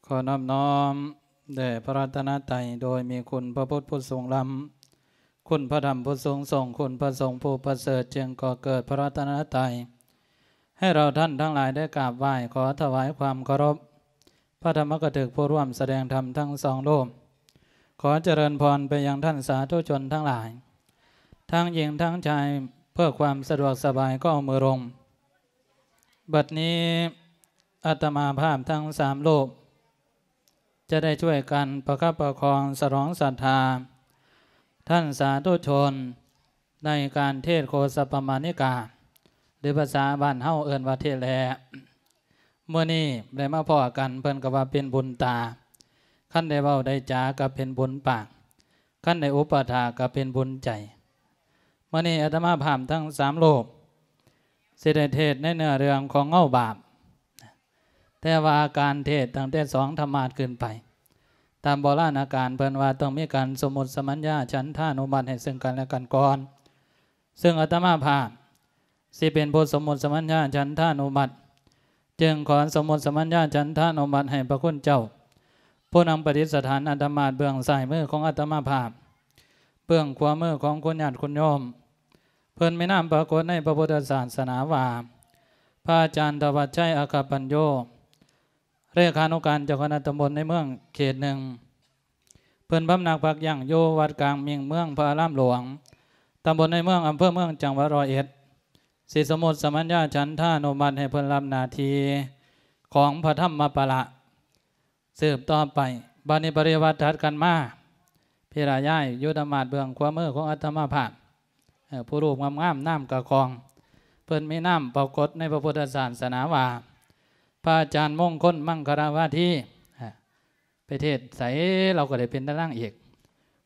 ຂໍນອບນ້ອມແດ່ພະລັດຕະນະໄຕ ໂດຍມີຄຸນພະພຸດຜູ້ສູງລ້ຳ, ຄຸນພະທຳຜູ້ສູງສົ່ງ, ຄຸນພະສົງຜູ້ປະເສີດ, ຈຶ່ງກໍ່ເກີດພະລັດຕະນະໄຕ ໃຫ້ເຮົາທ່ານທັງຫຼາຍໄດ້ກາບໄຫວ້. ຂໍຖວາຍຄວາມເຄົາລົບ ພະທຳມະກະຖືກຜູ້ຮ່ວມສະແດງທຳທັງສອງຮູບ. ຂໍຈະເລີນພອນໄປຍັງທ່ານສາທຸຊົນທັງຫຼາຍ ທັງຍິງທັງຊາຍ, ເພື່ອຄວາມສະດວກສະບາຍກໍເອົາມືລົງ. ບັດນີ້ອາດຕະມາພາບທັງສາມຮູບ ຈະໄດ້ຊ່ວຍກັນປະຄັບປະຄອງສະຫຼອງສັດທາທ່ານສາທຸຊົນ ໃນການເທດໂຄສະປະມານິກາ ຫຼື ພາສາບ້ານເຮົາເອີ້ນວ່າເທດແຫຼ. ມື້ນີ້ໄດ້ມາພໍ້ກັນ ເພິ່ນກໍວ່າເປັນບຸນຕາ, ຄັນໄດ້ເວົ້າໄດ້ຈາກໍເປັນບຸນປາກ, ຄັນໄດ້ອຸປະຖາກກໍເປັນບຸນໃຈ. ມື້ນີ້ອາດຕະມາພາບທັງສາມຮູບ ຊິໄດ້ເທດໃນເນື້ອເລື່ອງຂອງເງົາບາບ, ແຕ່ວ່າການເທດຕັ້ງແຕ່ສອງທຳມາດຂຶ້ນໄປ ຕາມໂບລານະການເພິ່ນວ່າຕ້ອງມີການສົມມຸດສະມັນຍາ ສັນທານຸມັດໃຫ້ເຊິ່ງກັນແລະກັນກ່ອນ, ເຊິ່ງອາດຕະມາພາບຊິເປັນຜູ້ສົມມຸດສະມັນຍາ ສັນທານຸມັດ. ຈຶ່ງຂໍສົມມຸດສະມັນຍາ ສັນທານຸມັດໃຫ້ພະຄຸນເຈົ້າ ຜູ້ນຳປະດິດສະຖານອາດຕະມາພາບເບື້ອງຊ້າຍມືຂອງອາດຕະມາພາບ, ເບື້ອງຂວາມືຂອງຄຸນຍາດຄຸນໂຍມ. ເພິ່ນມີນາມປາກົດໃນພະພຸດທະສາສະໜາວ່າ ພະອາຈານທະວັດໄຊ ອັກຂະປັນໂຍ, ເລຂານຸການເຈົ້າຄະນະຕຳບົນໃນເມືອງເຂດໜຶ່ງ. ເພິ່ນພຳນັກພັກຢ່າງຢູ່ວັດກາງມິ່ງເມືອງພະອາລາມຫຼວງ, ຕຳບົນໃນເມືອງ, ອຳເພີເມືອງ, ຈັງຫວັດຮ້ອຍເອັດ, ຊິສົມມຸດສະມັນຍາ ສັນທານຸມັດໃຫ້ເພິ່ນຮັບໜ້າທີ່ຂອງພະທຳມະປະລະ ສືບຕໍ່ໄປ. ບັດນີ້ປະລິວາດຖັດກັນມາ, ພິລະຍາຍຢູ່ອາດຕະມາພາບເບື້ອງຂວາມືຂອງອາດຕະມາພາບ, ເອີ ຜູ້ຮູບງາມໆ ນາມກະຄອງ, ເພິ່ນມີນາມປາກົດໃນພະພຸດທະສາສະໜາວ່າ ພະອາຈານມົງຄົນ ມັງຄະລະວາທີ. ເອີ ໄປເທດໃສລາວກໍໄດ້ເປັນແຕ່ນາງເອກ.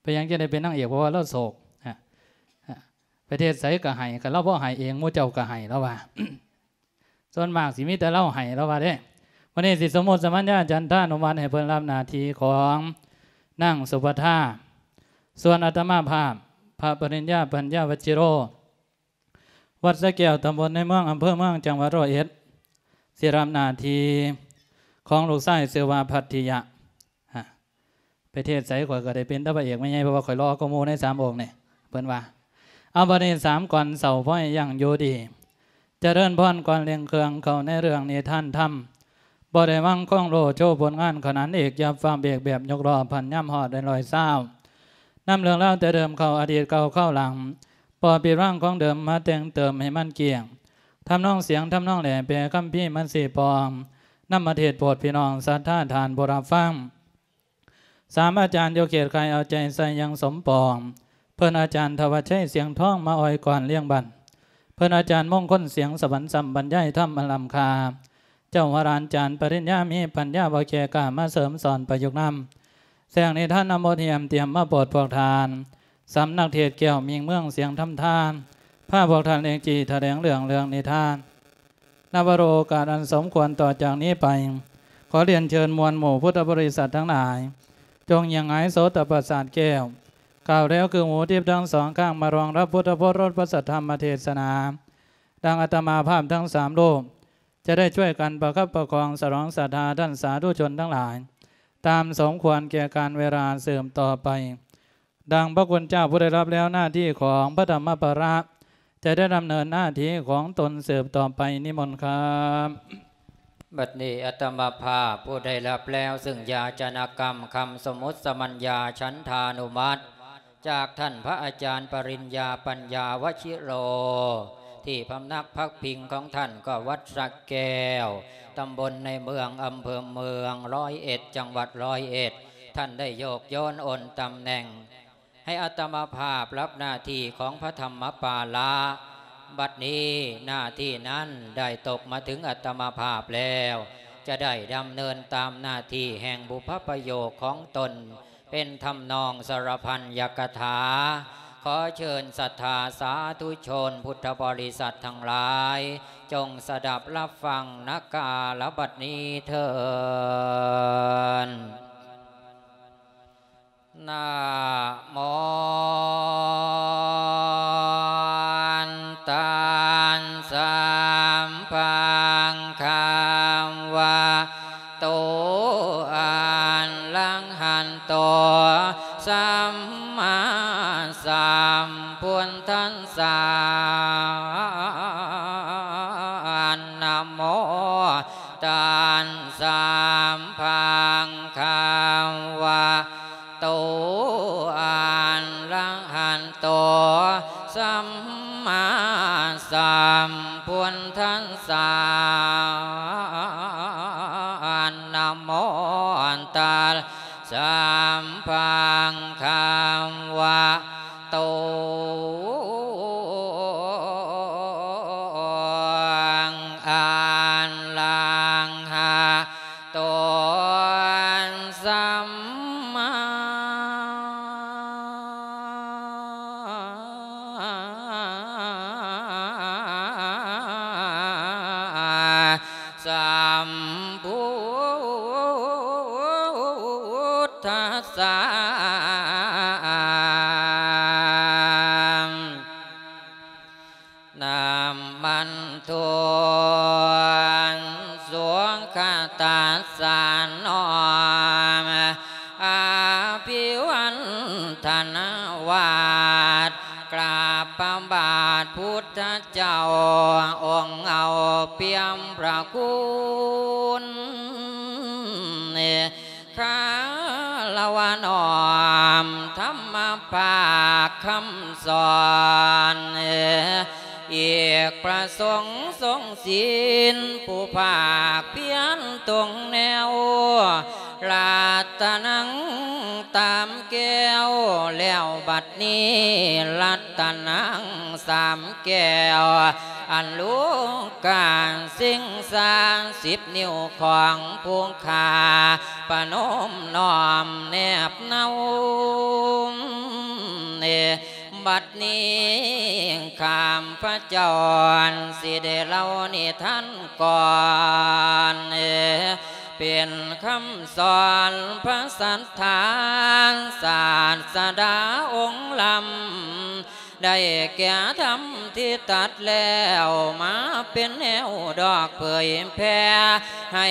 ເປັນຫຍັງຈຶ່ງໄດ້ເປັນນາງເອກ? ເພາະວ່າລາວໂສກ. ໄປເທດໃສກໍໄຫ້, ຄັນລາວບໍ່ໄຫ້ເອງ ໝູ່ເຈົ້າກໍໄຫ້, ລາວວ່າ. ສ່ວນມາກຊິມີແຕ່ລາວໄຫ້, ລາວວ່າເດ້. ວັນນີ້ຊິສົມມຸດສະມັນຍາ ສັນທານຸມັດໃຫ້ເພິ່ນຮັບໜ້າທີ່ຂອງນາງສຸພັດທາ. ສ່ວນອາດຕະມາພາບ ພະປະລິນຍາ ປັນຍາວັດຊິໂຣ, ວັດສະແກ້ວ, ຕຳບົນໃນເມືອງ, ອຳເພີເມືອງ, ຈັງຫວັດຮ້ອຍເອັດ, ຊິຮັບໜ້າທີ່ຂອງລູກຊາຍຊື່ວ່າພັດທິຍະ. ຮະ ໄປເທດໃສຂ້ອຍກໍໄດ້ເປັນແຕ່ພະເອກແມ່ໃຫຍ່, ເພາະວ່າຂ້ອຍຫຼໍ່ກວ່າໝູ່ໃນສາມອົງນີ້, ເພິ່ນວ່າ. ເອົາ ບັດນີ້ສາມກ່ອນເຊົາ ຂໍໃຫ້ຢັ້ງຢູ່ດີ, ຈະເລີນພອນກ່ອນເລັ່ງເຄື່ອງເຂົ້າໃນເລື່ອງນິທານທຳ. ບໍ່ໄດ້ຫວັງຄອງໂລໂຊຜົນງານຂະໜານເອກ, ຢ່າຟ້າວເບກແບບຍົກລໍ້ພັນ ຍາມຮອດໄດ້ຮ້ອຍຊາວ. ນຳເລື່ອງລາວແຕ່ເດີມເຂົ້າອະດີດເກົ່າເຂົ້າຫຼັງ, ບໍ່ຜິດຫວັງຂອງເດີມມາແຕ່ງເຕີມໃຫ້ມັນກ້ຽງ. ທຳນອງສຽງທຳນອງແຫຼ ແປຄຳພີມັນຊີ້ປ່ອງ, ນຳມາເທດໂປດພີ່ນ້ອງສັດທາທ່ານຜູ້ຮັບຟັງ. ສາມອາຈານຢູ່ເຂດຄ້າຍເອົາໃຈໃສ່ຢ່າງສົມປອງ, ເພິ່ນອາຈານທະວັດໄຊ ສຽງທອງ ມາອ້ອຍກ່ອນລ້ຽງບັນ, ເພິ່ນອາຈານມົງຄົນ ສຽງສະຫວັນ ຊ້ຳບັນຍາຍທຳອັນລ້ຳຄ່າ, ເຈົ້າວະລານຈານປະລິນຍາ ມີປັນຍາບໍ່ແກ່ກ້າ ມາເສີມສອນປະຍຸກນຳ, ແຊກນິທານນຳບົດຮຽມຕຽມມາໂປດພວກທ່ານ, ສຳນັກເທດແກ້ວມິ່ງເມືອງ ສຽງທຳທານ ພາພວກທ່ານເອງຈີຖະແຫຼງເລື່ອງ ເລື່ອງນິທານ. ນະວະໂລກາດອັນສົມຄວນຕໍ່ຈາກນີ້ໄປ, ຂໍລຽນເຊີນມວນໝູ່ພຸດທະບໍລິສັດທັງຫຼາຍ, ຈົ່ງຫຍັງຫງາຍໂສຕະປະສາດແກ້ວ, ກ້າວແລ້ວຄືຫູທິບທັງສອງຂ້າງ ມາຮອງຮັບພຸດທະໂອລົດພະສັດທຳມະເທດສະໜາ, ດັ່ງອາດຕະມາພາບທັງສາມຮູບ ຈະໄດ້ຊ່ວຍກັນປະຄັບປະຄອງສະຫຼອງສັດທາທ່ານສາທຸຊົນທັງຫຼາຍ, ຕາມສົມຄວນແກ່ການເວລາສືບຕໍ່ໄປ. ດັ່ງພະຄຸນເຈົ້າຜູ້ໄດ້ຮັບແລ້ວໜ້າທີ່ຂອງພະທຳມະປະລະ ຈະໄດ້ດຳເນີນໜ້າທີ່ຂອງຕົນສືບຕໍ່ໄປ. ນິມົນຄັບ. ບັດນີ້ອາດຕະມາພາບຜູ້ໄດ້ຮັບແລ້ວ ຊຶ່ງຢາຈະນະກຳຄຳສົມມຸດສະມັນຍາ ສັນທານຸມັດ ຈາກທ່ານພະອາຈານປະລິນຍາ ປັນຍາວະຊິໂລ ທີ່ພຳນັກພັກພິງຂອງທ່ານກໍວັດສະແກ້ວ, ຕຳບົນໃນເມືອງ, ອຳເພີເມືອງ, ຮ້ອຍເອັດ, ຈັງຫວັດຮ້ອຍເອັດ, ທ່ານໄດ້ໂຍກໂຍນໂອນຕຳແໜ່ງ ໃຫ້ອາດຕະມາພາບຮັບໜ້າທີ່ຂອງພະທຳມະປາລະ. ບັດນີ້ໜ້າທີ່ນັ້ນໄດ້ຕົກມາເຖິງອາດຕະມາພາບແລ້ວ, ຈະໄດ້ດຳເນີນຕາມໜ້າທີ່ແຫ່ງບຸບພະປະໂຫຍກຂອງຕົນ ເປັນທຳນອງສາລະພັນຍະກະຖາ. ຂໍເຊີນສັດທາສາທຸຊົນພຸດທະບໍລິສັດທັງຫຼາຍ ຈົ່ງສະດັບຮັບຟັງນະກາລະບັດນີ້ເທີນ. ນະໂມຕັດສະພະຄະວະໂຕ ອະ ພັງຄະວະໂຕ ອະລະຫະໂຕ ສຳມາສຳພຸດທັດສະ ນະໂມຕັດສະ ພັງຄະວະໂຕ ອະລະຫະໂຕ ສຳມາສຳພຸດທັດສະ ນະມັດຖຸ ສຸຂະຕັດສະ ນ້ອມອະພິວັນທະນາວັດ ກາບພະບາດພຸດທະເຈົ້າ ອົງເອົາປ່ຽມພະຄຸນ ຄາລະວະນ້ອມທຳມະພາກຄຳສອນ ອີກພະສົງຊົງສິນ ຜູ້ພາກພຽນຕົງແນວ ລັດຕະນັງຕາມແກ້ວ ແລ້ວບັດນີ້ລັດຕະນັງສາມແກ້ວ ອັນລູກກາສິງສາສິບນິ້ວຂອງຜູ້ຂ້າ ປະນົມນ້ອມແນບເນົາ ບັດນີ້ຂ້າພະເຈົ້າຊິໄດ້ເລົ່ານິທານກ່ອນ ເປັນຄຳສອນພະສັດທາ ສາດສະດາອົງລ້ຳ ໄດ້ແກ່ທຳທີ່ຕັດແລ້ວ ມາເປັນແນວດອກເຜີຍແຜ່ ໃຫ້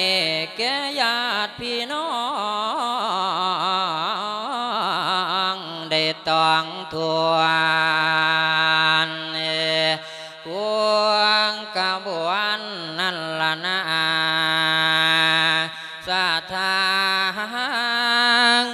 ແກ່ຍາດພີ່ນ້ອງໄດ້ຕ້ອງທວນ ພວງຂະບວນນັ້ນລະນາ ສະທາງ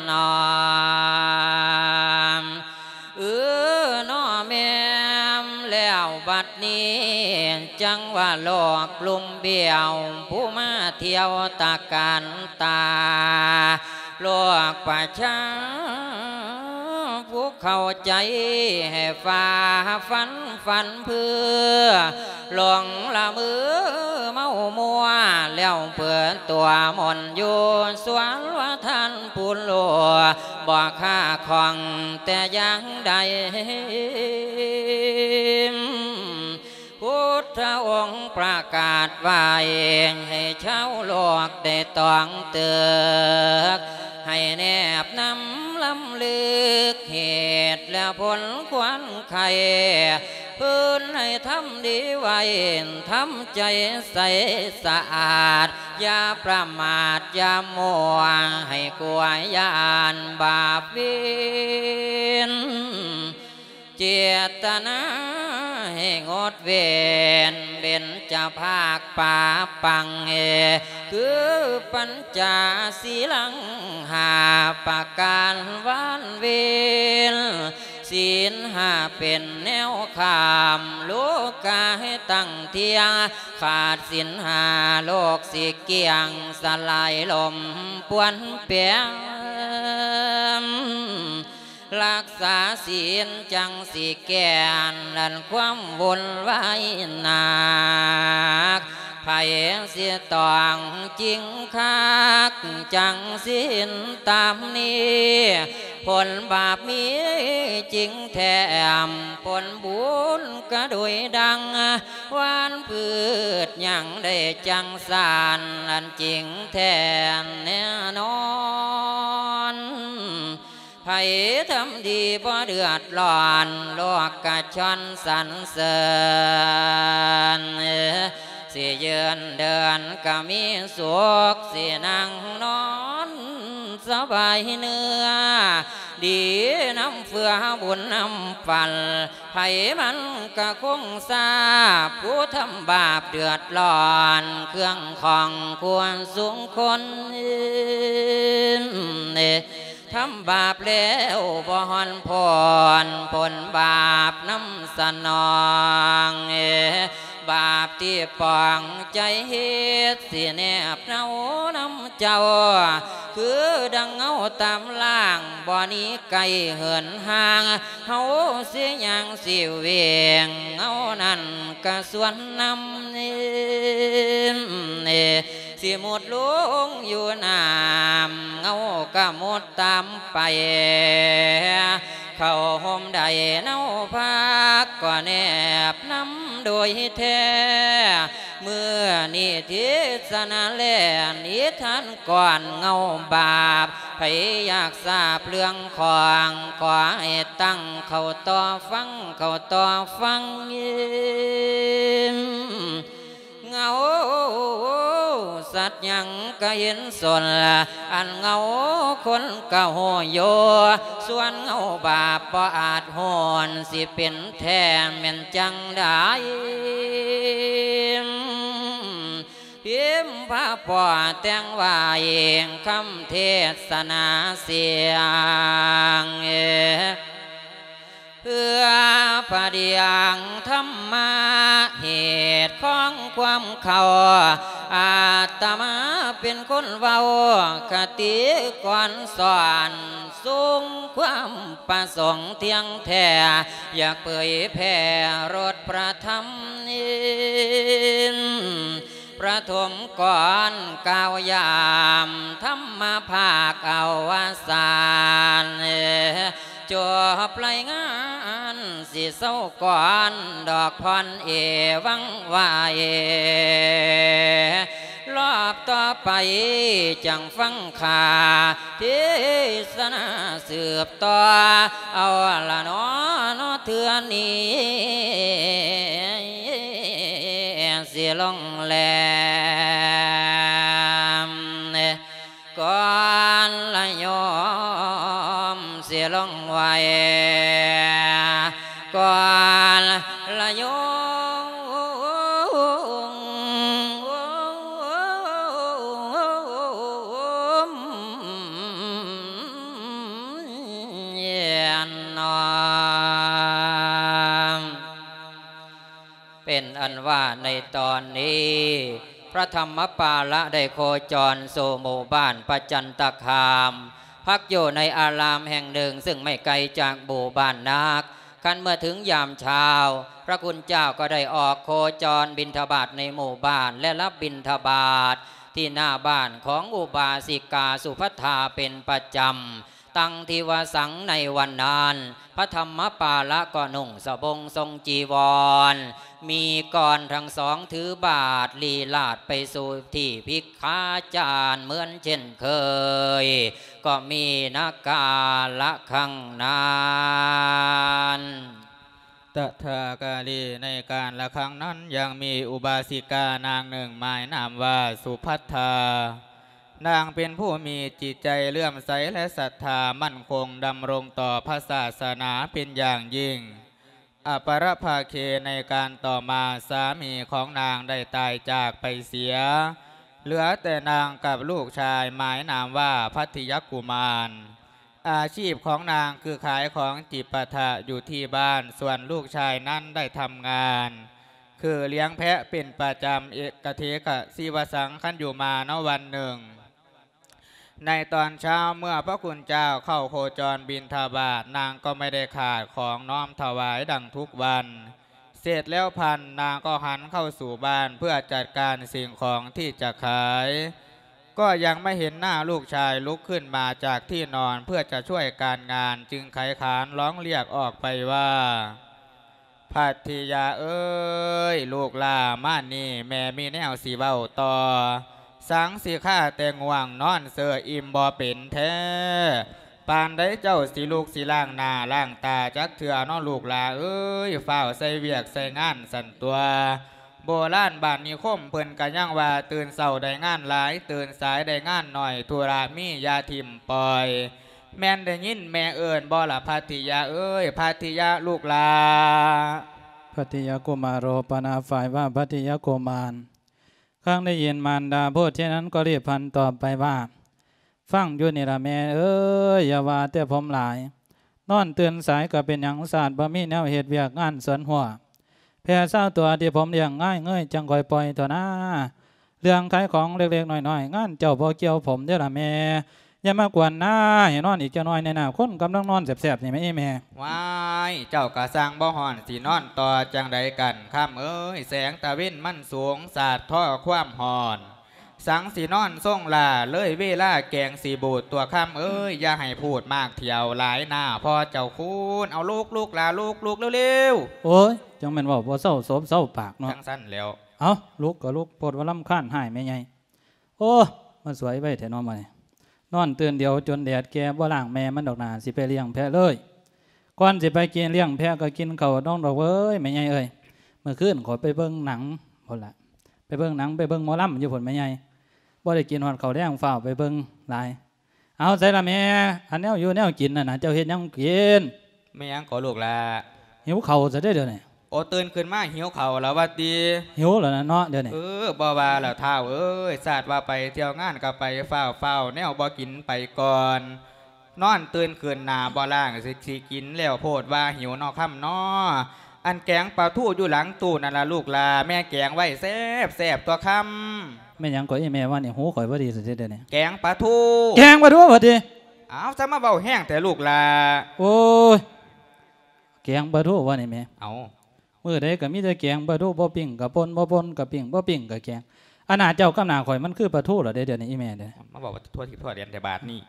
ນ້ອມ ເອີ ນ້ອມແມ່ມແລ້ວບັດນີ້ ຈັງວ່າໂລກລຸ່ມບ້ຽວ ຜູ້ມາທ່ຽວຕະການຕາ ໂລກປະຊາ ຜູ້ເຂົ້າໃຈໃຫ້ຝ່າຝັນ ຝັນເພື່ອ ຫຼົງລະເມີເມົາມົວ ແລ້ວເປີດຕົວມົນຢູ່ສວນວ່າທ່ານຜູ້ຮູ້ ບໍ່ຄາຂ້ອງແຕ່ຢ່າງໃດ ພຸດທະອົງປະກາດໄວ້ ໃຫ້ຊາວໂລກໄດ້ຕ້ອງເຕີກ ໃຫ້ແນບນຳລຳລຶກ ເຫດ ແລະ ຜົນຄວານໄຂ້ ເພິ່ນໃຫ້ທຳດີໄວ້ ທຳໃຈໃສສະອາດ ຢ່າປະໝາດ ຢ່າມົວ ໃຫ້ກົວຢ້ານບາບເວນ ເຈດຕະນາໃຫ້ງົດເວັ້ນ ເບັນຈະພາກປາປັງ ຄືປັນຈາສີລັງຫ້າປະການວານເວນ ສີນຫ້າເປັນແນວຂ້າມ ໂລກາໃຫ້ຕັ້ງທ່ຽງ ຂາດສິນຫ້າໂລກຊິກ້ຽງ ສະຫຼາຍລົ້ມປ່ວນແປມ ລັກສາສິນຈັ່ງຊິແກ່ນ ອັນຄວາມວຸ່ນວາຍໜັກ ໃຜຊິຕ້ອງຈິງຄັກ ຈັ່ງສິນຕາມນີ້ ຜົນບາບມີຈິງແຖມ ຜົນບຸນກະໂດຍດັ່ງ ຫວານພືດຍັງໄດ້ຈັ່ງສານ ອັນຈິງແທ້ແນ່ນອນ ໃຜທຳດີບໍ່ເດືອດຮ້ອນ ໂລກກະຊອນສັນເສີນ ຊິຢືນເດີນກະມີສຸກ ຊິນັ່ງນອນ ສະບາຍເນື້ອ ດີນຳເຟືອບຸນນຳຝັນ ໃຜມັນກະຄົງຊາບ ຜູ້ທຳບາບເດືອດຮ້ອນ ເຄື່ອງຂອງຄວນສູງຄົນ ທຳບາບແລ້ວບໍ່ຮ້ອນພົ້ນ ຜົນບາບນຳສະໜອງ ບາບທີ່ປອງໃຈເຮັດ ຊິແນບເນົານຳເຈົ້າ ຄືດັ່ງເງົາຕາມລ່າງ ບໍ່ໜີໄກເຫີນຫ່າງ ເຮົາຊິຍ່າງຊິເວງ ເງົານັ້ນກະສວນນຳ ຊິມຸດລົງຢູ່ນ້ຳ ເງົາກະມຸດຕາມໄປ ເຂົ້າຮົ່ມໄດ້ເນົາພັກ ກໍແນບນຳໂດຍແທ້ ມື້ນີ້ເທດສະນາແລນ ນິທານກ່ອນເງົາບາບ ໃຜຢາກຊາບເລື່ອງຂອງ ຂໍໃຫ້ຕັ້ງເຂົ້າຕໍ່ຟັງ ເຂົ້າຕໍ່ຟັງ ເງົາສັດຫຍັງກະເຫັນສົນ ອັນເງົາຄົນກະຮູ້ຢູ່ ສ່ວນເງົາບາບບໍ່ອາດຮູ້ ຊິເປັນແທ້ແມ່ນຈັ່ງໃດ ພິມພະປໍແຕ່ງໄວ້ ຄຳເທດສະນາສຽງ ເພື່ອພະດຽງທຳມະ ເຫດຂອງຄວາມເຂົ້າ ອາດຕະມາເປັນຄົນເວົ້າ ຄະຕິກອນສອນ ສູງຄວາມປະສົງທ່ຽງແທ້ ຢາກເຜີຍແຜ່ລົດພະທຳ ປະຖົມກ່ອນກ່າວຢາມ ທຳມະພາກອະວະສານ ຈົບລາຍງານ ຊິເຊົາກ່ອນດອກພອນເອວັງວາເອ ລອບຕໍ່ໄປຈັ່ງຟັງຂ້າ ເທດສະນາສືບຕໍ່ ເອົາລະເນາະ ເນາະເທື່ອນີ້ ຊິລົງແລມ ກ່ອນລະໂຍມ ຊິລົງໄຫວ້ ກ່ອນລະໂຍມ ເປັນອັນວ່າໃນຕອນນີ້ ພະທຳມະປາລະໄດ້ໂຄຈອນສູ່ໝູ່ບ້ານປະຈັນຕະຄາມ ພັກຢູ່ໃນອາລາມແຫ່ງໜຶ່ງ ຊຶ່ງໄມ່ໄກຈາກໝູ່ບ້ານນັກ. ຄັນເມື່ອເຖິງຍາມເຊົ້າ ພະຄຸນເຈົ້າກໍໄດ້ອອກໂຄຈອນບິນທະບາດໃນໝູ່ບ້ານ ແລະ ຮັບບິນທະບາດທີ່ໜ້າບ້ານຂອງອຸບາສິກາສຸພັດທາເປັນປະຈຳ. ຕັງທິວະສັງ ໃນວັນນັ້ນ ພະທຳມະປາລະກໍນຸ່ງສະບົງຊົງຈີວອນ ມີກອນທັງສອງຖືບາດລີລາດໄປສູ່ທີ່ພິກຂາຈານເໝືອນເຊັ່ນເຄີຍ ກໍມີນະກາລະຄັ້ງນັ້ນ. ຕະຖາກາລີ ໃນກາລະຄັ້ງນັ້ນຍັງມີອຸບາສິການາງໜຶ່ງໝາຍນາມວ່າສຸພັດທາ. ນາງເປັນຜູ້ມີຈິດໃຈເຫຼື້ອມໃສ ແລະ ສັດທາໝັ້ນຄົງດຳລົງຕໍ່ພະສາສະໜາເປັນຢ່າງຍິ່ງ. ອະປະລະພາເຄ ໃນການຕໍ່ມາ ສາມີຂອງນາງໄດ້ຕາຍຈາກໄປເສຍ ເຫຼືອແຕ່ນາງກັບລູກຊາຍໝາຍນາມວ່າພັດທິຍະກຸມານ. ອາຊີບຂອງນາງຄືຂາຍຂອງຈິບປະທະຢູ່ທີ່ບ້ານ ສ່ວນລູກຊາຍນັ້ນໄດ້ທຳງານຄືລ້ຽງແພະເປັນປະຈຳ ເອກະເທກະຊີວະສັງ ຄັນຢູ່ມາເນາະວັນໜຶ່ງ ໃນຕອນເຊົ້າເມື່ອພະຄຸນເຈົ້າເຂົ້າໂຄຈອນບິນທະບາດ ນາງກໍໄມ່ໄດ້ຂາດຂອງນ້ອມຖວາຍດັ່ງທຸກວັນ. ເສັດແລ້ວພັນ ນາງກໍຫັນເຂົ້າສູ່ບ້ານເພື່ອຈັດການສິ່ງຂອງທີ່ຈະຂາຍ ກໍຍັງໄມ່ເຫັນໜ້າລູກຊາຍລຸກຂຶ້ນມາຈາກທີ່ນອນເພື່ອຈະຊ່ວຍການງານ ຈຶ່ງໄຂຂານຮ້ອງລຽກອອກໄປວ່າ ພັດທິຍາເອີຍ ລູກຫຼ້າມານີ້ ແມ່ມີແນວຊິເວົ້າຕໍ່ ສັງຊິຄາແຕ່ງ່ວງນອນເຊີ ອີ່ມບໍ່ເປັນແທ້ ປານໃດເຈົ້າຊິລຸກຊິລ້າງໜ້າລ້າງຕາຈັກເທື່ອເນາະ ລູກຫຼ້າເອີຍ ຟ້າວໃສ່ວຽກໃສ່ງານຊັ້ນຕົວະ. ໂບລານບ້ານນິຄົມເພິ່ນກະຍັງວ່າ ຕື່ນເຊົ້າໄດ້ງານຫຼາຍ ຕື່ນສາຍໄດ້ງານໜ້ອຍ ທຸລະມີຢ່າຖິ້ມປ່ອຍ. ແມ່ນໄດ້ຍິນແມ່ເອີ້ນບໍ່ລະ ພັດທິຍາເອີຍ ພັດທິຍາລູກຫຼ້າ? ພັດທິຍະກຸມາໂຣ ປະນາຝ້າຍວ່າ ພັດທິຍະກຸມານ. ຄັ້ງໄດ້ຍິນມານດາໂພດເຊັ່ນນັ້ນກໍຣີບຫັນຕອບໄປວ່າ ຟັງຢູ່ນີ້ລະແມ່ເອີຍ ຢ່າວ່າແຕ່ຜົມຫຼາຍ ນອນຕື່ນສາຍກໍເປັນຫຍັງ ຊາດບໍ່ມີແນວເຮັດວຽກງານສວນຮົ້ວ ແຜ່ຊາວຕົວທີ່ຜົມລ້ຽງງ່າຍເງີຍ ຈັ່ງຄ່ອຍປ່ອຍເຖາະນາ ເລື່ອງຂາຍຂອງເລັກໆນ້ອຍໆ ງານເຈົ້າບໍ່ກ່ຽວຜົມເດີ້ລະແມ່ ຢ່າມາກວນນາ ໃຫ້ນອນອີກຈັກໜ້ອຍແນ່ນາ ຄົນກຳລັງນອນແຊບໆນີ້ແມ່ ອີ່ແມ່. ວ້າຍ ເຈົ້າກະຊ່າງບໍ່ຮ້ອນ ຊິນອນຕໍ່ຈັ່ງໃດກັນ ຄຳເອີຍ ແສງຕາເວັນມັນສູງ ສາດທໍຄວາມຮ້ອນ ສັງຊິນອນຊົງຫຼ້າ ເລີຍເວລາແກງຊິບູດ ຕົວະຄຳເອີຍ ຢ່າໃຫ້ພູດມາກທ່ຽວຫຼາຍນາ ພໍ່ເຈົ້າຄູນ ເອົາລຸກ ລູກຫຼ້າລຸກ ລຸກເລັວໆ. ໂອ້ຍ ຈັ່ງແມ່ນເວົ້າບໍ່ເຊົາສົບເຊົາປາກເນາະ ຈັ່ງຊັ້ນແຫຼ້ວ. ເອົ້າ ລຸກກໍລຸກ ໂພດວ່າລຳຄານຮ້າຍແມ່ໃຫຍ່. ໂອ້ ມາສວຍໄວແທ້ເນາະມື້ນີ້ ນອນຕື່ນດຽວຈົນແດດແກ່ ບໍ່ລ້າງແມ່ມັນດອກໜ້າ ຊິໄປລ້ຽງແພະເລີຍ. ກ່ອນຊິໄປກິນລ້ຽງແພະກໍກິນເຂົ້າດອງດອກເວີຍ ແມ່ໃຫຍ່ເອີຍ. ມື້ຄືນຂ້ອຍໄປເບິ່ງໜັງພຸ້ນລະ ໄປເບິ່ງໜັງ ໄປເບິ່ງໝໍລຳຢູ່ພຸ້ນແມ່ໃຫຍ່ ບໍ່ໄດ້ກິນຮອດເຂົ້າແລງ ຟ້າວໄປເບິ່ງຫຼາຍ. ເອົາ ໃສລະແມ່ ອັນແນວຢູ່ແນວກິນນັ້ນນະ ເຈົ້າເຮັດຫຍັງກິນ? ແມ່ນຫຍັງກໍລູກຫຼ້າ? ຫິວເຂົ້າຊະເດ້ດຽວນີ້. ໂອ ຕື່ນຂຶ້ນມາຫິວເຂົ້າແລ້ວວ່າຕິ? ຫິວແລ້ວນະເນາະດຽວນີ້. ເອີ ບໍ່ວ່າແລ້ວທ້າວເອີຍ ຊາດວ່າໄປທ່ຽວງານກໍໄປ ຟ້າວໆ ແນວບໍ່ກິນໄປກ່ອນ. ນອນຕື່ນຂຶ້ນໜ້າບໍ່ລ້າງ ຊິ ຊິກິນແລ້ວໂພດວ່າຫິວເນາະຄຳເນາະ. ອັນແກງປາທູຢູ່ຫຼັງຕູ້ນັ້ນລະລູກຫຼ້າ ແມ່ແກງໄວ້ແຊບໆ ຕົວະຄຳ. ແມ່ນຫຍັງກໍອີ່ແມ່ວ່ານີ້ ຫູຂ້ອຍບໍ່ດີຊະຕິດຽວນີ້. ແກງປາທູ. ແກງປາທູວ່າຕິ? ອ້າວ ຈະມາເວົ້າແຮງແທ້ລູກຫຼ້າ. ໂອ້ຍ ແກງປາທູວ່ານີ້ແມ່. ເອົ້າ ມື້ໃດກໍມີແຕ່ແກງປາທູ ບໍ່ປີ້ງກໍປົ່ນ ບໍ່ປົ່ນກໍປີ້ງ ບໍ່ປີ້ງກໍແກງ. ອັນໜ້າເຈົ້າກັບໜ້າຂ້ອຍມັນຄືປາທູລະເດ້ດຽວນີ້ ອີ່ແມ່ເດ້. ມາເວົ້າວ່າທົ່ວທິດທົ່ວແດນແຕ່ບາດນີ້.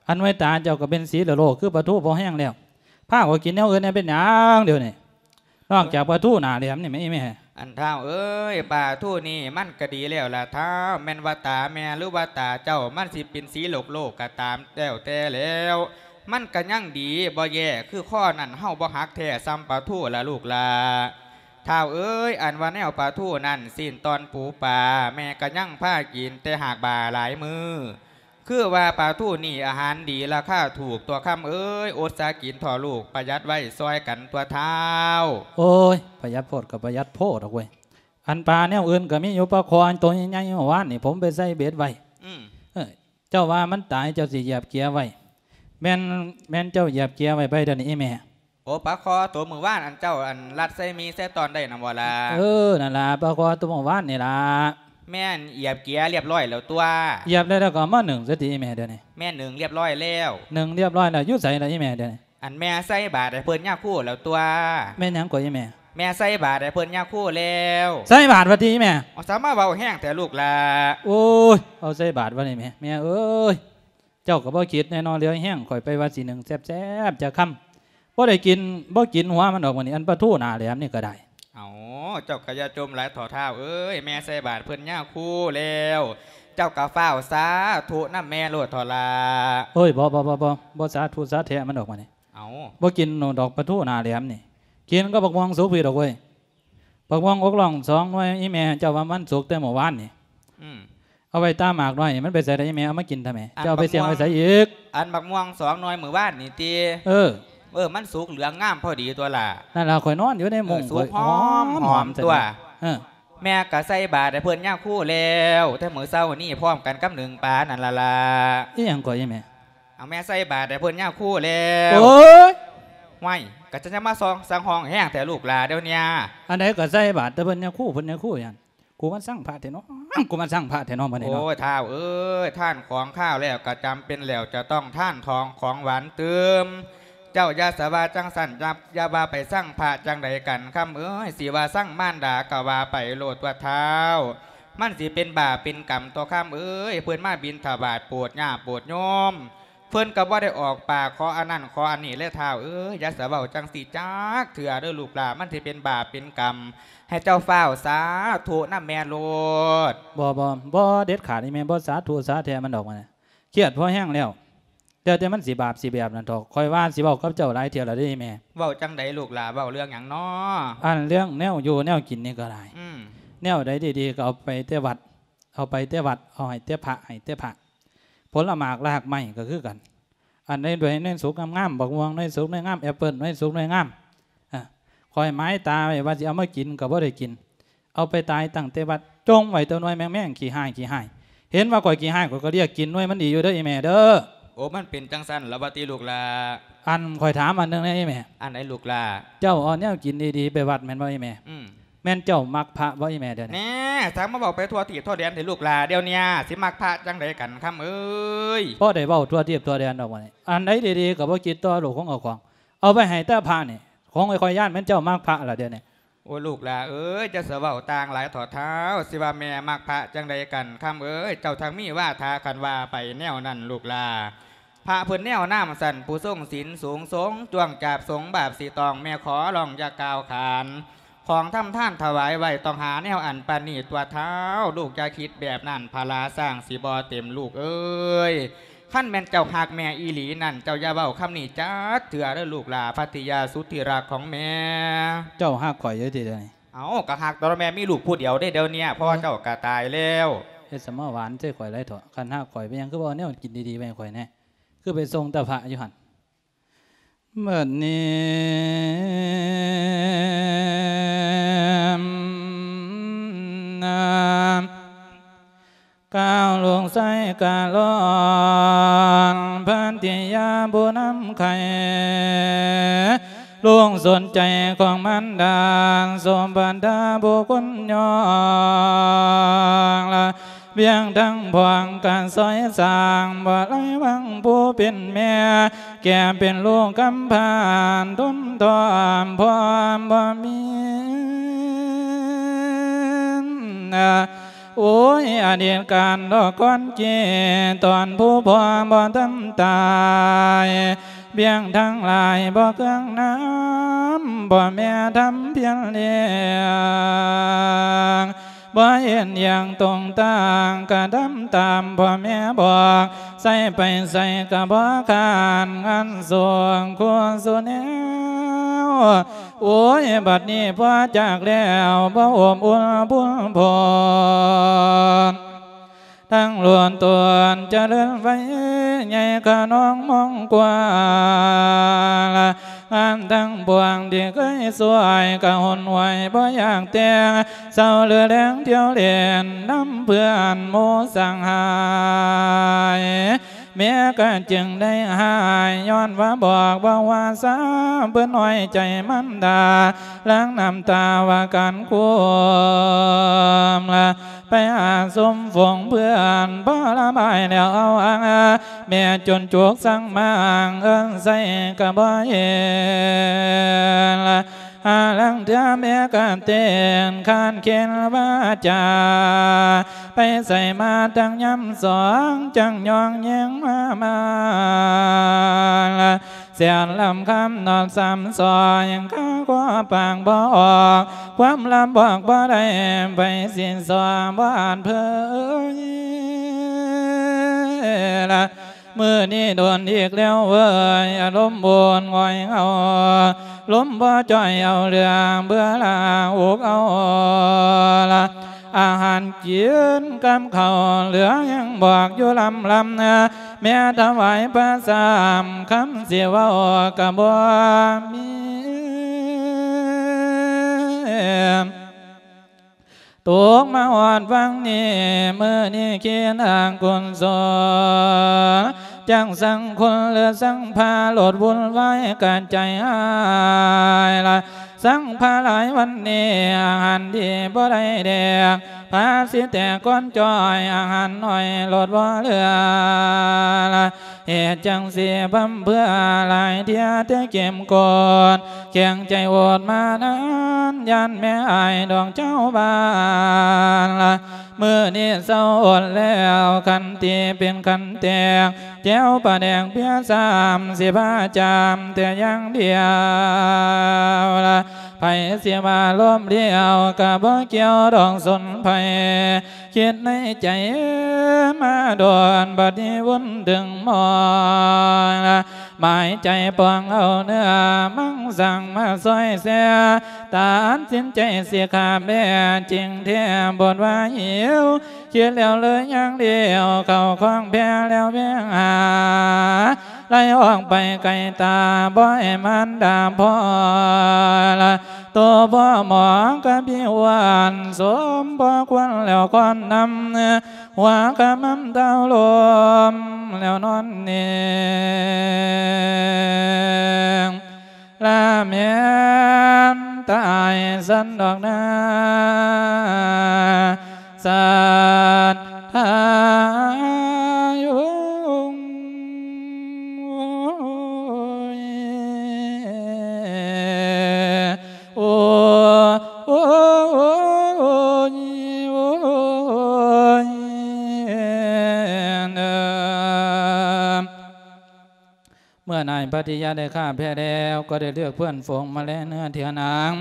ອັນໄວ້ຕາເຈົ້າກໍເປັນສີໂລໂລຄືປາທູພໍແຮງແລ້ວ ພາຂ້ອຍກິນແນວອື່ນແດ່ເປັນຫຍັງດຽວນີ້ ນອກຈາກປາທູໜ້າແຫຼມນີ້ແມ່ ອີ່ແມ່. ອັນທ້າວເອີຍ ປາທູນີ້ມັນກະດີແລ້ວລະທ້າວ ແມ່ນວ່າຕາແມ່ ຫຼືວ່າຕາເຈົ້າ ມັນຊິເປັນສີໂລກໂລກກໍຕາມ ແລ້ວແຕ່ແລ້ວ ມັນກະຍັງດີບໍ່ແຍ່ ຄືຄໍນັ້ນເຮົາບໍ່ຫັກແທ້ຊ່ຳປາທູລະລູກຫຼ້າ. ທ້າວເອີຍ ອັນວ່າແນວປາທູນັ້ນ ຊີ້ນຕ່ອນປູປາ ແມ່ກະຍັງພາກິນແຕ່ຫາກບ່າຫຼາຍມື້ ຄືວ່າປາທູນີ້ອາຫານດີລາຄາຖືກ ຕົວະຄຳເອີຍ ອົດສາກິນເຖາະລູກ ປະຢັດໄວ້ຊ່ອຍກັນຕົວະທ້າວ. ໂອ້ຍ ປະຢັດໂພດກໍປະຢັດໂພດດອກເວີຍ ອັນປາແນວອື່ນກໍມີຢູ່ ປາຄໍໂຕໃຫຍ່ໆ ເມື່ອວານນີ້ຜົມໄປໃສ່ເບັດໄວ້. ອືມ ເອີ ເຈົ້າວ່າມັນຕາຍ ເຈົ້າຊິຢຽບເກຍໄວ້ ແມ່ນ ແມ່ນເຈົ້າຢຽບເກຍໄວ້ໄປດຽວນີ້ອີ່ແມ່. ໂອ ປາຄໍໂຕມື້ວານອັນເຈົ້າອັນລັດໃສ່ໝີ່ໃສ່ຕອນໄດ້ນຳບໍ່ລະ? ເອີ ນັ້ນລະ ປາຄໍໂຕມື້ວານນີ້ລະ. ແມ່ນຢຽບເກຍລຽບຮ້ອຍແລ້ວຕົວະ? ຢຽບແລ້ວ ແລ້ວກໍເອົາມາໜຶ້ງຊະຕິອີ່ແມ່ດຽວນີ້. ແມ່ນໜຶ້ງລຽບຮ້ອຍແລ້ວ. ໜຶ້ງລຽບຮ້ອຍແລ້ວ ຢູ່ໃສລະອີ່ແມ່ດຽວນີ້? ອັນແມ່ໃສ່ບາດໃຫ້ເພິ່ນຍາຄູແລ້ວຕົວະ? ແມ່ນຫຍັງກໍອີ່ແມ່? ແມ່ໃສ່ບາດໃຫ້ເພິ່ນຍາຄູແລ້ວ. ໃສ່ບາດວ່າຕິອີ່ແມ່? ເອົາ ສາມາເວົ້າແຮງແທ້ລູກຫຼ້າ. ໂອ້ຍ ເອົາໃສ່ບາດວ່ານີ້ແມ່ ແມ່ເອີຍ. ເຈົ້າກໍບໍ່ຄິດແນ່ເນາະ ເຫຼືອແຮງ ຂ້ອຍໄປວ່າຊິໜຶ້ງແຊບໆຈັກຄຳ ບໍ່ໄດ້ກິນ ບໍ່ກິນຫົວມັນດອກມື້ນີ້ ອັນປາທູໜ້າແຫຼມນີ້ກໍໄດ້. ເອົາ ເຈົ້າກໍຢ່າຈົ່ມຫຼາຍເຖາະທ້າວເອີຍ ແມ່ໃສ່ບາດເພິ່ນຍາຄູແລ້ວ ເຈົ້າກໍຟ້າວສາທຸນຳແມ່ໂລດເຖາະຫຼ້າ. ໂອ້ຍ ບໍ່ ບໍ່ ບໍ່ ບໍ່ ບໍ່ສາທຸສາແທະມັນດອກມື້ນີ້. ເອົາ ບໍ່ກິນດອກປາທູໜ້າແຫຼມນີ້ ກິນກັບບັກມ່ວງສຸກພີ້ດອກເວີຍ. ບັກມ່ວງອົກລ່ອງສອງໜ່ວຍ ອີ່ແມ່ເຈົ້າວ່າມັນສຸກແຕ່ມື້ວານນີ້. ອືມ ເອົາໄວ້ຕາໝາກໜ້ອຍ ມັນໄປໃສລະອີ່ແມ່? ເອົາມາກິນທຳໄມ? ເຈົ້າເອົາໄປສ່ຽງໄວ້ໃສອີກ? ອັນບັກມ່ວງສອງໜ່ວຍມື້ວານນີ້ຕິ? ເອີ ເອີ ມັນສຸກເຫຼືອງງາມພໍດີຕົວະຫຼ້າ. ນັ້ນລະ ຂ້ອຍນອນຢູ່ໃນມຸ້ງ ເອີ ສຸກຫອມ ຫອມ ຫອມຕົວະ. ເອີ ແມ່ກະໃສ່ບາດໃຫ້ເພິ່ນຍາຄູແລ້ວ ແຕ່ມື້ເຊົ້ານີ້ພ້ອມກັນກັບໜຶ້ງປານັ້ນລະລະ. ອີ່ຫຍັງກໍອີ່ແມ່? ເອົາແມ່ໃສ່ບາດໃຫ້ເພິ່ນຍາຄູແລ້ວ. ໂອ້ຍ ຫ້ວຍ ກະຈະມາຊອງສັງຫ້ອງແຮງແທ້ລູກຫຼ້າດຽວນີ້. ອັນໃດກໍໃສ່ບາດແຕ່ເພິ່ນຍາຄູ ເພິ່ນຍາຄູຫຍັງ? ກູມາຊັງພະແທ້ເນາະ ກູມາຊັງພະແທ້ເນາະມື້ນີ້ເນາະ. ໂອ້ຍ ທ້າວເອີຍ ທານຂອງຄາວແລ້ວ ກະຈຳເປັນແລ້ວຈະຕ້ອງທານທອງຂອງຫວານຕື່ມ. ເຈົ້າຢ່າສະວ່າຈັ່ງຊັ້ນ ຢ່າ ຢ່າວ່າໄປຊັງພະຈັ່ງໃດກັນ ຄຳເອີຍ ຊິວ່າຊັງມານດາກະວ່າໄປໂລດຕົວະທ້າວ. ມັນຊິເປັນບາບເປັນກຳຕົວະຄຳເອີຍ ເພິ່ນມາບິນທະບາດໂປດຍາດໂປດໂຍມ ເພິ່ນກໍບໍ່ໄດ້ອອກປາກຂໍອັນນັ້ນຂໍອັນນີ້ແລະທ້າວເອີຍ. ຢ່າສະເວົ້າຈັ່ງຊີ້ຈັກເທື່ອເດີລູກຫຼ້າ ມັນຊິເປັນບາບເປັນກຳ ໃຫ້ເຈົ້າຟ້າວສາທຸນຳແມ່ໂລດ. ບໍ່ ບໍ່ ບໍ່ເດັດຂາດ ອີ່ແມ່ບໍ່ສາທຸສາແທະມັນດອກ ມັນຄຽດພໍແຮງແລ້ວ. ແຕ່ ແຕ່ມັນຊິບາບຊິແບບນັ້ນເຖາະ ຂ້ອຍວ່າຊິເວົ້າກັບເຈົ້າຫຼາຍເທື່ອແລ້ວເດ້ອີ່ແມ່. ເວົ້າຈັ່ງໃດລູກຫຼ້າ ເວົ້າເລື່ອງຫຍັງນໍ? ອັນເລື່ອງແນວຢູ່ແນວກິນນີ້ກໍໄດ້. ອືມ ແນວໃດດີໆ ກໍເອົາໄປແຕ່ວັດ ເອົາໄປແຕ່ວັດ ເອົາໃຫ້ແຕ່ພະ ໃຫ້ແຕ່ພະ. ຜົນລະໝາກລາກໄມ້ກໍຄືກັນ ອັນໃດໜ່ວຍໜ່ວຍສຸກງາມໆ ບັກມ່ວງໜ່ວຍສຸກໜ່ວຍງາມ ແອັບເປິ້ນໜ່ວຍສຸກໜ່ວຍງາມ ອາ ຂ້ອຍໝາຍຕາໄວ້ວ່າຊິເອົາມາກິນກໍບໍ່ໄດ້ກິນ ເອົາໄປຕາຍຕັ້ງແຕ່ວັດ ຈົ່ງໄວ້ແຕ່ໜ່ວຍແມ່ງໆ ຂີ້ຮ້າຍ ຂີ້ຮ້າຍ. ເຫັນວ່າຂ້ອຍຂີ້ຮ້າຍ ຂ້ອຍກໍລຽກກິນໜ່ວຍມັນດີຢູ່ເດີອີ່ແມ່ເດີ. ໂອ້ ມັນເປັນຈັ່ງຊັ້ນລະວະຕິລູກຫຼ້າ? ອັນ ຂ້ອຍຖາມອັນໜຶ່ງແດ່ອີ່ແມ່. ອັນໃດລູກຫຼ້າ? ເຈົ້າເອົາແນວກິນດີໆໄປວັດແມ່ນບໍ່ອີ່ແມ່? ອືມ. ແມ່ນເຈົ້າມັກພະບໍ່ອີ່ແມ່ດຽວນີ້? ແນ່ ຊ່າງມາເວົ້າໄປທົ່ວທີບທົ່ວແດນແທ້ລູກຫຼ້າ ດຽວນີ້ຊິມັກພະຈັ່ງໃດກັນຄຳເອີຍ? ພໍໄດ້ເວົ້າທົ່ວທີບທົ່ວແດນດອກບັດນີ້ ອັນໃດດີໆກໍບໍ່ຄິດຕໍ່ລູກຂອງເຈົ້າຂອງ ເອົາໄປໃຫ້ແຕ່ພະນີ້ ຂອງຂ້ອຍຢ້ານແມ່ນເຈົ້າມັກພະລະດຽວນີ້. ໂອ້ຍ ລູກຫຼ້າເອີຍ ຈະສະເວົ້າຕ່າງຫຼາຍເຖາະທ້າວ ຊິວ່າແມ່ມັກພະຈັ່ງໃດກັນຄຳເອີຍ? ເຈົ້າທັງມີວາທາຄັນວ່າໄປແນວນັ້ນລູກຫຼ້າ. ພະເພິ່ນແນວນາມຊັ້ນ ຜູ້ຊົງສິນສູງຊົງ ຈ້ວງຈາບສົງບາບສິຕ້ອງ ແມ່ຂໍຮ້ອງຢ່າກ່າວຂານ ຂອງທຳທານຖວາຍໄວ້ ຕ້ອງຫາແນວອັນປານນີ້ຕົວະທ້າວ ລູກຢ່າຄິດແບບນັ້ນ ພະລາຊ້າງຊິບໍ່ເຕັມລູກເອີຍ. ຄັນແມ່ນເຈົ້າຮັກແມ່ອີ່ຫຼີນັ້ນ ເຈົ້າຢ່າເວົ້າຄຳນີ້ຈັກເທື່ອເດີລູກຫຼ້າ ພັດຕິຍາສຸດທີ່ຮັກຂອງແມ່. ເຈົ້າຮັກຂ້ອຍຢູ່ຕິດຽວນີ້? ເອົ້າ ກໍຮັກຕົວະແມ່ ມີລູກຜູ້ດຽວເດ້ດຽວນີ້ ພໍ່ເຈົ້າກໍຕາຍແລ້ວ. ເຮັດສະມາຫວານໃສ່ຂ້ອຍຫຼາຍເຖາະ ຄັນຮັກຂ້ອຍເປັນຫຍັງຄືບໍ່ເອົາແນວກິນດີໆໄວ້ໃຫ້ຂ້ອຍແດ່ ຄືໄປສົ່ງແຕ່ພະຢູ່ຫັ້ນ. ບັດນີ້ ກ່າວລູກຊາຍກະລອນ ພັດຕິຍາຜູ້ນຳໄຂ່ ລູກສົນໃຈຂອງມານດາ ສົມບັນດາຜູ້ຄຸນຍອງລະ ວຽງທັງພວງກະຊອຍສ້າງ ບໍ່ໄລວັງຜູ້ເປັນແມ່ ແກ່ເປັນລູກກຳພ້າ ທົນທ້ອມພ້ອມບໍ່ມີ. ໂອ້ຍ ອະດີດການດອກກ່ອນເກ ຕອນຜູ້ພໍ່ບໍ່ທັນຕາຍ ວຽງທັງຫຼາຍບໍ່ເຄື່ອງນຳ ພໍ່ແມ່ທຳພຽນລ້ຽງ ບໍ່ເຫັນຢ່າງຕົງຕ່າງ ກະທຳຕາມພໍ່ແມ່ບອກ ໃສໄປໃສກະບໍ່ຄ້ານ ງານສວງຄູ່ສູ່ແນວ. ໂອ້ຍ ບັດນີ້ພໍ່ຈາກແລ້ວ ບໍ່ອົບອຸ່ນບຸນພົນ ທັງຫຼວນຕົນຈະເລີນໄວ ໃຫຍ່ຂະໜອງມອງກວ້າງ ງານທັງປວງທີ່ເຄີຍຊ່ວຍ ກະຫົນຫວຍບໍ່ຢາກແຕ່ງ ເຊົາຫຼືແລງທ່ຽວຫຼິ້ນ ນຳເພື່ອນໝູ່ສັງຫາຍ ແມ່ກະຈຶ່ງໄດ້ຫາຍ ຍ້ອນວ່າບອກບໍ່ວ່າຊາ ເພິ່ນນ້ອຍໃຈມານດາ ຫຼັ່ງນ້ຳຕາວ່າການກຸມ ໄປຫາຊຸມຝູງເພື່ອນ ພໍລະບາຍແລ້ວເອົາອາງ ແມ່ຈົນຈຸກສັງມາງ ເອີ້ນໃສ່ກະບໍ່ເຫັນ ຫາລາງເທື່ອແມ່ກະເຕັ້ນ ຄານເຂັນວາຈາ ໄປໃສມາທັງຍາມສອງ ຈັ່ງຍ້ອງແຍງມາມາ ແສນລຳຄຳນອນສາມຊອຍ ຄາກໍປາກບໍ່ອອກ ຄວາມລຳບອກບໍ່ໄດ້ ໃຜຊິສອນບໍ່ອາດເຜີຍລະ. ມື້ນີ້ດົນອີກແລ້ວເວີຍ ອາລົມໂອນຫງອຍເຫງົາ ລົມບໍ່ຈ່ອຍເອົາເຫຼືອ ເບື່ອລາອຸກເອົາລະ ອາຫານກິນກັບເຂົ້າເຫຼືອ ຍັງບອກຢູ່ລຳລຳ ແມ່ຖວາຍພະສາມຄຳ ຊິເວົ້າກະບໍ່ມີ. ຕົກມາຮອດວັງນີ້ ມື້ນີ້ຄິດຫາກຸນສົນ ຈັກສັງຄຸນຫຼືສັງພາ ໂລດວຸ່ນວາຍກະໃຈຫາຍລະ ສັງພາຫຼາຍວັນນີ້ ອາຫານດີບໍ່ໄດ້ແດກ ພາຊິແຕກກ່ອນຈ້ອຍ ອາຫານໜ້ອຍໂລດບໍ່ເຫຼືອລະ. ເຮັດຈັ່ງຊີ້ພ່ຳເພື່ອຫຼາຍເທື່ອແຕ່ເກັມກົດ ແຂງໃຈໂອດມານານ ຢ້ານແມ່ອາຍດອກເຈົ້າບ້ານລະ ມື້ນີ້ເຊົາອົດແລ້ວ ຂັນຕີເປັນຂັນແຕກ ແຈ່ວປາແດກເບຍສາມ ຊິພາຈາມແຕ່ຢ່າງດຽວລະ ໃຜຊິວ່າລົມລ້ຽວ ກະບໍ່ກ່ຽວດອກສົນໃຜ ຄິດໃນໃຈມາດົນ ບັດນີ້ວຸ່ນເຖິງມອນລະ ໝາຍໃຈປອງເອົາເນື້ອມັງສັງມາຊ່ອຍແຊ ຕັດສິນໃຈສິຂາແບ ຈິງແທ້ບົດວ່າຫິວ ຄິດແລ້ວເລີຍຍ່າງລ້ຽວ ເຂົ້າຄອງແຜ່ແລ້ວແວ່ງຫາ ໄລ່ອອກໄປໄກຕາ ບໍ່ໃຫ້ມານດາພໍລະ ໂຕພໍ່ໝໍກະພິວານ ສົມພໍຄວນແລ້ວຄອນນຳ ຫົວກະໝໍ້າເຕົ້າລົມ ແລ້ວນອນເໜັງ ລະແມ່ນຕາຍຊັ້ນດອກນາ ສັດທາໂຍງ ໂອ້ຍ ໂອ້ຍ ໂອ້ຍ ໂອ້ຍ ເອີ ເມື່ອນາຍພັດທະຍາໄດ້ຂ້າແພະແລ້ວ ກໍໄດ້ເລືອກເພື່ອນຝູງມາແລເນື້ອເທື່ອນາງ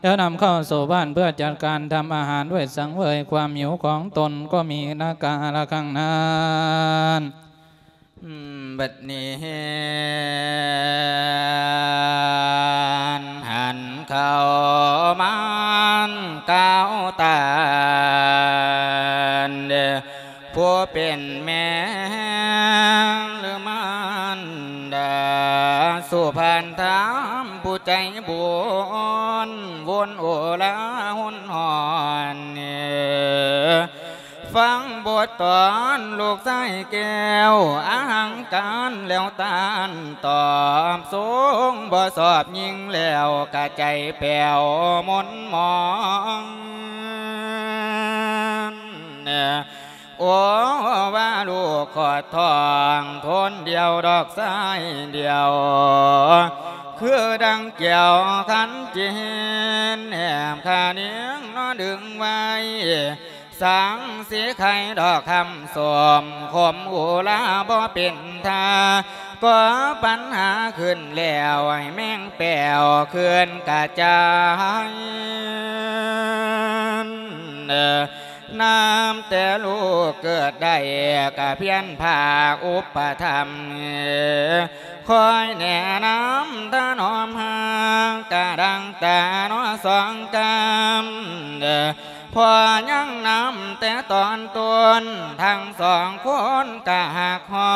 ແລ້ວນຳເຂົ້າສູ່ບ້ານເພື່ອຈັດການທຳອາຫານໄວ້ສັງເຫວີຍຄວາມຫິວຂອງຕົນ ກໍມີນາກາລະຄັ້ງນັ້ນ. ບັດນີ້ຫັນເຂົ້າມາກ່າວຕານ ຜູ້ເປັນແມ່ ຫຼືມານດາ ສຸພານທາມຜູ້ໃຈບຸນ ວົນໂອລາຮຸນຮ້ອນ ຟັງບົດຕອນລູກຊາຍແກ້ວ ອະຫັງການແລ້ວຕານຕອບ ຊົງບໍ່ຊອບຍິງແລ້ວ ກະໃຈແປ້ວມົນໝອງ ໂອ ວ່າລູກຂອດທ້ອງຄົນດຽວດອກຊາຍດຽວ ຄືດັ່ງແກ້ວຂັນຈີນ ແໜບຂານຽງເນາະດຶງໄວ້ ສັງສີໄຂ່ດອກຄຳສົ້ມ ຂົມອຸລາບໍ່ເປັນທ່າ ກໍ່ປັນຫາຂຶ້ນແລ້ວ ໃຫ້ແມງແປ້ວເຄື່ອນກະຈາຍ ນັບແຕ່ລູກເກີດໄດ້ ກະພຽນພາກອຸປະຖຳ ຄອຍແນະນຳຖະໜອມຮັກ ກະດັງຕາເນາະສອງກຳ ພໍ່ຍັງນຳແຕ່ຕອນຕົ້ນ ທັງສອງຄົນກະຮັກຮອ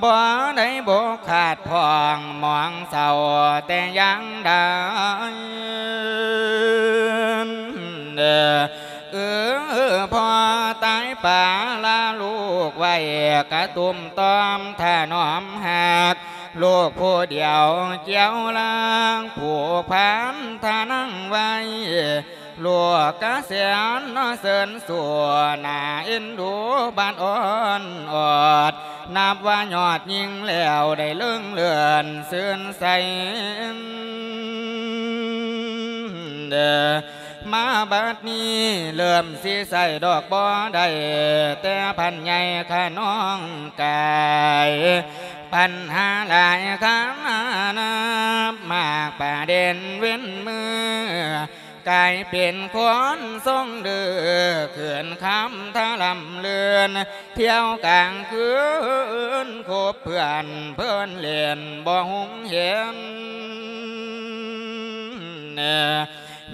ບໍ່ໄດ້ບົກຂາດຜ່ອງ ມອງເສົ້າແຕ່ຢ່າງໃດ ເອີ ພໍ່ຕາຍປາລາລູກໄວ້ ກະຕຸ້ມຕ້ອມຖະໜອມຮັກ ລູກຜູ້ດຽວກ່ຽວລາງ ຜູກພັນທະນັງໄວ້ ລູກກະແສນເນາະເຊີນສູ່ ໜ້າເອັນດູບາດອ່ອນອອດ ນັບວ່າຍອດຍິ່ງແລ້ວ ໄດ້ເລີງເລື່ອນຊື່ນໃສ ມາບັດນີ້ເລີ່ມຊິໃຊ້ດອກບໍ່ໄດ້ ແຕ່ພັນໃຫຍ່ຂະນ້ອງກາຍ ບັນຫາຫຼາຍຄານານັບ ມາກປະເດັນເວັ້ນມື້ ກາຍເປັນຄົນຊົງດື້ ຂຶ້ນຄຳທະລຳເລື່ອນ ທ່ຽວກາງຄືນ ຄົບເພື່ອນເພີນຫຼິ້ນ ບໍ່ຮຸ່ງເຫັນ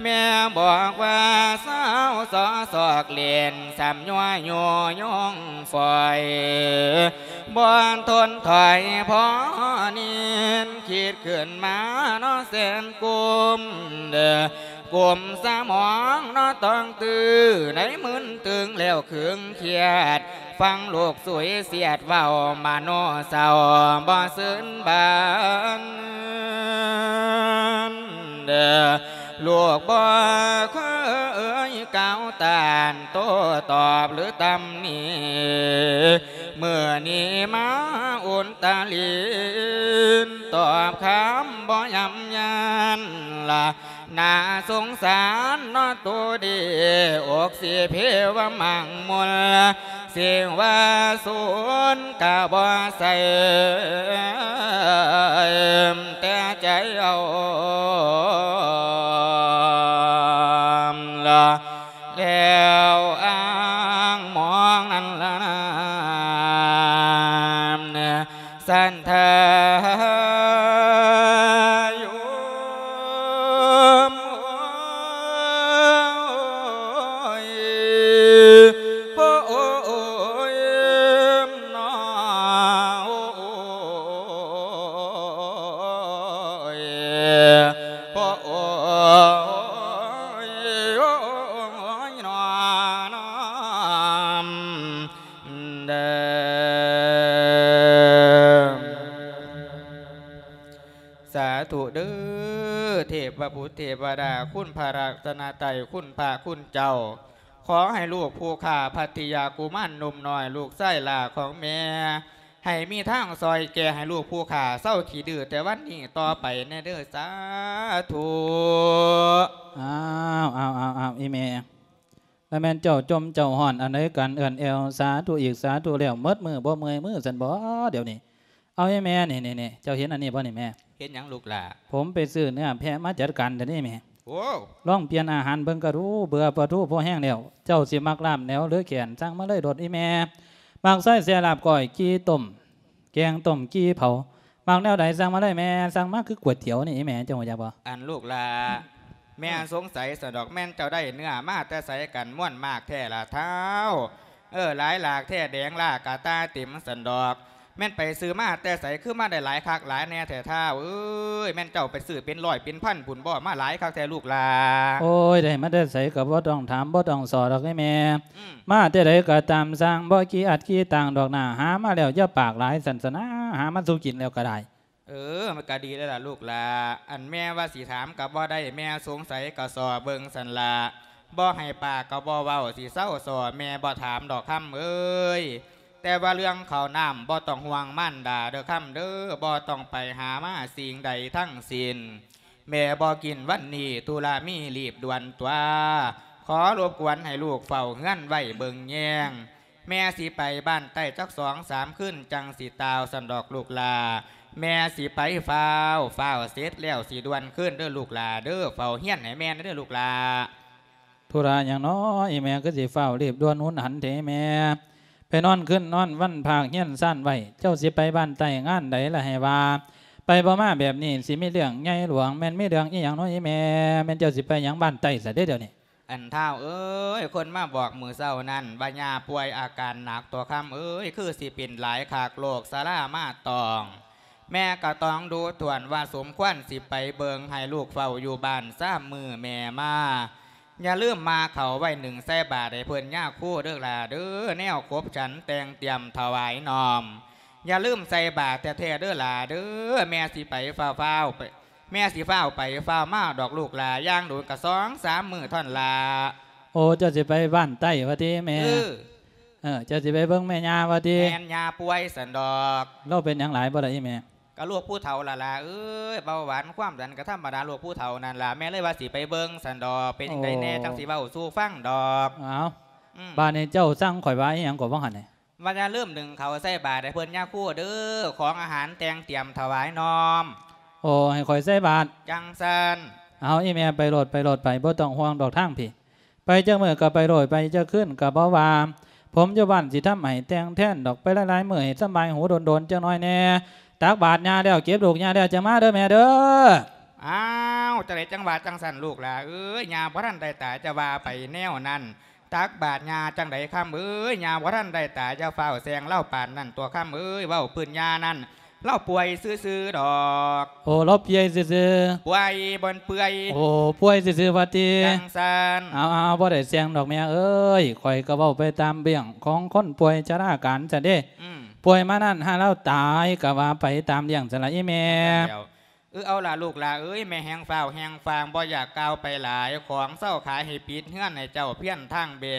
ແມ່ບອກວ່າຊາວຊໍຊອກຫຼິ້ນ ຊ້ຳຍົວໂຍຍົງຝອຍ ບໍ່ທົນຖອຍພໍນິນ ຄິດຂຶ້ນມາເນາະແສນກຸມ ກຸມສະໝອງເນາະຕ້ອງຕື້ ໃນມຶນຕຶງແລ້ວຄຶງຄຽດ ຟັງລູກສຸຍສຽດເວົ້າ ມະໂນເສົ້າບໍ່ຊື່ນບານ ລູກບໍ່ເຄີຍກ່າວຕ້ານໂຕ້ຕອບ ຫຼືຕຳໜິ ມື້ນີ້ມາອຸນຕະລິນ ຕອບຄຳບໍ່ຍຳຍານລະ ໜ້າສົງສານເນາະໂຕດີ ອົກສິເພວະມັງມຸນ ຊິວ່າສູນກະບໍ່ໃສ່ ແຕ່ໃຈເອົາລະ ແລ້ວອ້າງມອງນັ້ນລະນາ ສັນທາ เด้อ สาธุเด้อ เทพบุตรเทวดา คุณพระรัตนตรัย คุณพระคุณเจ้า ขอให้ลูกผู้ข้าพัทยากุมารหนุ่มน้อย ลูกชายหล้าของแม่ ให้มีทางซอยแก่ให้ลูกผู้ข้าเซาขี้ดื้อแต่วันนี้ต่อไปแน่เด้อ สาธุ อ้าว อ้าว อ้าว อ้าว อีแม่ แล้วแม่นเจ้าจมเจ้าฮ้อนอันใดกัน เอื้อนแอวสาธุอีกสาธุแล้ว หมดมื้อบ่เมื่อยมือซั่นบ่เดี๋ยวนี้ เอาอีแม่ นี่ นี่ นี่ เจ้าเห็นอันนี้บ่นี่แม่ เห็นหยังลูกหล้า ผมไปซื้อเนื้อแพะมาจัดการเดี๋ยวนี้แม่ โอ้ ลองเปลี่ยนอาหารเบิ่งก็ดู เบื่อปลาทูพอแฮงแล้ว เจ้าสิมักลาบแหนวหรือแขน สั่งมาเลยโลดอีแม่ มักซอยแซ่ลาบก้อย กี้ต้ม แกงต้ม กี้เผา มักแนวใดสั่งมาเลยแม่ สั่งมาคือก๋วยเตี๋ยวนี่อีแม่ เจ้าฮู้จักบ่ อันลูกหล้า แม่สงสัยซั่นดอก แม่นเจ้าได้เนื้อมาแต่ไสกัน ม่วนมากแท้ล่ะท้าว เออ หลายหลากแท้ แดงล้ากะตาเต็มซั่นดอก แม่นไปซื้อมาแต่ไส คือมาได้หลายคักหลายแน่แท้ท้าวเอ้ย แม่นเจ้าไปซื้อเป็นร้อยเป็นพันพุ้นบ่ มาหลายคักแท้ลูกหล้า โอ้ย ได้มาแต่ไสก็บ่ต้องถามบ่ต้องสอดอกเด้แม่ อืม มาแต่ใดก็ตามสั่ง บ่ขี้อัดขี้ตางดอกหน้า หามาแล้วอย่าปากหลาย ซั่นซะนะ หามาสู่กินแล้วก็ได้ เออ มันก็ดีแล้วล่ะลูกหล้า อันแม่ว่าสิถามก็บ่ได้ แม่สงสัยก็ซ้อเบิ่งซั่นล่ะ บ่ให้ปากก็บ่เว้า สิเซาซ้อ แม่บ่ถามดอกคำเอ้ย แต่ว่าเรื่องข้าวน้ำบ่ต้องห่วงมารดาเด้อคำเด้อ บ่ต้องไปหามาสิ่งใดทั้งสิ้น แม่บ่กินวันนี้ ธุระมีรีบด่วนตั๊ว ขอรบกวนให้ลูกเฝ้าเฮือนไว้เบิ่งแยง แม่สิไปบ้านใต้จักสองสามคืนจั่งสิต่าว ซั่นดอกลูกหล้า แม่สิไปฟ้าว ฟ้าวเสร็จแล้วสิด่วนคืนเด้อลูกหล้าเด้อ เฝ้าเฮือนให้แม่เด้อลูกหล้า ธุระหยังน้อ อีแม่คือสิฟ้าวรีบด่วนหุนหันแท้แม่ ไปนอนคืนนอนวันพากเฮือนซ่านไว้ เจ้าสิไปบ้านใต้งานใดล่ะให้ว่า ไปบ่มาแบบนี้สิมีเรื่องใหญ่หลวง แม่นมีเรื่องอีหยังน้ออีแม่ แม่นเจ้าสิไปหยังบ้านใต้ซะเด้เดี๋ยวนี้ อันท้าวเอ้ย คนมาบอกมื้อเช้านั้น ว่าย่าป่วยอาการหนักตั๊วคำเอ้ย คือสิเป็นหลายคัก โรคชรามาตอง แม่ก็ต้องดูถ้วนว่าสมควรสิไปเบิ่ง ให้ลูกเฝ้าอยู่บ้านสามมื้อแม่มา อย่าลืมมาเข้าไว้นึ่งใส่บาตรให้เพิ่นยาคูเด้อหล้าเด้อ แนวขบฉันแต่งเตรียมถวายน้อม อย่าลืมใส่บาตรแท้ๆเด้อหล้าเด้อ แม่สิไปฟ้าวๆไป แม่สิฟ้าวไปฟ้าวมาดอกลูกหล้า อย่างโดนก็สองสามมื้อเท่านั้นล่ะ โอ้ เจ้าสิไปบ้านใต้ว่าติแม่ เออ เออ เจ้าสิไปเบิ่งแม่ย่าว่าติ แม่น ย่าป่วยซั่นดอก ลาวเป็นหยังหลายบ่ล่ะอีแม่ ก็โรคผู้เฒ่าล่ะหล้าเอ้ย เบาหวานความดันก็ธรรมดาโรคผู้เฒ่านั่นล่ะ แม่เลยว่าสิไปเบิ่งซั่นดอก เป็นจั่งใดแน่ โอ้ จั่งสิเว้าสู่ฟังดอก อ้าว อืม บาดนี้เจ้าสั่งข้อยว่าอีหยังก็ว่าหั่นนี่ ว่าอย่าลืมนึ่งข้าวใส่บาตรให้เพิ่นยาคูเด้อ ของอาหารแต่งเตรียมถวายน้อม โอ้ ให้ข้อยใส่บาตร จั่งซั้น เอาอีแม่ไปโลด ไปโลดไป บ่ต้องห่วงดอกทางพี้ ไปจักมื้อก็ไปโลด ไปจักคืนก็บ่ว่า ผมอยู่บ้านสิทำให้แต่งแทนดอก ไปหลายๆมื้อให้สำบายหูโดนๆจักหน่อยแน่ ตักบาตรย่าแล้ว เก็บลูกย่าแล้ว จั่งมาเด้อแม่เด้อ อ้าว จั่งใดจั่งว่าจั่งซั้นลูกหล้าเอ้ย ย่าบ่ทันได้ตาย จะว่าไปแนวนั้น ตักบาตรย่าจั่งใดคำเอ้ย ย่าบ่ทันได้ตาย อย่าฟ้าวแซงลาวปานนั้นตั๊วคำเอ้ย เว้าพื้นย่านั่น ลาวป่วยซื่อๆดอก โอ้ ลาวป่วยซื่อๆ ป่วยบ่นเปื่อย โอ้ ป่วยซื่อๆว่าติ จั่งซั้น เอาๆ บ่ได้แซงดอกแม่เอ้ย ข้อยก็เว้าไปตามเรื่องของคนป่วยชราการซั้นเด้ อืม ป่วยมานั่นหาลาวตายก็ว่าไปตามเรื่องซั้นล่ะอีแม่ แล้ว เออ เอาล่ะลูกหล้าเอ้ย แม่แฮงฟ้าวแฮงฟาง บ่อยากกล่าวไปหลาย ของเซาขายให้ปิดเฮือนให้เจ้าเพียงทางแบ้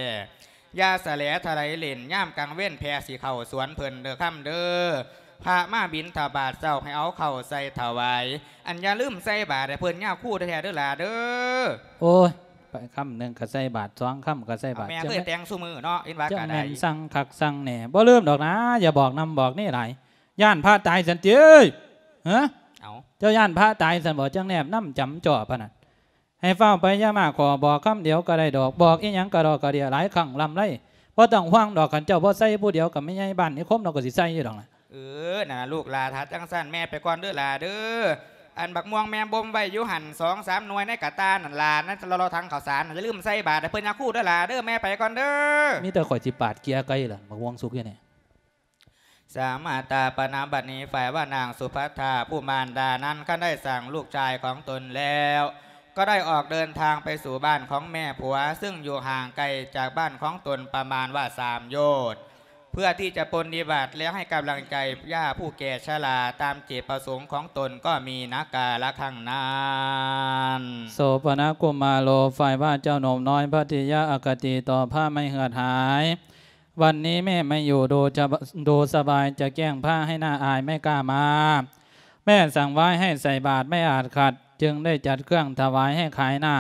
อย่าสะแหลทะไหลเล่น ยามกลางเว็นแผ่สิเข้าสวนเพิ่นเด้อคำเด้อ พระมาบิณฑบาตเช้าให้เอาข้าวใส่ถวาย อันอย่าลืมใส่บาตรให้เพิ่นยาคูแท้ๆเด้อหล้าเด้อ โอ้ย ไปคำหนึ่งก็ใส่บาตร สองคำก็ใส่บาตร เอาแม่ จั่ง เคยแต่งซุมื้อเนาะ เห็นว่า จั่ง ก็ได้ แม่นสั่งคักสั่งแน่ บ่ลืมดอกนะ อย่าบอกนำบอกนี่หลาย ย้านพระตายซั้นติ ฮะ เอ้า เจ้าย้านพระตายซั้นบ่ จั่งแนบนำจ๋ำจ้อปานนั้น ให้ฟ้าวไปอย่ามาขอ บอกคำเดียวก็ได้ดอก บอกอีหยังกะดอกกะเดี้ยหลายครั้งลำไร บ่ต้องห่วงดอก คันเจ้าบ่ใส่ผู้เดียวกับแม่ใหญ่บ้านนิคม ลาวก็สิใส่อยู่ดอกนะ ເອີ ນັ້ນລະລູກຫຼ້າ ຖ້າຈັ່ງຊັ້ນແມ່ໄປກ່ອນເດີຫຼ້າເດີ. ອັນບັກມ່ວງແມ່ບົ່ມໄວ້ຢູ່ຫັ້ນ ສອງສາມໜ່ວຍໃນກະຕ່ານັ້ນຫຼ້າ ໃນລໍໆຖັງເຂົ້າສານ ຢ່າລືມໃສ່ບາດໃຫ້ເພິ່ນຍາຄູເດີຫຼ້າເດີ ແມ່ໄປກ່ອນເດີ. ມີແຕ່ຂ້ອຍຊິປາດເກຍໄກ່ລະ ບັກມ່ວງສຸກຢູ່ນີ້. ສາມາຕາປະນະ ບັດນີ້ຝ່າຍວ່ານາງສຸພັດທາຜູ້ມານດານັ້ນ ຄັນໄດ້ສ້າງລູກຊາຍຂອງຕົນແລ້ວ ກໍໄດ້ອອກເດີນທາງໄປສູ່ບ້ານຂອງແມ່ຜົວ ຊຶ່ງຢູ່ຫ່າງໄກຈາກບ້ານຂອງຕົນປະມານວ່າສາມໂຍດ ເພື່ອທີ່ຈະປົນນິບັດ ແລະ ໃຫ້ກຳລັງໃຈຍາຜູ້ແກ່ຊະລາ ຕາມເຈດປະສົງຂອງຕົນກໍມີນາກາລະຄັ້ງນັ້ນ. ໂສປະນະກຸມາໂລ ຝ່າຍວ່າເຈົ້າໜຸ່ມນ້ອຍພັດຕິຍາອະຄະຕິຕໍ່ພະໄມ່ເຫືອດຫາຍ. ວັນນີ້ແມ່ໄມ່ຢູ່ ດູຈະ ດູສະບາຍ ຈະແກ້ງພະໃຫ້ໜ້າອາຍ ໄມ່ກ້າມາ. ແມ່ສັ່ງວາຍໃຫ້ໃສ່ບາດ ໄມ່ອາດຂັດ ຈຶ່ງໄດ້ຈັດເຄື່ອງຖະຫວາຍໃຫ້ຂາຍໜ້າ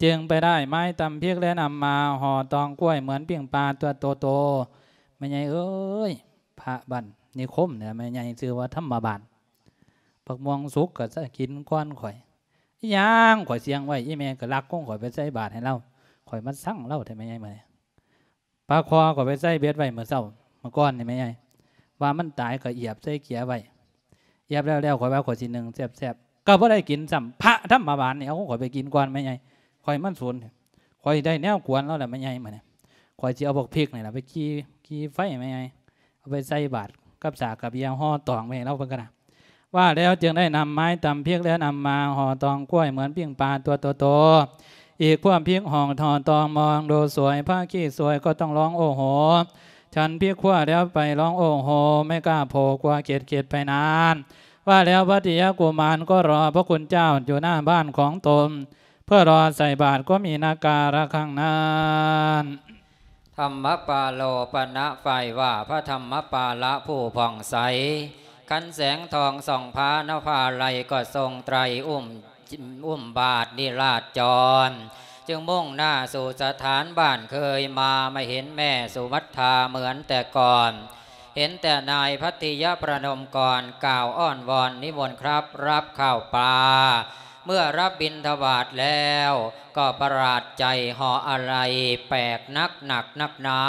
ຈຶ່ງໄປໄດ້ໄມ້ຕຳພິກ ແລະ ນຳມາຫໍ່ຕອງກ້ວຍ ເໝືອນປີ້ງປາຕົວໂຕໆ. ແມ່ໃຫຍ່ເອີຍ ພະບ້ານນິຄົມນີ້ແມ່ໃຫຍ່ ຊື່ວ່າທຳມະບານ. ບັກມ່ວງສຸກກໍຈະກິນກ່ອນຂ້ອຍ. ອີຫຍັງ ຂ້ອຍສ່ຽງໄວ້ ອີແມ່ກໍລັກຂອງຂ້ອຍໄປໃສ່ບາດໃຫ້ລາວ. ຂ້ອຍມາຊັງລາວແທ້ແມ່ໃຫຍ່ມື້ນີ້. ປາຄໍຂ້ອຍໄປໃສ່ເບັດໄວ້ມື້ເຊົ້າ ມື້ກ່ອນນີ້ແມ່ໃຫຍ່ ວ່າມັນຕາຍກໍອຽບໃສ່ເກຍໄວ້. ອຽບແລ້ວໆ ຂ້ອຍວ່າຂ້ອຍຊິໜຶ້ງແຊບໆ ກໍບໍ່ໄດ້ກິນຊ້ຳ. ພະທຳມະບານນີ້ເອົາຂອງຂ້ອຍໄປກິນກ່ອນແມ່ໃຫຍ່ ຂ້ອຍມັນສູນ. ຂ້ອຍໄດ້ແນວກວນລາວແລ້ວແມ່ໃຫຍ່ ມື້ນີ້ ຂ້ອຍຊິເອົາບັກພິກນີ້ລະໄປກີ່ ກີ່ໄຟແມ່ໃຫຍ່ ເອົາໄປໃສ່ບາດກັບສາກກັບເຢຍຫໍ່ຕອງໄວ້ໃຫ້ລາວເບິ່ງກັນນະ. ວ່າແລ້ວຈຶ່ງໄດ້ນຳໄມ້ຕຳພິກ ແລະ ນຳມາຫໍ່ຕອງກ້ວຍ ເໝືອນປີ້ງປາຕົວໂຕໆ. ອີກພວກພິກຫໍ່ຕອງມອງດູສວຍ ພະຂີ້ສວຍກໍຕ້ອງຮ້ອງໂອ້ໂຫ. ສັນພິກຂົ້ວແລ້ວໄປຮ້ອງໂອ້ໂຫ ໄມ່ກ້າໂຜກວ່າເກັດໆ ໄປນັ້ນ. ວ່າແລ້ວພັດຕິຍາກຸມານກໍລໍພະຄຸນເຈົ້າຢູ່ໜ້າບ້ານຂອງຕົນ ເພື່ອລໍໃສ່ບາດກໍມີນາກາລະຄັ້ງນັ້ນ. ທຳມະປາໂລປະນະ ຝ່າຍວ່າພະທຳມະປາລະຜູ້ຜ່ອງໃສ ຄັນແສງທອງສ່ອງພານະພາໄລ ກໍຊົງໄຕຣອຸ້ມ ອຸ້ມບາດນິລາດຈອນ ຈຶ່ງມຸ່ງໜ້າສູ່ສະຖານບ້ານເຄີຍມາ ມາເຫັນແມ່ສຸວັດທາເໝືອນແຕ່ກ່ອນ ເຫັນແຕ່ນາຍພັດຕິຍະປະນົມກອນ ກ່າວອ້ອນວອນນິມົນຄັບ ຮັບຂ້າວປາ. ເມື່ອຮັບບິນທະບາດແລ້ວ ກໍປະຫຼາດໃຈ ເຫາະອາໄລແປກໜັກໜັກໜັກໜາ.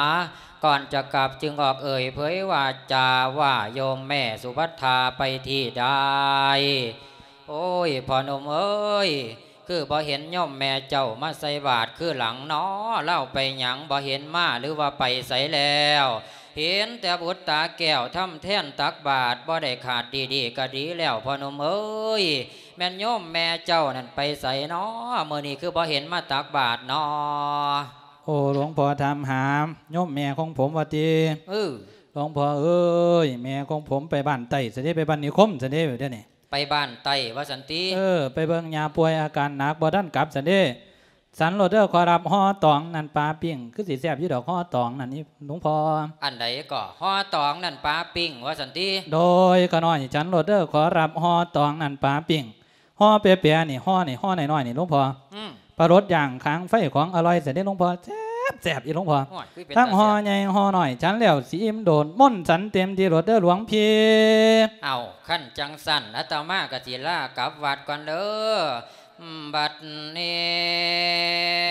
ກ່ອນຈະກັບຈຶ່ງອອກເອີ່ຍເຜີຍວາຈາວ່າ ໂຍມແມ່ສຸພັດທາໄປທີ່ໃດ? ໂອ້ຍ ພໍ່ໜຸ່ມເອີຍ ຄືບໍ່ເຫັນໂຍມແມ່ເຈົ້າມາໃສ່ບາດຄືຫຼັງນໍ? ລາວໄປຫຍັງ ບໍ່ເຫັນມາ ຫຼືວ່າໄປໃສແລ້ວ? ເຫັນແຕ່ບຸດຕາແກ້ວທຳແທນຕັກບາດ ບໍ່ໄດ້ຂາດດີໆ ກໍດີແລ້ວ ພໍ່ໜຸ່ມເອີຍ. ແມ່ນໂຍມແມ່ເຈົ້ານັ້ນໄປໃສນໍ? ມື້ນີ້ຄືບໍ່ເຫັນມາຕັກບາດນໍ? ໂອ້ ຫຼວງພໍ່ຖາມຫາໂຍມແມ່ຂອງຜົມວ່າຕິ? ເອີ ຫຼວງພໍ່ເອີຍ ແມ່ຂອງຜົມໄປບ້ານໃຕ້ຊັ້ນເດ ໄປບ້ານນິຄົມຊັ້ນເດ ດຽວນີ້ ໄປບ້ານໃຕ້ວ່າຊັ້ນຕິ? ເອີ ໄປເບິ່ງຍ່າປ່ວຍອາການໜັກ ບໍ່ທັນກັບຊັ້ນເດ. ສັນໂລດເດີ ຂໍຮັບຫໍ່ຕອງນັ້ນປາປີ້ງ ຄືຊິແຊບຢູ່ດອກ ຫໍ່ຕອງນັ້ນນີ້ ຫຼວງພໍ່. ອັນໃດກໍ? ຫໍ່ຕອງນັ້ນປາປີ້ງວ່າຊັ້ນຕິ? ໂດຍ ຂ້ານ້ອຍ ສັນໂລດເດີ ຂໍຮັບຫໍ່ຕອງນັ້ນປາປີ້ງ. ຫໍ່ແປະໆ ນີ້ ຫໍ່ນີ້ ຫໍ່ນ້ອຍໆ ນີ້ ຫຼວງພໍ່. ອືມ ປາລົດຢ່າງຄາງໄຟ ຂອງອະລ່ອຍຊັ້ນເດ ຫຼວງພໍ່ ແຊບໆ ອີ່ ຫຼວງພໍ່. ໂອ້ຍ ຄືເປັນຕາແຊບ. ທັງຫໍ່ໃຫຍ່ຫໍ່ນ້ອຍ ສັນແລ້ວຊິອີ່ມໂດນ ມົນສັນເຕັມທີ່ໂລດເດີ ຫຼວງພີ່. ເອົ້າ ຄັນຈັ່ງຊັ້ນ ອາດຕະມາກໍຊິລາກັບວັດກ່ອນເດີ. ອືມ ບັດນີ້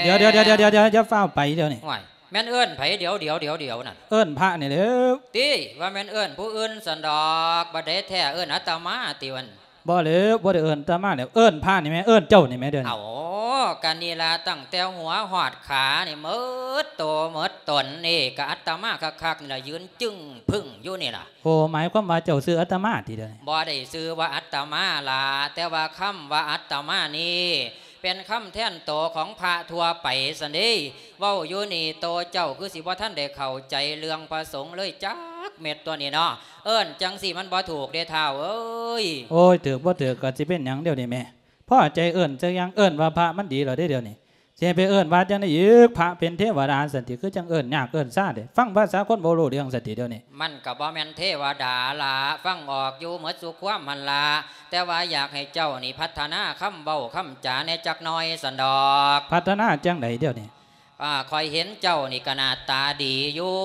ດຽວໆໆໆ ຢ່າຟ້າວໄປດຽວນີ້. ໂອ້ຍ ແມ່ນເອີ້ນໃຜ? ດຽວໆໆໆ ນັ້ນ ເອີ້ນພະນີ້ແຫຼ້ວ. ຕິ ວ່າແມ່ນເອີ້ນຜູ້ອື່ນຊັ້ນດອກ ບັດໃດແທ້ເອີ້ນອາດຕະມາຕິ? ອັນ ບໍ່ແຫຼ້ວ ບໍ່ໄດ້ເອີ້ນອາດຕະມາແຫຼ້ວ ເອີ້ນພະນີ້ແໝ່ ເອີ້ນເຈົ້ານີ້ແໝ່ ດຽວນີ້. ເອົ້າ ກະນີ້ລະ ຕັ້ງແຕ່ຫົວຮອດຂານີ້ ໝົດໂຕໝົດຕົນນີ້ ກະອາດຕະມາຄັກໆ ນີ້ລະ ຢືນຈຶ່ງພຶ້ງຢູ່ນີ້ລະ. ໂອ້ ໝາຍຄວາມວ່າເຈົ້າຊື່ອາດຕະມາຕິດຽວນີ້? ບໍ່ໄດ້ຊື່ວ່າອາດຕະມາລະ ແຕ່ວ່າຄຳວ່າອາດຕະມານີ້ ເປັນຄຳແທນໂຕຂອງພະທົ່ວໄປຊັ້ນເດ. ເວົ້າຢູ່ນີ້ ໂຕເຈົ້າຄືຊິບໍ່ທັນໄດ້ເຂົ້າໃຈເລື່ອງພະສົງເລີຍຈັກເມັດຕົວນີ້ເນາະ. ເອີ້ນຈັ່ງຊີ້ມັນບໍ່ຖືກເດທ້າວເອີຍ. ໂອ້ຍ ຖືກບໍ່ຖືກກໍຊິເປັນຫຍັງດຽວນີ້ແມ່. ພໍໃຈເອີ້ນຈັກຢ່າງ ເອີ້ນວ່າພະມັນດີແລ້ວເດດຽວນີ້. ຊິໃຫ້ໄປເອີ້ນວ່າຈັ່ງໃດອີກ? ພະເປັນເທວະດາຊັ້ນຕິ? ຄືຈັ່ງເອີ້ນຍາກເອີ້ນຊາເດ. ຟັງພາສາຄົນບໍ່ຮູ້ເລື່ອງຊັ້ນຕິດຽວນີ້? ມັນກໍບໍ່ແມ່ນເທວະດາລະ, ຟັງອອກຢູ່ໝົດສູ່ຄວາມຫັ້ນລະ, ແຕ່ວ່າຢາກໃຫ້ເຈົ້ານີ້ພັດທະນາຄຳເວົ້າຄຳຈາແດ່ຈັກໜ່ອຍຊັ້ນດອກ. ພັດທະນາຈັ່ງໃດດຽວນີ້? ອາ, ຂ້ອຍເຫັນເຈົ້ານີ້ກໍໜ້າຕາດີຢູ່.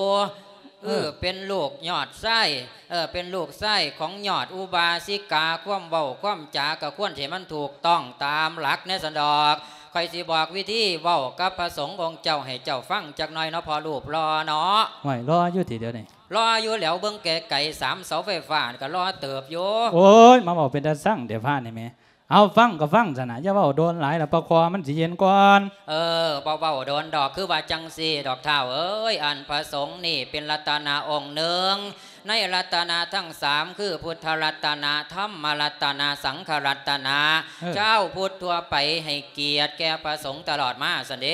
ເອີ ເອີ ເປັນລູກຍອດຊາຍ, ເອີ ເປັນລູກຊາຍຂອງຍອດອຸບາສິກາ, ຄວາມເວົ້າຄວາມຈາກໍຄວນໃຫ້ມັນຖືກຕ້ອງຕາມຫຼັກແດ່ຊັ້ນດອກ. ຂ້ອຍຊິບອກວິທີເວົ້າກັບພະສົງອົງເຈົ້າໃຫ້ເຈົ້າຟັງຈັກໜ່ອຍເນາະ ພໍ່ຮູບຫຼໍ່ເນາະ. ຫ້ວຍ ຫຼໍ່ຢູ່ຕິດຽວນີ້? ລໍຢູ່ແຫຼວ ເບິ່ງໄກໆ ສາມເສົາໄຟຟ້າກໍລໍເຕີບຢູ່. ໂອ້ຍ ມາເວົ້າເປັນຕາຊັງແທ້ພະນີ້ແໝ. ເອົາ ຟັງກໍຟັງຊັ້ນນະ ຢ່າເວົ້າດົນຫຼາຍລະ ປາຄໍມັນຊິເຢັນກ່ອນ. ເອີ ບໍ່ເວົ້າດົນດອກ ຄືວ່າຈັ່ງຊີ້ດອກທ້າວເອີຍ ອັນພະສົງນີ້ເປັນລັດຕະນະອົງໜຶ່ງ ໃນລັດຕະນະທັງສາມ ຄື ພຸດທະລັດຕະນະ ທຳມະລັດຕະນະ ສັງຄະລັດຕະນະ. ເອີ ຊາວພຸດທົ່ວໄປໃຫ້ກຽດແກ່ພະສົງຕະຫຼອດມາຊັ້ນເດ.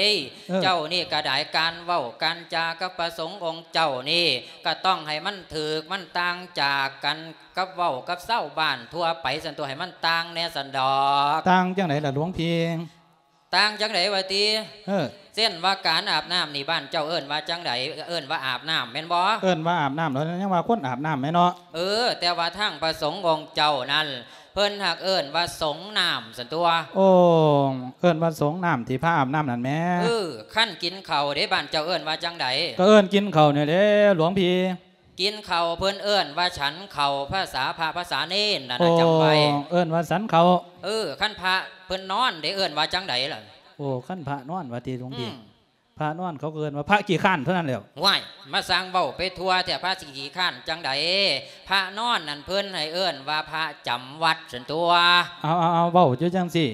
ເອີ ເຈົ້ານີ້ກໍໄດ້ ການເວົ້າການຈາກັບພະສົງອົງເຈົ້ານີ້ ກໍຕ້ອງໃຫ້ມັນຖືກ ມັນຕ່າງຈາກກັນ ກັບເວົ້າກັບຊາວບ້ານທົ່ວໄປຊັ້ນຕົວະ ໃຫ້ມັນຕ່າງແດ່ຊັ້ນດອກ. ຕ່າງຈັ່ງໃດລະຫຼວງພີ່? ຕ່າງຈັ່ງໃດວະຕິ? ເອີ ເຊັ່ນວ່າການອາບນ້ຳນີ້ ບ້ານເຈົ້າເອີ້ນວ່າຈັ່ງໃດ? ເອີ້ນວ່າອາບນ້ຳແມ່ນບໍ່? ເອີ້ນວ່າອາບນ້ຳ ແລ້ວຍັງວ່າຄົນອາບນ້ຳແມ່ນເນາະ. ເອີ ແຕ່ວ່າທາງພະສົງອົງເຈົ້ານັ້ນ ເພິ່ນຫາກເອີ້ນວ່າສົງນ້ຳຊັ້ນຕົວະ. ໂອ້ ເອີ້ນວ່າສົງນ້ຳ ທີ່ພະອາບນ້ຳນັ້ນແໝ. ເອີ ຄັນກິນເຂົ້າເດ ບ້ານເຈົ້າເອີ້ນວ່າຈັ່ງໃດ? ກໍເອີ້ນກິນເຂົ້ານີ້ແຫຼະຫຼວງພີ່. ກິນເຂົ້າ ເພິ່ນເອີ້ນວ່າສັນເຂົ້າ ພາສາພະພາສາເນນນັ້ນນະ ໂອ້ ຈຳໄວ້ ເອີ້ນວ່າສັນເຂົ້າ. ເອີ ຄັນພະເພິ່ນນອນເດ ເອີ້ນວ່າຈັ່ງໃດລະ? ໂອ້ ຄັນພະນອນວ່າຕິຫຼວງພີ່? ອືມ ພະນອນເຂົາກໍເອີ້ນວ່າພະຂີ້ຄ້ານເທົ່ານັ້ນແຫຼ້ວ. ວ້າຍ ມາສ້າງເວົ້າໄປທົ່ວແທ້ ພະຊິຂີ້ຄ້ານຈັ່ງໃດ? ພະນອນນັ້ນເພິ່ນໃຫ້ເອີ້ນວ່າພະຈຳວັດຊັ້ນຕົວະ. ເອົາ ເອົາ ເອົາ ເວົ້າຢູ່ຈັ່ງຊີ້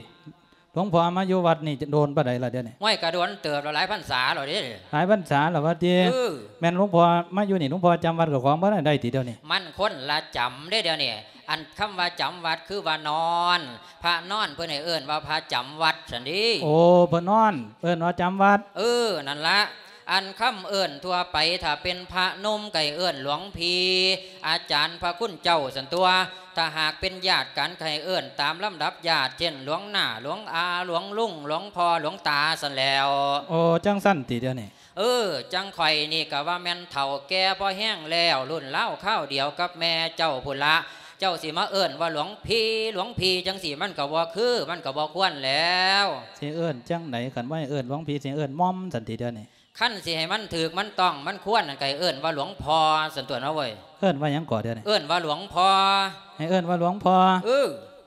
ຫຼວງພໍ່ມາຢູ່ວັດນີ້ໂດນປານໃດລະດຽວນີ້? ໂອ້ຍ ກະດົນເຕີບແລ້ວ ຫຼາຍພັນສາແລ້ວເດ້. ຫຼາຍພັນສາແລ້ວວ່າຕິ? ເອີ ແມ່ນຫຼວງພໍ່ມາຢູ່ນີ້ ຫຼວງພໍ່ຈຳວັດເຈົ້າຂອງບໍ່ໄດ້ຕິດຽວນີ້? ມັນຄົນລະຈຳເດ້ດຽວນີ້. ອັນຄຳວ່າຈຳວັດຄືວ່ານອນ ພະນອນເພິ່ນໃຫ້ເອີ້ນວ່າພະຈຳວັດຊັ້ນເດ. ໂອ້ ເພິ່ນນອນ ເອີ້ນວ່າຈຳວັດ. ເອີ ນັ້ນລະ. ອັນຄຳເອີ້ນທົ່ວໄປ ຖ້າເປັນພະໜຸ່ມກໍໃຫ້ເອີ້ນຫຼວງພີ່ ອາຈານພະຄຸນເຈົ້າຊັ້ນຕົວະ. ຖ້າຫາກເປັນຍາດກັນກໍໃຫ້ເອີ້ນຕາມລຳດັບຍາດ ເຊັ່ນ ຫຼວງນ້າ ຫຼວງອາ ຫຼວງລຸງ ຫຼວງພໍ່ ຫຼວງຕາຊັ້ນແຫຼ້ວ. ໂອ້ ຈັ່ງຊັ້ນຕິດຽວນີ້? ເອີ ຈັ່ງຂ້ອຍນີ້ກໍວ່າແມ່ນເຖົ້າແກ່ພໍແຮງແລ້ວ ລຸ້ນລາວຄາວດຽວກັບແມ່ເຈົ້າພຸ້ນລະ. ເຈົ້າຊິມາເອີ້ນວ່າຫຼວງພີ່ ຫຼວງພີ່ຈັ່ງຊີ້ ມັນກໍບໍ່ຄື ມັນກໍບໍ່ຄວນແລ້ວ. ຊິເອີ້ນຈັ່ງໃດ? ຄັນບໍ່ໃຫ້ເອີ້ນຫຼວງພີ່ ຊິເອີ້ນໝ່ອມຊັ້ນຕິດຽວນີ້? ຄັນຊິໃຫ້ມັນຖືກ ມັນຕ້ອງ ມັນຄວນນັ້ນ ກໍໃຫ້ເອີ້ນວ່າຫຼວງພໍ່ຊັ້ນຕົວະເນາະເວີຍ. ເອີ້ນວ່າຫຍັງກໍດຽວນີ້? ເອີ້ນວ່າຫຼວງພໍ່. ໃຫ້ເອີ້ນວ່າຫຼວງພໍ່? ເອີ.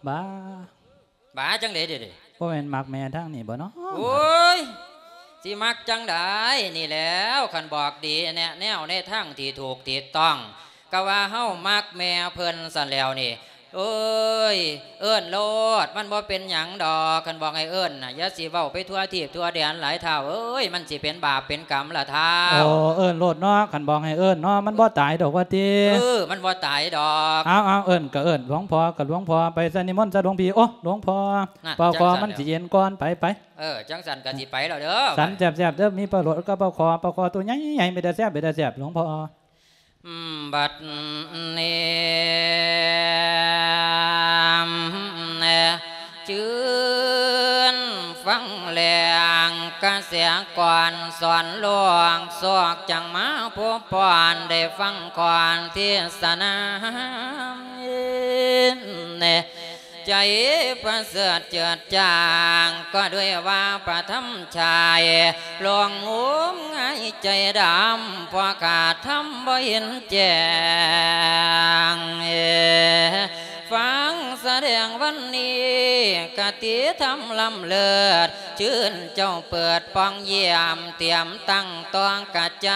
ບາ ບາຈັ່ງໃດເດ? ບໍ່ແມ່ນມັກແມ່ທາງນີ້ບໍ່ເນາະ? ໂອ້ຍ ຊິມັກຈັ່ງໃດ? ນີ້ແຫຼ້ວ ຄັນບອກດີ ແນະແນວໃນທາງທີ່ຖືກທີ່ຕ້ອງ ກໍວ່າເຮົາມັກແມ່ເພິ່ນຊັ້ນແລ້ວນີ້. ໂອ້ຍ ເອີ້ນໂລດ ມັນບໍ່ເປັນຫຍັງດອກ. ຄັນບອກໃຫ້ເອີ້ນນະ ຢ່າຊິເວົ້າໄປທົ່ວທີບທົ່ວແດນຫຼາຍທ້າວເອີຍ ມັນຊິເປັນບາບເປັນກຳລະທ້າວ. ໂອ້ ເອີ້ນໂລດເນາະ ຄັນບອກໃຫ້ເອີ້ນເນາະ ມັນບໍ່ຕາຍດອກວ່າຕິ? ເອີ ມັນບໍ່ຕາຍດອກ. ເອົາ ເອົາ ເອີ້ນກໍເອີ້ນ ຫຼວງພໍ່ກໍຫຼວງພໍ່ໄປຊະ ນິມົນຊະຫຼວງພີ່. ໂອ້ ຫຼວງພໍ່ ນະ ປາຄໍມັນຊິເຢັນກ່ອນ ໄປ ໄປ. ເອີ ຈັ່ງຊັ້ນກໍຊິໄປແລ້ວເດີ. ສັນແຊບໆເດີ ມີປາໂຫຼດກັບປາຄໍ ປາຄໍໂຕໃຫຍ່ໆ ເປັນຕາແຊບ ເປັນຕາແຊບ ຫຼວງພໍ່. ບັດນີ້ ຈື່ນຟັງແລງກະແສກ່ອນສອນຫຼວງ ສອກຈັ່ງມາພົບຜ່ອນ ໄດ້ຟັງກ່ອນເທດສະນາ ໃຈປະເສີດເຈີດຈາງ ກໍດ້ວຍວ່າພະທຳຊາຍ ຫຼວງງຸມງາຍໃຈດຳ ເພາະຂາດທຳບໍ່ເຫັນແຈ້ງ. ຟັງສະແດງວັນນີ້ ຄະຕິທຳລ້ຳເລີດ ຊື່ນເຈົ້າເປີດປ່ອງຢ້ຽມ ຕຽມຕັ້ງຕ້ອງກະໃຈ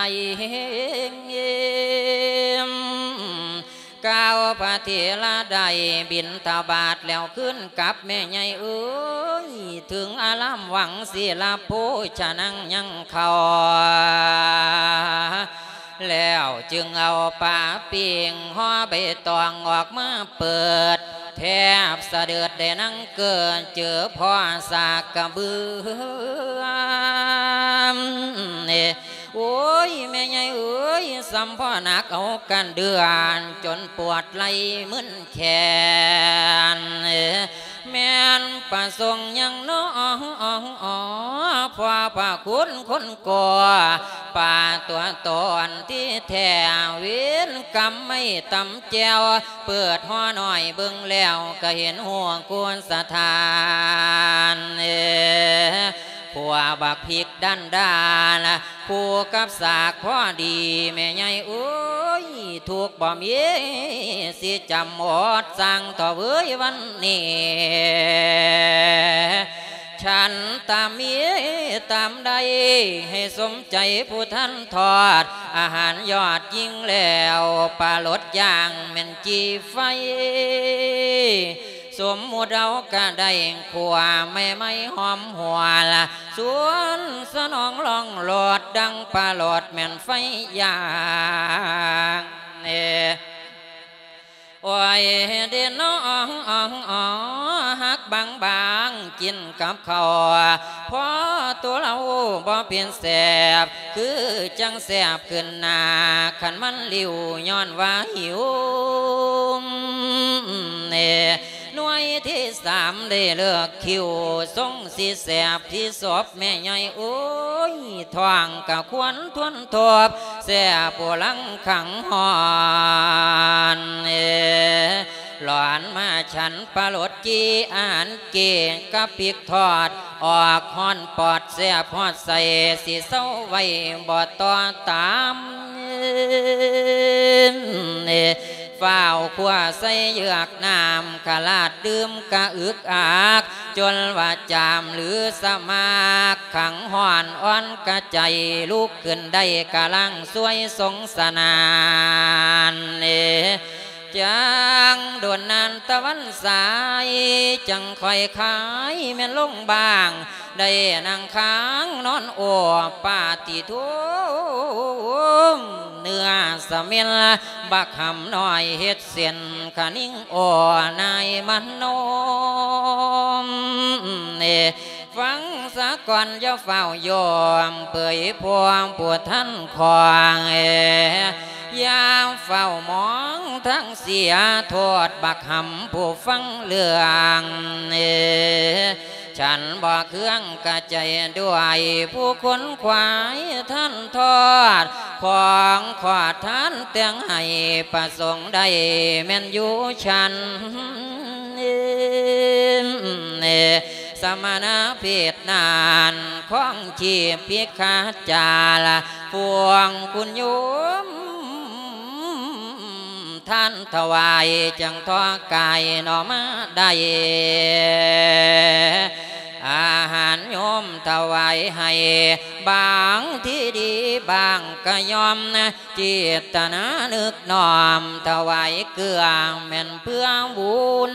ກ່າວພະເຖລະໄດ້ບິນທະບາດແລ້ວຄືນກັບແມ່ໃຫຍ່ເອີຍ ເຖິງອາລາມວັງສີລະໂພຊະນັງຍັງເຂົ້າ ແລ້ວຈຶ່ງເອົາປາປີ້ງຫໍ່ໃບຕອງອອກມາເປີດ ແທບສະເດີດໄດ້ນັ່ງເກີດ ເຈີພໍ່ສາກກະເບືອ ໂອ້ຍ ແມ່ໃຫຍ່ເອີຍ ສ່ຳພໍ່ໜັກເອົາກັນເດືອນ ຈົນປວດໄຫຼ່ມຶນແຂນ ແມ່ນປະສົງຫຍັງນໍ ພໍ່ພະຄຸນຄົນກໍ ປາຕົວຕອນທີ່ແທ້ ເວນກຳໄມ້ຕຳແຈ່ວ ເປີດຫໍ່ນ້ອຍເບິ່ງແລ້ວ ກະເຫັນຫົວໂກນສະຖານ ຜົວບັກພິກດັນດານ ຄູ່ກັບສາກພໍດີ ແມ່ໃຫຍ່ເອີຍ ທຸກບໍ່ມີຊິຈຳ ອດສ້າງເຖາະເວີຍວັນນີ້ ສັນຕາມມີຕາມໄດ້ ໃຫ້ສົມໃຈຜູ້ທ່ານທອດ ອາຫານຍອດຍິ່ງແລ້ວ ປາລົດຢ່າງແມ່ນຈີ່ໄຟ ສົມມຸດເອົາກະໄດ້ຂົ້ວໃໝ່ໆຫອມຫົວລະ ຊວນສະໜອງລ່ອງໂລດ ດັ່ງປາລົດແມ່ນໄຟຢ່າງ ເອ ໂອ້ຍ ເດນ້ອງ ຮັກບາງໆ ກິນກັບເຂົ້າ ພໍໂຕເລົາບໍ່ເປັນແຊບ ຄືຈັ່ງແຊບຂຶ້ນໜ້າ ຄັນມັນລິວ ຍ້ອນວ່າຫິວ ເນ ໜ່ວຍທີສາມໄດ້ເລີກຄິວ ຊົງຊິແຊບທີ່ສົບແມ່ໃຫຍ່ ໂອ້ຍ ທ້ອງກະຄວນທວນທົບ ແຊບປູລັງຂັງຮ້ອນ ເອ ຫຼອນມາສັນປາລົດຈີ່ ອາຫານເກກກັບປິກທອດ ອອກຮ້ອນປອດແຊບຮອດໃສ ຊິເຊົາໄວ້ບໍ່ຕໍ່ຕາມ ເອີ ຟ້າວຂົ້ວໃສ່ເຍືອກນ້ຳ ຂະລາດດື່ມກະອຶກອັກ ຈົນວ່າຈາມຫຼືສະໝາກ ຂັງຮ້ອນອ່ອນກະໃຈ ລຸກຂຶ້ນໄດ້ກະລ້າງຊ່ວຍສົງສະໜານ ເອີ ຈັ່ງດົນນານຕະວັນສາຍ ຈັ່ງຄ່ອຍຄາຍແມ່ນລົງບາງ ໄດ້ນັ່ງຄ້າງນອນໂອບປາຕິໂທ ເນື້ອສະເໝັນບັກຫຳນ້ອຍເຮັດເສັ້ນຂະນິງໂອນາຍມະໂນມ ເນ ຟັງສາກ່ອນຢ່າຟ້າວໂຍມ ເຜີຍພວງຜູ້ທ່ານຂອງ ເອ ຢ່າຟ້າວມອງທາງເສຍ ໂທດບັກຫຳຜູ້ຟັງເລື່ອງ ເອ ສັນບໍ່ເຄືອງກະໃຈດ້ວຍ ຜູ້ຄົນຂວາຍທ່ານທອດ ຂອງຂອດທ່ານແຕ່ງໃຫ້ ປະສົງໄດ້ແມ່ນຢູ່ຊັ້ນ ເນ ສະມະນະເພດນັ້ນ ຄອງຊີບພິກຂາຈາລະ ພວງຄຸນໂຍມ ທ່ານຖວາຍຈັ່ງທໍ່ກາຍໜໍ່ມາໄດ້ ອາຫານໂຍມຖວາຍໃຫ້ ບາງທີ່ດີບາງກະຍອມ ເຈດຕະນານຶກນ້ອມຖວາຍເກືອແມ່ນເພື່ອບຸນ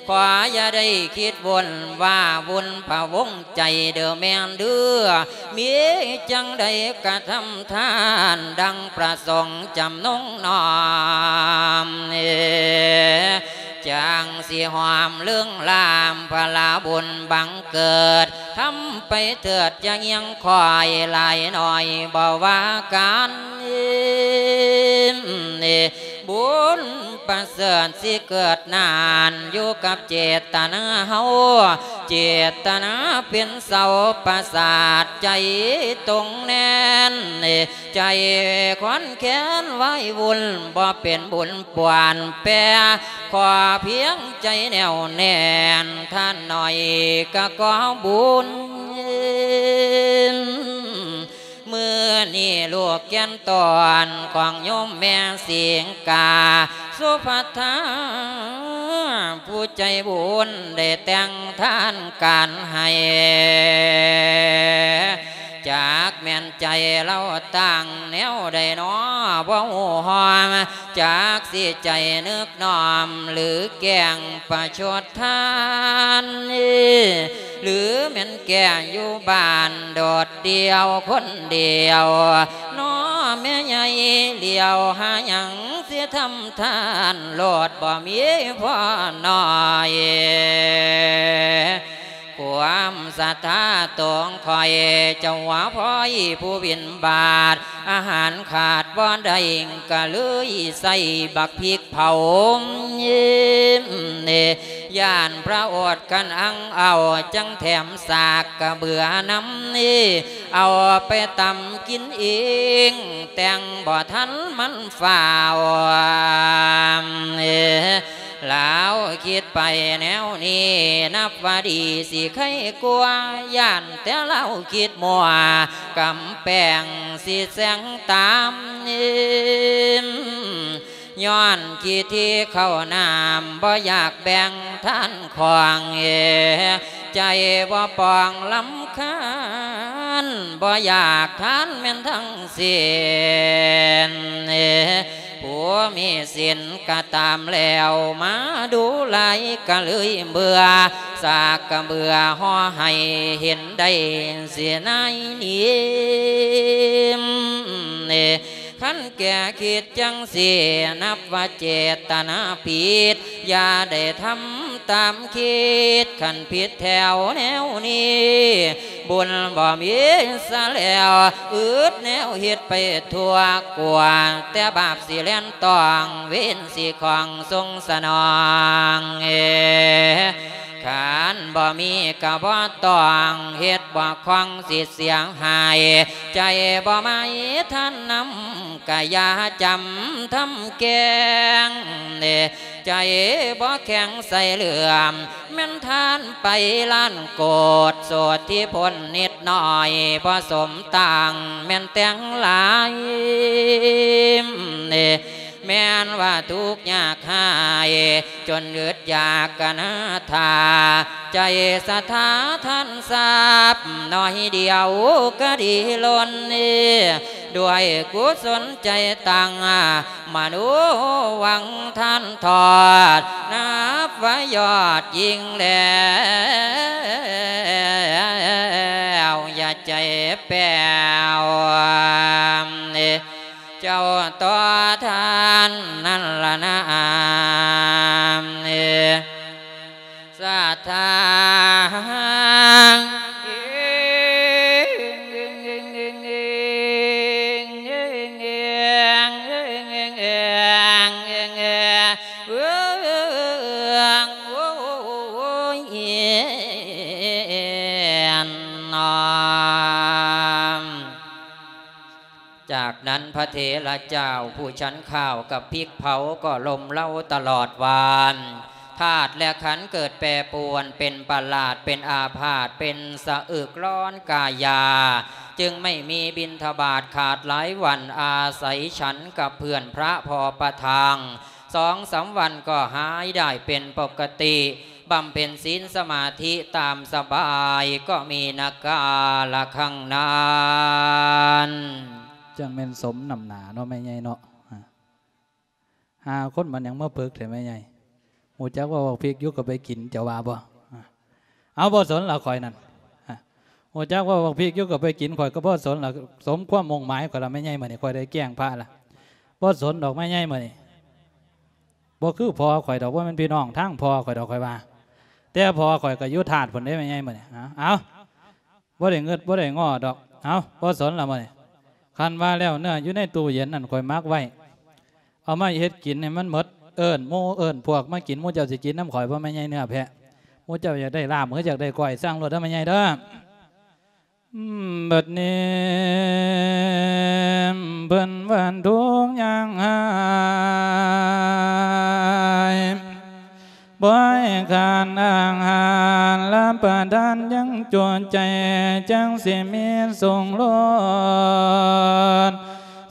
ຂໍຢ່າໄດ້ຄິດວົນວ່າວຸ່ນພະວົງໃຈເດີແມ່ນເດີ ມີຈັ່ງໃດກະທຳທານ ດັ່ງປະສົງຈຳນົງນ້ອມ ຈັ່ງຊິຫອມເລື່ອງລາມພະລາບຸນບັງເກີດ ທຳໄປເທີດຢ່າງຽງຄອຍ ຫຼາຍໜ້ອຍບໍ່ວ່າກັນ ບຸນປະເສີດຊິເກີດນານ ຢູ່ກັບເຈດຕະນາເຮົາ ເຈດຕະນາເປັນເສົາປະສາດໃຈຕົງແໜ້ນ ໃຈຄອນແຄນໄວ້ວຸ່ນ ບໍ່ເປັນບຸນປ່ວນແປ ຂໍພຽງໃຈແໜ້ວແໜ້ນ ທ່ານໜ້ອຍກະຂໍບຸນ ມື້ນີ້ລູກແກ່ນຕອນຂອງໂຍມແມ່ສິງກາ ສຸພັດທາ ຜູ້ໃຈບຸນໄດ້ແຕ່ງທານການໃຫ້ ຈັກແມ່ນໃຈລາວຕັ້ງແນວໃດນໍ ບໍ່ຮູ້ຮອມ ຈັກຊິໃຈນຶກນ້ອມ ຫຼືແກ້ງປະຊົດທ່ານ ຫຼືແມ່ນແກ້ງຢູ່ບ້ານໂດດດ່ຽວຄົນດຽວ ນໍແມ່ໃຫຍ່ຫຼຽວຫາຫຍັງຊິທຳທານ ໂລດບໍ່ມີພໍໜ້ອຍ ຄວາມສັດທາຕົງຂ້ອຍ ເຈົ້າວ່າພ້ອຍຜູ້ບິນບາດ ອາຫານຂາດບໍ່ໄດ້ ກະເລີຍໃສ່ບັກພິກເຜົາ ຢ້ານພະອົດຄັນອັງເອົາ ຈັ່ງແຖມສາກກະເບືອນຳ ເອົາໄປຕຳກິນເອງ ແຕ່ງບໍ່ທັນມັນຟ້າວ ລາວຄິດໄປແນວນີ້ ນັບວ່າດີຊິໄຄກວ່າ ຢ້ານແຕ່ລາວຄິດມົວ ກຳແປງຊິແຊງຕາມ ຍ້ອນຂີ້ຖີ່ເຂົ້ານ້ຳ ບໍ່ຢາກແບ່ງທານຂອງເອ ໃຈບໍ່ປ່ອງລຳຄານ ບໍ່ຢາກທານແມ່ນທັງສິ້ນເອ ຜູ້ມີສິນກະຕາມແລ້ວ ມາດູຫຼາຍກະເລີຍເບື່ອ ສາກກະເບື່ອຫໍ່ໃຫ້ເຫັນໄດ້ເສຍໃນນີ້ ຄັນແກ່ຄິດຈັ່ງຊີ້ ນັບວ່າເຈດຕະນາຜິດ ຢ່າໄດ້ທຳຕາມຄິດ ຄັນຜິດແຖວແນວນີ້ ບຸນບໍ່ມີຊະແລ້ວ ອຶດແນວເຮັດໄປທົ່ວ ກວ່າແຕ່ບາບຊິແລ່ນຕ້ອງ ເວນຊິຂອງຊົງສະໜອງເອ ຄັນບໍ່ມີກະບໍ່ຕ້ອງເຮັດ ບໍ່ຂອງຊິເສຍຫາຍ ໃຈບໍ່ໝາຍທັນນຳ ກະຢ່າຈຳທຳແກງ ໃຈບໍ່ແຂງໃສ່ເຫຼື້ອມ ແມ່ນທ່ານໄປລ້ານໂກດ ໂສດທີ່ພົ້ນນິດໜ້ອຍ ບໍ່ສົມຕັ້ງ ແມ່ນແຕ່ງຫຼາຍ ແມ່ນວ່າທຸກຍາກຮ້າຍ ຈົນອຶດຢາກກະນາຖາ ໃຈສະຖາທານຊັບ ໜ້ອຍດຽວກະດີລົ້ນ ດ້ວຍກຸສົນໃຈຕັ້ງ ມະໂນຫວັງທານທອດ ນັບວ່າຍອດຍິ່ງແລ້ວ ຢ່າໃຈແປ້ວ ເຈົ້າຕໍ່ທ່ານນັ້ນລະນາ ສັດທາ ຈາກນັ້ນພະເຖລະເຈົ້າຜູ້ສັນຂ້າວກັບພິກເຜົາກໍລົ້ມເລົາຕະຫຼອດວານ ທາດແລະຂັນເກີດແປປວນ ເປັນປະຫຼາດ ເປັນອາພາດ ເປັນສະອຶກຮ້ອນກາຍາ ຈຶ່ງໄມ່ມີບິນທະບາດຂາດຫຼາຍວັນ ອາໄສສັນກັບເພື່ອນພະພໍປະທັງ ສອງສາມວັນກໍຫາຍໄດ້ເປັນປົກກະຕິ ບຳເພັນສິນສະມາທິຕາມສະບາຍ ກໍມີນະກາລະຄັ້ງນັ້ນ. ຈັ່ງແມ່ນສົມນ້ຳໜ້າເນາະແມ່ໃຫຍ່ເນາະ ຫາຄົນມັນຫຍັງມາເພິກແທ້ແມ່ໃຫຍ່ ຮູ້ຈັກວ່າບັກພິກຢູ່ກໍໄປກິນ ເຈົ້າວ່າບໍ່? ເອົາ ບໍ່ສົນລະຂ້ອຍນັ້ນ ຮູ້ຈັກວ່າບັກພິກຢູ່ກໍໄປກິນ ຂ້ອຍກໍບໍ່ສົນລະ ສົມຄວາມມຸ່ງໝາຍຂ້ອຍລະແມ່ໃຫຍ່ ມື້ນີ້ຂ້ອຍໄດ້ແກ້ງພະລະ ບໍ່ສົນດອກແມ່ໃຫຍ່ມື້ນີ້ ບໍ່ຄືພໍ່ຂ້ອຍດອກ ບໍ່ແມ່ນພີ່ນ້ອງທາງພໍ່ຂ້ອຍດອກ ຂ້ອຍວ່າ ແຕ່ພໍ່ຂ້ອຍກໍຢູ່ທາດພຸ້ນເດ້ແມ່ໃຫຍ່ມື້ນີ້ ເອົາ ບໍ່ໄດ້ງຶດບໍ່ໄດ້ງໍດອກ ເອົາ ບໍ່ສົນລະມື້ນີ້ ຄັນວ່າແລ້ວເນື້ອຢູ່ໃນຕູ້ເຢັນນັ້ນຂ້ອຍໝັກໄວ້ ເອົາມາເຮັດກິນໃຫ້ມັນໝົດ ເອີ້ນໝູ່ເອີ້ນພວກມາກິນ ໝູ່ເຈົ້າຊິກິນນຳຂ້ອຍບໍ່ແມ່ໃຫຍ່ເນື້ອແພະ ໝູ່ເຈົ້າຢາກໄດ້ລາບ ຫຼື ຢາກໄດ້ກ້ອຍ ສັ່ງໂລດເດີແມ່ໃຫຍ່ເດີ. ບັດນີ້ເພິ່ນວ່າທຸກຢ່າງຫາຍ ບໍ່ໃຫ້ຂາດອາຫານ ຮັບປະທານຢ່າງຈຸໃຈ ຈັ່ງຊິມີສຸກລ້ນ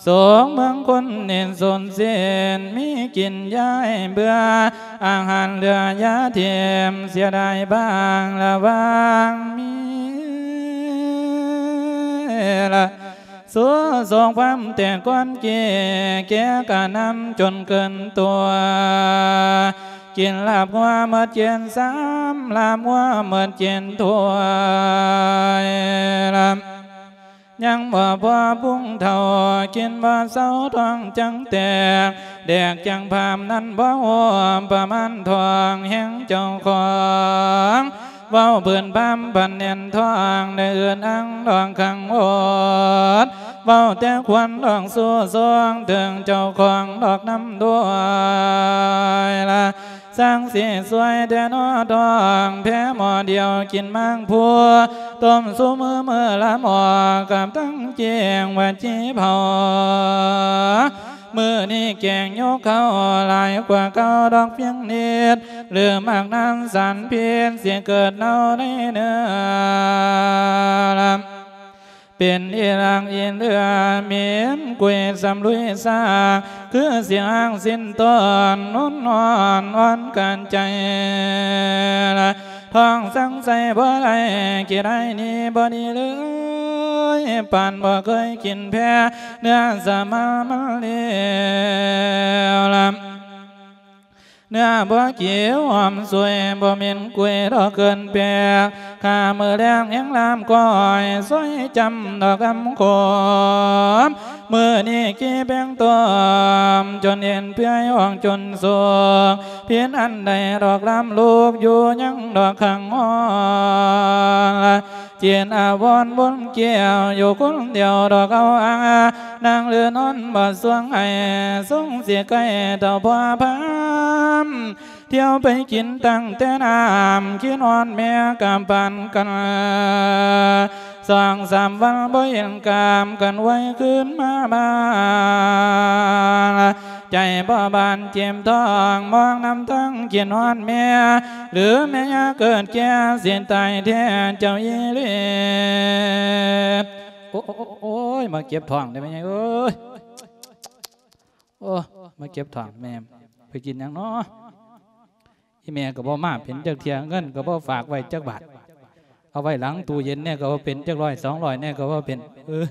ສຸກເມືອງຄົນເນດສົນເສນ ມີກິນຢ່າໃຫ້ເບື່ອ ອາຫານເຫຼືອຢ່າຖິ້ມ ເສຍດາຍບ້າງລະຫວ່າງມີລະ ສູ້ສົງຄວາມແຕ່ກ່ອນເກ ແກ່ກະນຳຈົນເກີນຕົວ ກິນລາບງົວໝົດເຈັດຊາມ ລາບງົວໝົດເຈັດຖ້ວຍລະ ຍັງບໍ່ພໍປຸງເທົ່າ ກິນບໍ່ເຊົາທ້ອງຈັ່ງແຕກ ແດກຈັ່ງພາມນັ້ນບໍ່ຮູ້ປະມານທ້ອງແຮງເຈົ້າຂອງ ເວົ້າພື້ນພາມພັນແໜ້ນທ້ອງ ໄດ້ອຶດອັ່ງດອກຄັງໂອດ ເວົ້າແຕ່ຄວນດອກສູ້ຊ່ວງ ເຖິງເຈົ້າຂອງດອກນຳດ້ວຍລະ ຊ່າງຊິຊ່ວຍແທ້ນໍທ້ອງ ແພໝໍ້ດຽວກິນໝາກພູ ຕົ້ມຊູ່ມື້ມື້ລະໝໍ້ ກັບທັງເກງວ່າຈີເຜົາ ມື້ນີ້ແກງຍົກເຂົ້າ ຫຼາຍກວ່າເກົ່າດອກພຽງນິດ ຫຼືໝາກນານສານພິດ ຊິເກີດເນົ່າໃນເນື້ອລະ ເປັນອີ່ຫຼັກອີເຫຼືອ ເໝັນກຸຍສຳລຸຍຊາກ ຄືຊິຫາກສິ້ນຕົ້ນ ນຸນນອນອ່ອນການໃຈ ທ້ອງສັງໄສບໍ່ໄດ້ ຂີ້ໄດ້ໜີບໍ່ໜີເລີຍ ປານບໍ່ເຄີຍກິນແພ້ ເນື້ອສະໝາມັນເລວລະ ເນື້ອບໍ່ກິວຫອມສວຍ ບໍ່ເໝັນກຸຍດອກເກີນແປກ ຂ້າມື້ແລງແຮງລາມກ້ອຍ ຊອຍຈຳດອກອຳໂຂມ ມື້ນີ້ກີ່ແປງຕົ້ມ ຈົນເຫັນເປື່ອຍອອກຈົນສຸກ ຜິດອັນໃດດອກລາມລຸກ ຢູ່ຍັງດອກຂັງຫ້ອງ ຈິດອາວອນວົນແກ້ວ ຢູ່ຄົນດຽວດອກເອົາອາ ນັ່ງຫຼືນອນບໍ່ສວງໃຫ້ ສົງຊິໃກ້ເທົ່າພໍ່ພາມ ທ່ຽວໄປກິນຕັ້ງແຕ່ນ້ຳ ຄິດຮອດແມ່ກະປານກັນ ສອງສາມວັນບໍ່ເຫັນກາມກັນ ໄວຄືນມາບ້ານ ໃຈບໍ່ບານເຈັບທ້ອງ ມອງນຳທາງຄິດຮອດແມ່ ຫຼືແມ່ຍາເກີດແກ່ ຊິຕາຍແທ້ເຈົ້າອີ່ຫຼີ ໂອ້ ໂອ້ຍ ມາເຈັບທ້ອງເດ້ແມ່ໃຫຍ່ເອີຍ ໂອ້ ມາເກັບທ້ອງແມ່ ໄປກິນຫຍັງເນາະ ອີແມ່ກໍບໍ່ມາເປັນຈັກເທື່ອ ເງິນກໍບໍ່ຝາກໄວ້ຈັກບາດ ເອົາໄວ້ຫຼັງຕູ້ເຢັນແດ່ກໍບໍ່ເປັນ ຈັກຮ້ອຍສອງຮ້ອຍແດ່ກໍບໍ່ເປັນ ເອີ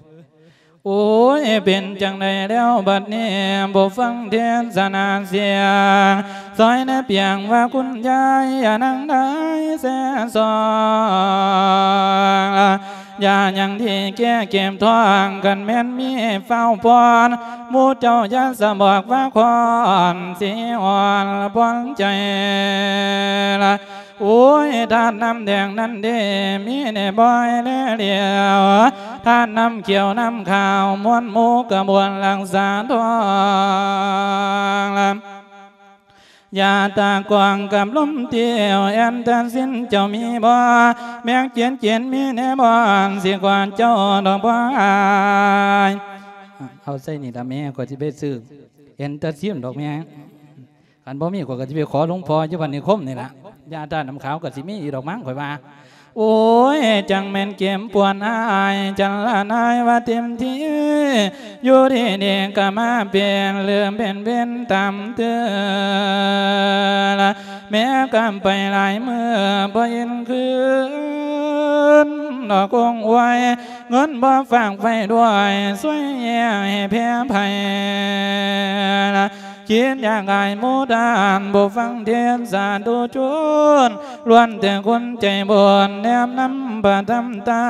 ໂອ້ຍ ເປັນຈັ່ງໃດແລ້ວບັດນີ້ ບໍ່ຟັງເທດສະນາສຽງ ຊອຍແນບປຽງວ່າຄຸນຍາຍ ຢ່ານັ່ງໄດ້ແຊຊອງ ຢາຫຍັງທີ່ແກ້ເຈັບທ້ອງ ຄັນແມ່ນມີຟ້າວປ້ອນ ໝູ່ເຈົ້າຢ່າສະບອກວ່າຄອນ ຊິອ່ອນປ່ອນໃຈລະ ໂອ້ຍ ທາດນ້ຳແດງນັ້ນເດ ມີແດ່ບໍ່ໃຫ້ແລຫຼຽວ ທາດນ້ຳຂຽວນ້ຳຂາວ ມ່ວນໝູ່ກະບວນລັກສາທ້ອງລະ ຢາຕາກວາງກັບລົມຕຽວ ແອນຕາຊິນເຈົ້າມີບໍ່? ແມັກເຈນເຈນມີແດ່ບໍ່? ຊິກວາດເຈົ້າດອກບໍ່ອາຍ. ເອົາໃສ່ນີ້ລະແມ່ ຂ້ອຍຊິໄປຊື້ແອນຕາຊິນດອກແມ່. ຄັນບໍ່ມີ ຂ້ອຍກໍຊິໄປຂໍຫຼວງພໍ່ຢູ່ບ້ານນິຄົມນີ້ລະ. ຢາທາດນ້ຳຂາວກໍຊິມີຢູ່ດອກມັ້ງ ຂ້ອຍວ່າ. ໂອ້ຍ ຈັ່ງແມ່ນເຈັບປວດອາຍ ຈັນລະນາຍວ່າເຕັມທີ່ ຢູ່ດີໆກໍມາເປັນ ເລີ່ມເປັນເວນຕາມເຕືອນ ແມ້ກັບໄປຫຼາຍມື້ ບໍ່ເຫັນຄືນ ດອກຄົງອວຍ ເງິນບໍ່ຝາກໄວ້ດ້ວຍ ຊ່ວຍແຍກໃຫ້ແຜ່ໄພ ຄິດຢາກອາຍໝູ່ທ່ານ ບໍ່ຟັງເທດສາທຸຊົນ ລ້ວນແຕ່ຄົນໃຈບຸນ ແນມນຳພະທຳຕາ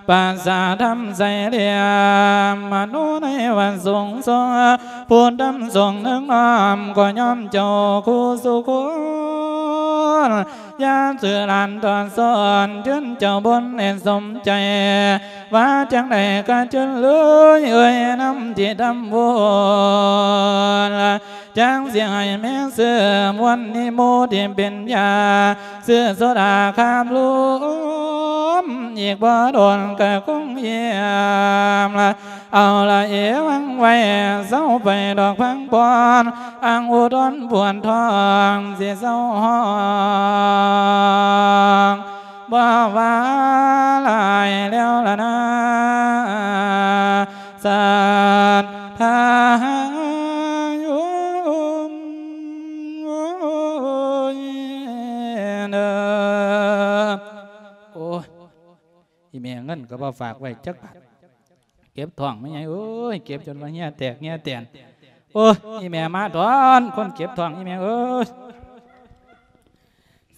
ປາສາດທຳໃສຫຼຽມ ມະໂນໃນວັດສົງສົງ ຜູ້ນຳສົງເໜືອງອ້ອມ ກໍຍອມເຈົ້າຄູ່ສູ່ຄົນ ຢ່າຊື່ຫຼານຕໍ່ສອນ ເຊີນເຈົ້າບົນໃຫ້ສົມໃຈ ວ່າຈັ່ງໃດກະເຊີນເລີຍ ເອີຍນຳທີ່ທຳບຸນ ຈັ່ງຊິໃຫ້ແມ່ເສີມ ວັນນີ້ໝູ່ທີ່ເປັນຍາ ຊື້ໂຊດາຄາບລົມ ອີກບໍ່ດົນກະຄົງຢ້ຽມລະ ເອົາລະເອວັງໄວ້ ເຊົາໄປດອກພັງພອນ ອັງອຸດອນປວດທ້ອງ ຊິເຊົາຮ້ອງ ບໍ່ວ່າຫຼາຍແລ້ວລະນາ ສັດທາໂຍມເດີ. ໂອ້ຍ ອີແມ່ເງິນກໍບໍ່ຝາກໄວ້ຈັກບາດ ເຈັບທ້ອງແມ່ໃຫຍ່ເອີຍ ເຈັບຈົນວ່າເຫື່ອແຕກເຫື່ອແຕນ. ໂອ້ຍ ອີແມ່ມາດອນ ຄົນເຈັບທ້ອງ ອີແມ່ເອີຍ.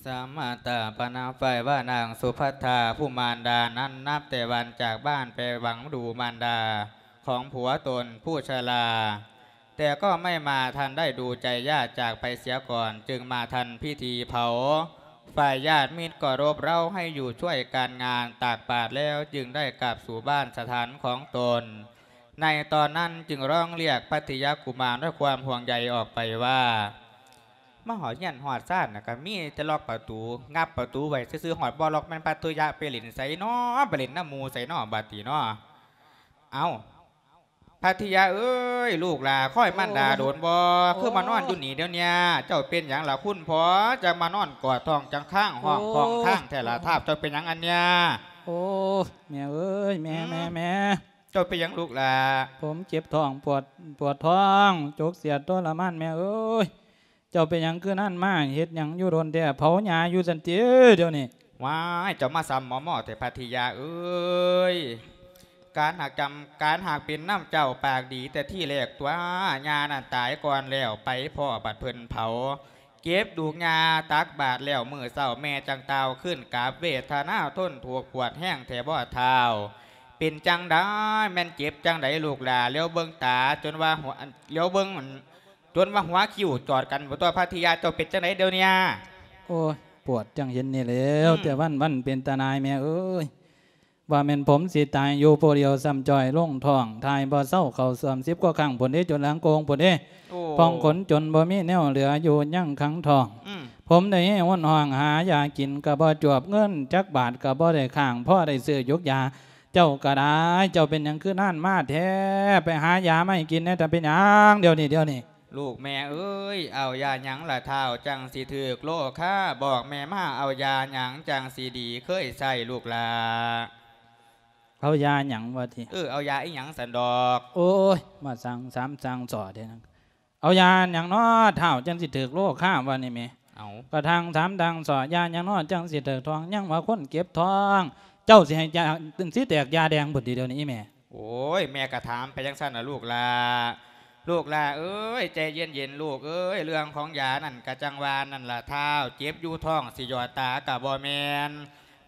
ສາມາດຕາປະນາໄຟວ່ານາງສຸພັດທາ ຜູ້ມານດານັ້ນ ນັບແຕ່ວັນຈາກບ້ານໄປຫວັງດູມານດາຂອງຜົວຕົນຜູ້ຊະລາ แต่ก็ไม่มาทันได้ดูใจญาติจากไปเสียก่อน จึงมาทันพิธีเผา ฝ่ายญาติมิตรก็รบเร้าให้อยู่ช่วยการงานตักบาตรแล้ว จึงได้กลับสู่บ้านสถานของตน ในตอนนั้นจึงร้องเรียกพัทยกุมารด้วยความห่วงใยออกไปว่า มาฮอดเฮือนฮอดซานน่ะ ก็มีแต่ล็อกประตู งับประตูไว้ซื่อๆ ฮอดบ่ล็อก แม่นพัทยะไปเล่นไสน้อ ไปเล่นนำหมู่ไสน้อ บัดนี้น้อ เอ้า พัทยะเอ้ย ลูกหล่าคอยมารดาโดนบ่ คือมานอนอยู่นี่เดี๋ยวเนี้ย เจ้าเป็นหยังล่ะคุณพ่อ จั่งมานอนกอดท้องจั่งค้างห้อง โอ้ ท้องค้างแท้ล่ะ ทาบเจ้าเป็นหยังอันเนี้ย ໂອ້ ແມ່ເອີຍ ແມ່ ອືມ ແມ່ ແມ່ ເຈົ້າເປັນຫຍັງລູກຫຼ້າ? ຜົມເຈັບທ້ອງ ປວດ ປວດທ້ອງ ຈົກສຽດ ທໍລະມານ ແມ່ເອີຍ. ເຈົ້າເປັນຫຍັງຄືນັ້ນມາ ເຮັດຫຍັງຢູ່ດົນແທ້ ເຜົາຫຍ້າຢູ່ຊັ້ນຕິດຽວນີ້? ວ້າຍ ເຈົ້າມາຊ້ຳໝໍ້ໆແທ້ພັດທິຍາເອີຍ. ການຫາກຈຳ ການຫາກເປັນນຳເຈົ້າປາກດີແຕ່ທີແລກຕົວະ ຍ່ານັ້ນຕາຍກ່ອນແລ້ວ ໄປພໍ້ບັດເພິ່ນເຜົາ ເກັບດູກຍ່າຕັກບາດແລ້ວມື້ເຊົ້າ ແມ່ຈັ່ງຕ່າວຄືນກັບ ເວທະນາທົນທຸກປວດແຮງແທ້ບໍ່ທ້າວ? ເປັນຈັ່ງໃດ ແມ່ນເຈັບຈັ່ງໃດລູກຫຼ້າ? ຫຼຽວເບິ່ງຕາຈົນວ່າຫົວ ຫຼຽວເບິ່ງ ຈົນວ່າຫົວຄິ້ວຈອດກັນບໍ່ຕົວະ ພັດທິຍາ ເຈົ້າເປັນຈັ່ງໃດດຽວນີ້? ໂອ້ຍ ປວດຈັ່ງເຫັນນີ້ແລ້ວ ອືມ ແຕ່ວັນໆ ເປັນຕາໜ່າຍແມ່ເອີຍ. ວ່າແມ່ນຜົມຊິຕາຍຢູ່ຜູ້ດຽວ ຊ້ຳຈ້ອຍລົງທ້ອງ ຖ່າຍບໍ່ເຊົາ ເຂົ້າສ້ວມສິບກວ່າຄັ້ງພຸ້ນເດ້ ຈົນຫຼັງໂກ່ງພຸ້ນເດ້ ໂອ້ ພອງຂົນຈົນບໍ່ມີແນວເຫຼືອຢູ່ ຍັງຂັງທ້ອງ ອືມ ຜົມໄດ້ຮ້ອນຮ້ອງຫາຢາກິນກໍບໍ່ຈວບ ເງິນຈັກບາດກໍບໍ່ໄດ້ຄ້າງ ພໍໄດ້ຊື້ຢູກຢາ. ເຈົ້າກໍໄດ້ ເຈົ້າເປັນຫຍັງຄືນານມາແທ້? ໄປຫາຢາມາໃຫ້ກິນແດ່ ເຈົ້າເປັນຫຍັງດຽວນີ້ ດຽວນີ້? ລູກແມ່ເອີຍ ເອົາຢາຫຍັງລະທ້າວ ຈັ່ງຊິຖືກໂລຄາ? ບອກແມ່ມາ ເອົາຢາຫຍັງຈັ່ງຊິດີ ເຄີຍໃຊ້ລູກຫຼ້າ? ເອົາຢາຫຍັງວ່າຕິ? ເອີ ເອົາຢາອີ່ຫຍັງຊັ້ນດອກ? ໂອ້ຍ ມາສັ່ງສາມສັ່ງສໍ້ແທ້ນະ. ເອົາຢາຫຍັງນໍທ້າວ ຈັ່ງຊິຖືກໂລຄາວ່ານີ້ແໝ່? ເອົາ ກະທັ່ງສາມທັ່ງສໍ້ ຢາຫຍັງນໍຈັ່ງຊິຖືກທ້ອງ? ຍັງວ່າຄົນເຈັບທ້ອງ ເຈົ້າຊິໃຫ້ຢາ ຊິແຕກຢາແດງພຸ້ນຕິດຽວນີ້ອີ່ແມ່? ໂອ້ຍ ແມ່ກະຖາມໄປຈັ່ງຊັ້ນລະລູກຫຼ້າ. ລູກຫຼ້າເອີຍ ໃຈເຢັນໆລູກເອີຍ ເລື່ອງຂອງຢານັ້ນກະຈັ່ງວ່ານັ້ນລະທ້າວ ເຈັບຢູ່ທ້ອງຊິຢອດຕາກະບໍ່ແມ່ນ.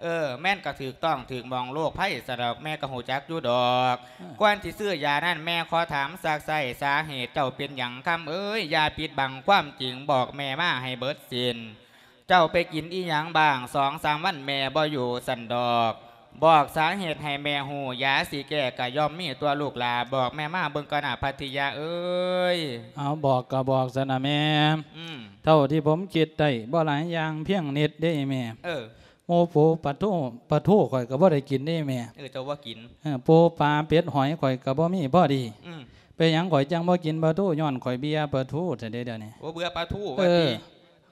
ເອີ ແມ່ນກະຖືກຕ້ອງຖືກໝ່ອງໂລກໄພຊະດອກ ແມ່ກະຮູ້ຈັກຢູ່ດອກ. ເອີ ກ່ອນຊິຊື້ຢານັ້ນ ແມ່ຂໍຖາມຊັກໄຊ້ ສາເຫດເຈົ້າເປັນຫຍັງຄຳເອີຍ? ຢ່າປິດບັງຄວາມຈິງ ບອກແມ່ມາໃຫ້ເບິດສິ້ນ. ເຈົ້າໄປກິນອີ່ຫຍັງບ້າງ ສອງສາມວັນແມ່ບໍ່ຢູ່ຊັ້ນດອກ. ບອກສາເຫດໃຫ້ແມ່ຮູ້ ຢາຊິແກ້ກະຍ່ອມມີຕົວະລູກຫຼ້າ. ບອກແມ່ມາເບິ່ງກ່ອນນາ ພັດທິຍາເອີຍ. ເອົາ ບອກກະບອກຊັ້ນນະແມ່. ອືມ ເທົ່າທີ່ຜົມຄິດໄດ້ ບໍ່ຫຼາຍຢ່າງພຽງນິດເດ້ແມ່. ເອີ ໝູ່ປູປາທູ ປາທູຂ້ອຍກະບໍ່ໄດ້ກິນເດ້ແມ່. ເອີ ເຈົ້າບໍ່ກິນ. ເອີ ປູປາເປັດຫອຍຂ້ອຍກະບໍ່ມີພໍດີ. ອືມ ເປັນຫຍັງຂ້ອຍຈັ່ງບໍ່ກິນປາທູ? ຍ້ອນຂ້ອຍເບື່ອປາທູຊັ້ນເດ້ດຽວນີ້. ໂອ້ ເບື່ອປາທູວ່າຕິ? ເອີ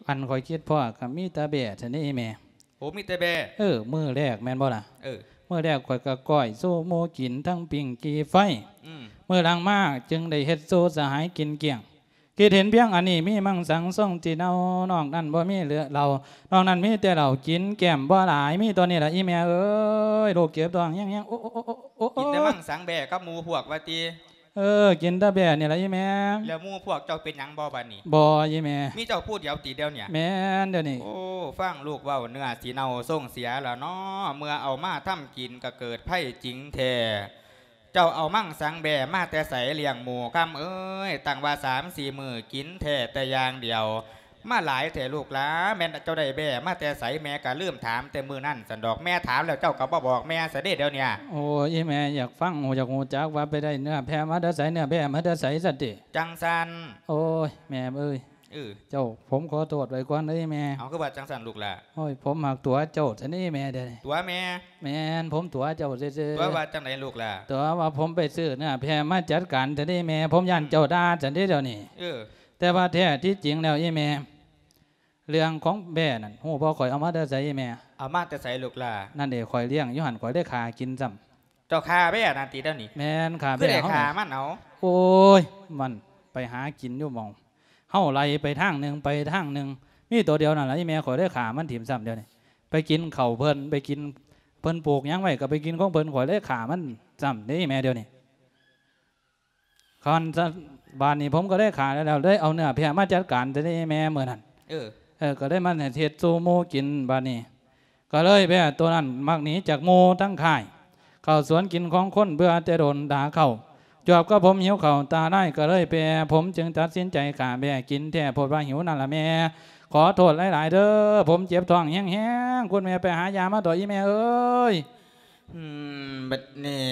ອັນຂ້ອຍຄິດພໍ້ກະມີແຕ່ແບ້ຊັ້ນເດ້ແມ່. ໂອ້ ມີແຕ່ແບ້. ເອີ ມື້ແລກແມ່ນບໍ່ລະ? ເອີ ມື້ແລກຂ້ອຍກະກ້ອຍສູ່ໝູ່ກິນ ທັງປີ້ງກີ່ໄຟ. ອືມ ມື້ຫຼັງມາຈຶ່ງໄດ້ເຮັດສູ່ສະຫາຍກິນກ້ຽງ. ຄິດເຫັນພຽງອັນນີ້ ມີມັງສັງຊົງທີ່ເນົ່າ ນອກນັ້ນບໍ່ມີເຫຼືອເຫຼົ້າ ນອກນັ້ນມີແຕ່ເຫຼົ້າ ກິນແກ້ມບໍ່ຫຼາຍ ມີເທົ່ານີ້ລະອີ່ແມ່ເອີຍ. ລູກເຈັບທ້ອງແຮງໆ ໂອ້ ໂອ້ ໂອ້ ໂອ້ ໂອ້ ໂອ້ ກິນແຕ່ມັງສັງແບ້ກັບໝູ່ພວກວ່າຕິ? ເອີ ກິນແຕ່ແບ້ນີ້ລະອີ່ແມ່. ແລ້ວໝູ່ພວກເຈົ້າເປັນຫຍັງບໍ່ບາດນີ້? ບໍ່ອີ່ແມ່. ມີເຈົ້າຜູ້ດຽວຕິດຽວນີ້? ແມ່ນດຽວນີ້. ໂອ້ ຟັງລູກເວົ້າ ເນື້ອຊິເນົ່າຊົງເສຍລະເນາະ ເມື່ອເອົາມາທຳກິນກະເກີດໄພຈິງແທ້. ເຈົ້າເອົາມັງສັງແບ້ມາແຕ່ໃສລ້ຽງໝູ່ຄຳເອີຍ? ຕັ້ງວ່າສາມສີ່ມື້ກິນແທ້ແຕ່ຢ່າງດຽວ ມາຫຼາຍແທ້ລູກຫຼ້າ. ແມ່ນເຈົ້າໄດ້ແບ້ມາແຕ່ໃສ? ແມ່ກະລືມຖາມແຕ່ມື້ນັ້ນຊັ້ນດອກ ແມ່ຖາມແລ້ວເຈົ້າກະບໍ່ບອກແມ່ຊະເດ້ດຽວນີ້. ໂອ້ ອີ່ແມ່ຢາກຟັງ ຢາກຮູ້ຈັກວ່າໄປໄດ້ເນື້ອແພ້ມາແຕ່ໃສ? ເນື້ອແພ້ມາແຕ່ໃສຊັ້ນຕິ? ຈັ່ງຊັ້ນ. ໂອ້ຍ ແມ່ເອີຍ. ເອີ ເຈົ້າ ຜົມຂໍໂທດໄວ້ກ່ອນເດີແມ່. ເອົາ ຄືວ່າຈັ່ງຊັ້ນລູກຫຼ້າ? ໂອ້ຍ ຜົມມັກຕົວະເຈົ້າຊັ້ນເດ້ແມ່ເດ. ຕົວະແມ່? ແມ່ນ ຜົມຕົວະເຈົ້າຊື່ໆ. ຕົວະວ່າຈັ່ງໃດລູກຫຼ້າ? ຕົວະວ່າຜົມໄປຊື້ເນື້ອແພ້ມາຈັດການຊັ້ນເດ້ແມ່ ຜົມຢ້ານເຈົ້າດ່າຊັ້ນເດ້ດຽວນີ້. ເອີ ແຕ່ວ່າແທ້ທີ່ຈິງແລ້ວອີ່ແມ່ ເລື່ອງຂອງແບ້ນັ້ນ ຮູ້ບໍ່ ຂ້ອຍເອົາມາແຕ່ໃສອີ່ແມ່? ເອົາມາແຕ່ໃສລູກຫຼ້າ? ນັ້ນເດ ຂ້ອຍລ້ຽງຢູ່ຫັ້ນ ຂ້ອຍໄດ້ຂ້າກິນຊ້ຳ. ເຈົ້າຂ້າແບ້ນັ້ນຕິດຽວນີ້? ແມ່ນ ຂ້າແບ້. ຄືໄດ້ຂ້າມັນເອົາ? ໂອ້ຍ ມັນໄປຫາກິນຢູ່ໝ່ອງ ເຮົາໄລ່ໄປທາງໜຶ່ງ ໄປທາງໜຶ່ງ ມີໂຕດຽວນັ້ນລະອີ່ແມ່. ຂ້ອຍໄດ້ຂ້າມັນຖິ້ມຊ້ຳດຽວນີ້ ໄປກິນເຂົ້າເພິ່ນ ໄປກິນ ເພິ່ນປູກຫຍັງໄວ້ກະໄປກິນຂອງເພິ່ນ ຂ້ອຍໄດ້ຂ້າມັນຊ້ຳເດ້ອີ່ແມ່ດຽວນີ້. ຄັນຊັ້ນ ບາດນີ້ຜົມກະໄດ້ຂ້າແລ້ວ ໄດ້ເອົາເນື້ອແພ້ມາຈັດການແຕ່ເດ້ແມ່ມື້ນັ້ນ. ເອີ ເອີ ກະໄດ້ມາເຮັດສູ່ໝູ່ກິນ ບາດນີ້ ກະເລີຍແບ້ໂຕນັ້ນມັກໜີຈາກໝູ່ທັງຄ້າຍ ເຂົ້າສວນກິນຂອງຄົນ ເບື່ອແຕ່ດົນດາເຂົ້າ ຈວບກັບຜົມຫິວເຂົ້າຕາລາຍກະເລີຍແປ ຜົມຈຶ່ງຕັດສິນໃຈຂ້າແບ້ກິນແທ້ ໂພດວ່າຫິວນັ້ນລະແມ່. ຂໍໂທດຫຼາຍໆເດີ ຜົມເຈັບທ້ອງແຮງໆ ຄຸນແມ່ໄປຫາຢາມາຕົວະອີ່ແມ່ເອີຍ. ບັດນີ້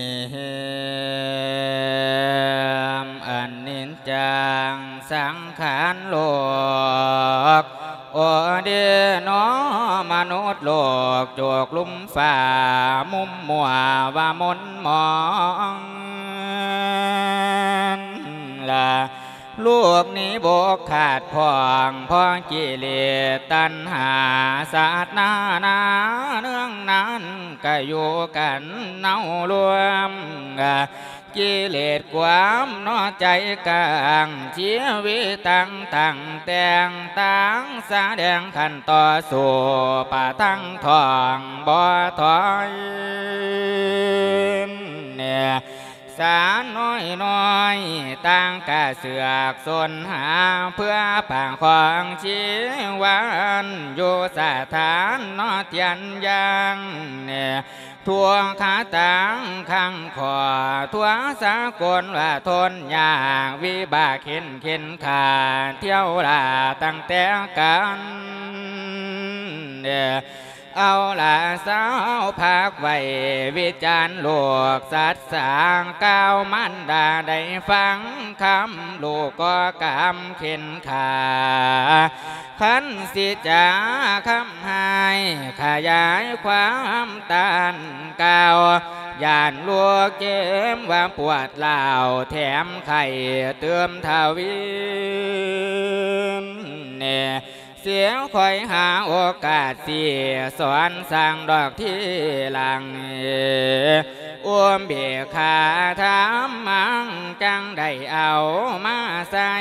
ອັນນິດຈັງສັງຂານໂລກ ໂອເດນໍ ມະນຸດໂລກ ໂຈກລຸ່ມຟ້າ ມຸມມົວວ່າມົນໝອງ ລະ ລູກນີ້ບໍ່ຂາດຜ່ອງ ເພາະກິເລດຕັນຫາ ຊາດໜ້ານາເນື່ອງນັ້ນ ກະຢູ່ກັນເນົາລວມ ກິເລດກວາມເນາະໃຈກາງ ຊີວິດຕັ້ງຕັ້ງແຕ່ງຕັ້ງ ສະແດງຂັນຕໍ່ສູ້ ປະທັງທ້ອງບໍ່ຖອຍ. ສານ້ອຍໆ ຕ່າງກະເຊືອກສົນຫາ ເພື່ອປະຄອງຊີວັນ ຢູ່ສະຖານເນາະທຽນຢ່າງ ທົ່ວຄາຕ່າງຂ້າງຂໍ ທົ່ວສາກົນວ່າທົນຍາກ ວິບາກເຂັນເຂັນຂ້າ ທ່ຽວລາຕັ້ງແຕ່ກັນ ເອົາລະຊາວພັກໄວ້ ວິຈານລູກສັດສາ ກ່າວມານດາໄດ້ຟັງຄຳ ລູກກໍກຳເຂັນຂາ ຄັນຊິຈາຄຳຮ້າຍ ຂະຫຍາຍຄວາມຕ້ານກ່າວ ຢ້ານລູກເຈັບວ່າປວດຮ້າວ ແຖມໄຂ້ຕື່ມທະວີ ເສຍຄອຍຫາໂອກາດຊິສອນສັ່ງດອກທີຫຼັງ ອຸເບກຂາທຳມັງ ຈັ່ງໄດ້ເອົາມາໃສ່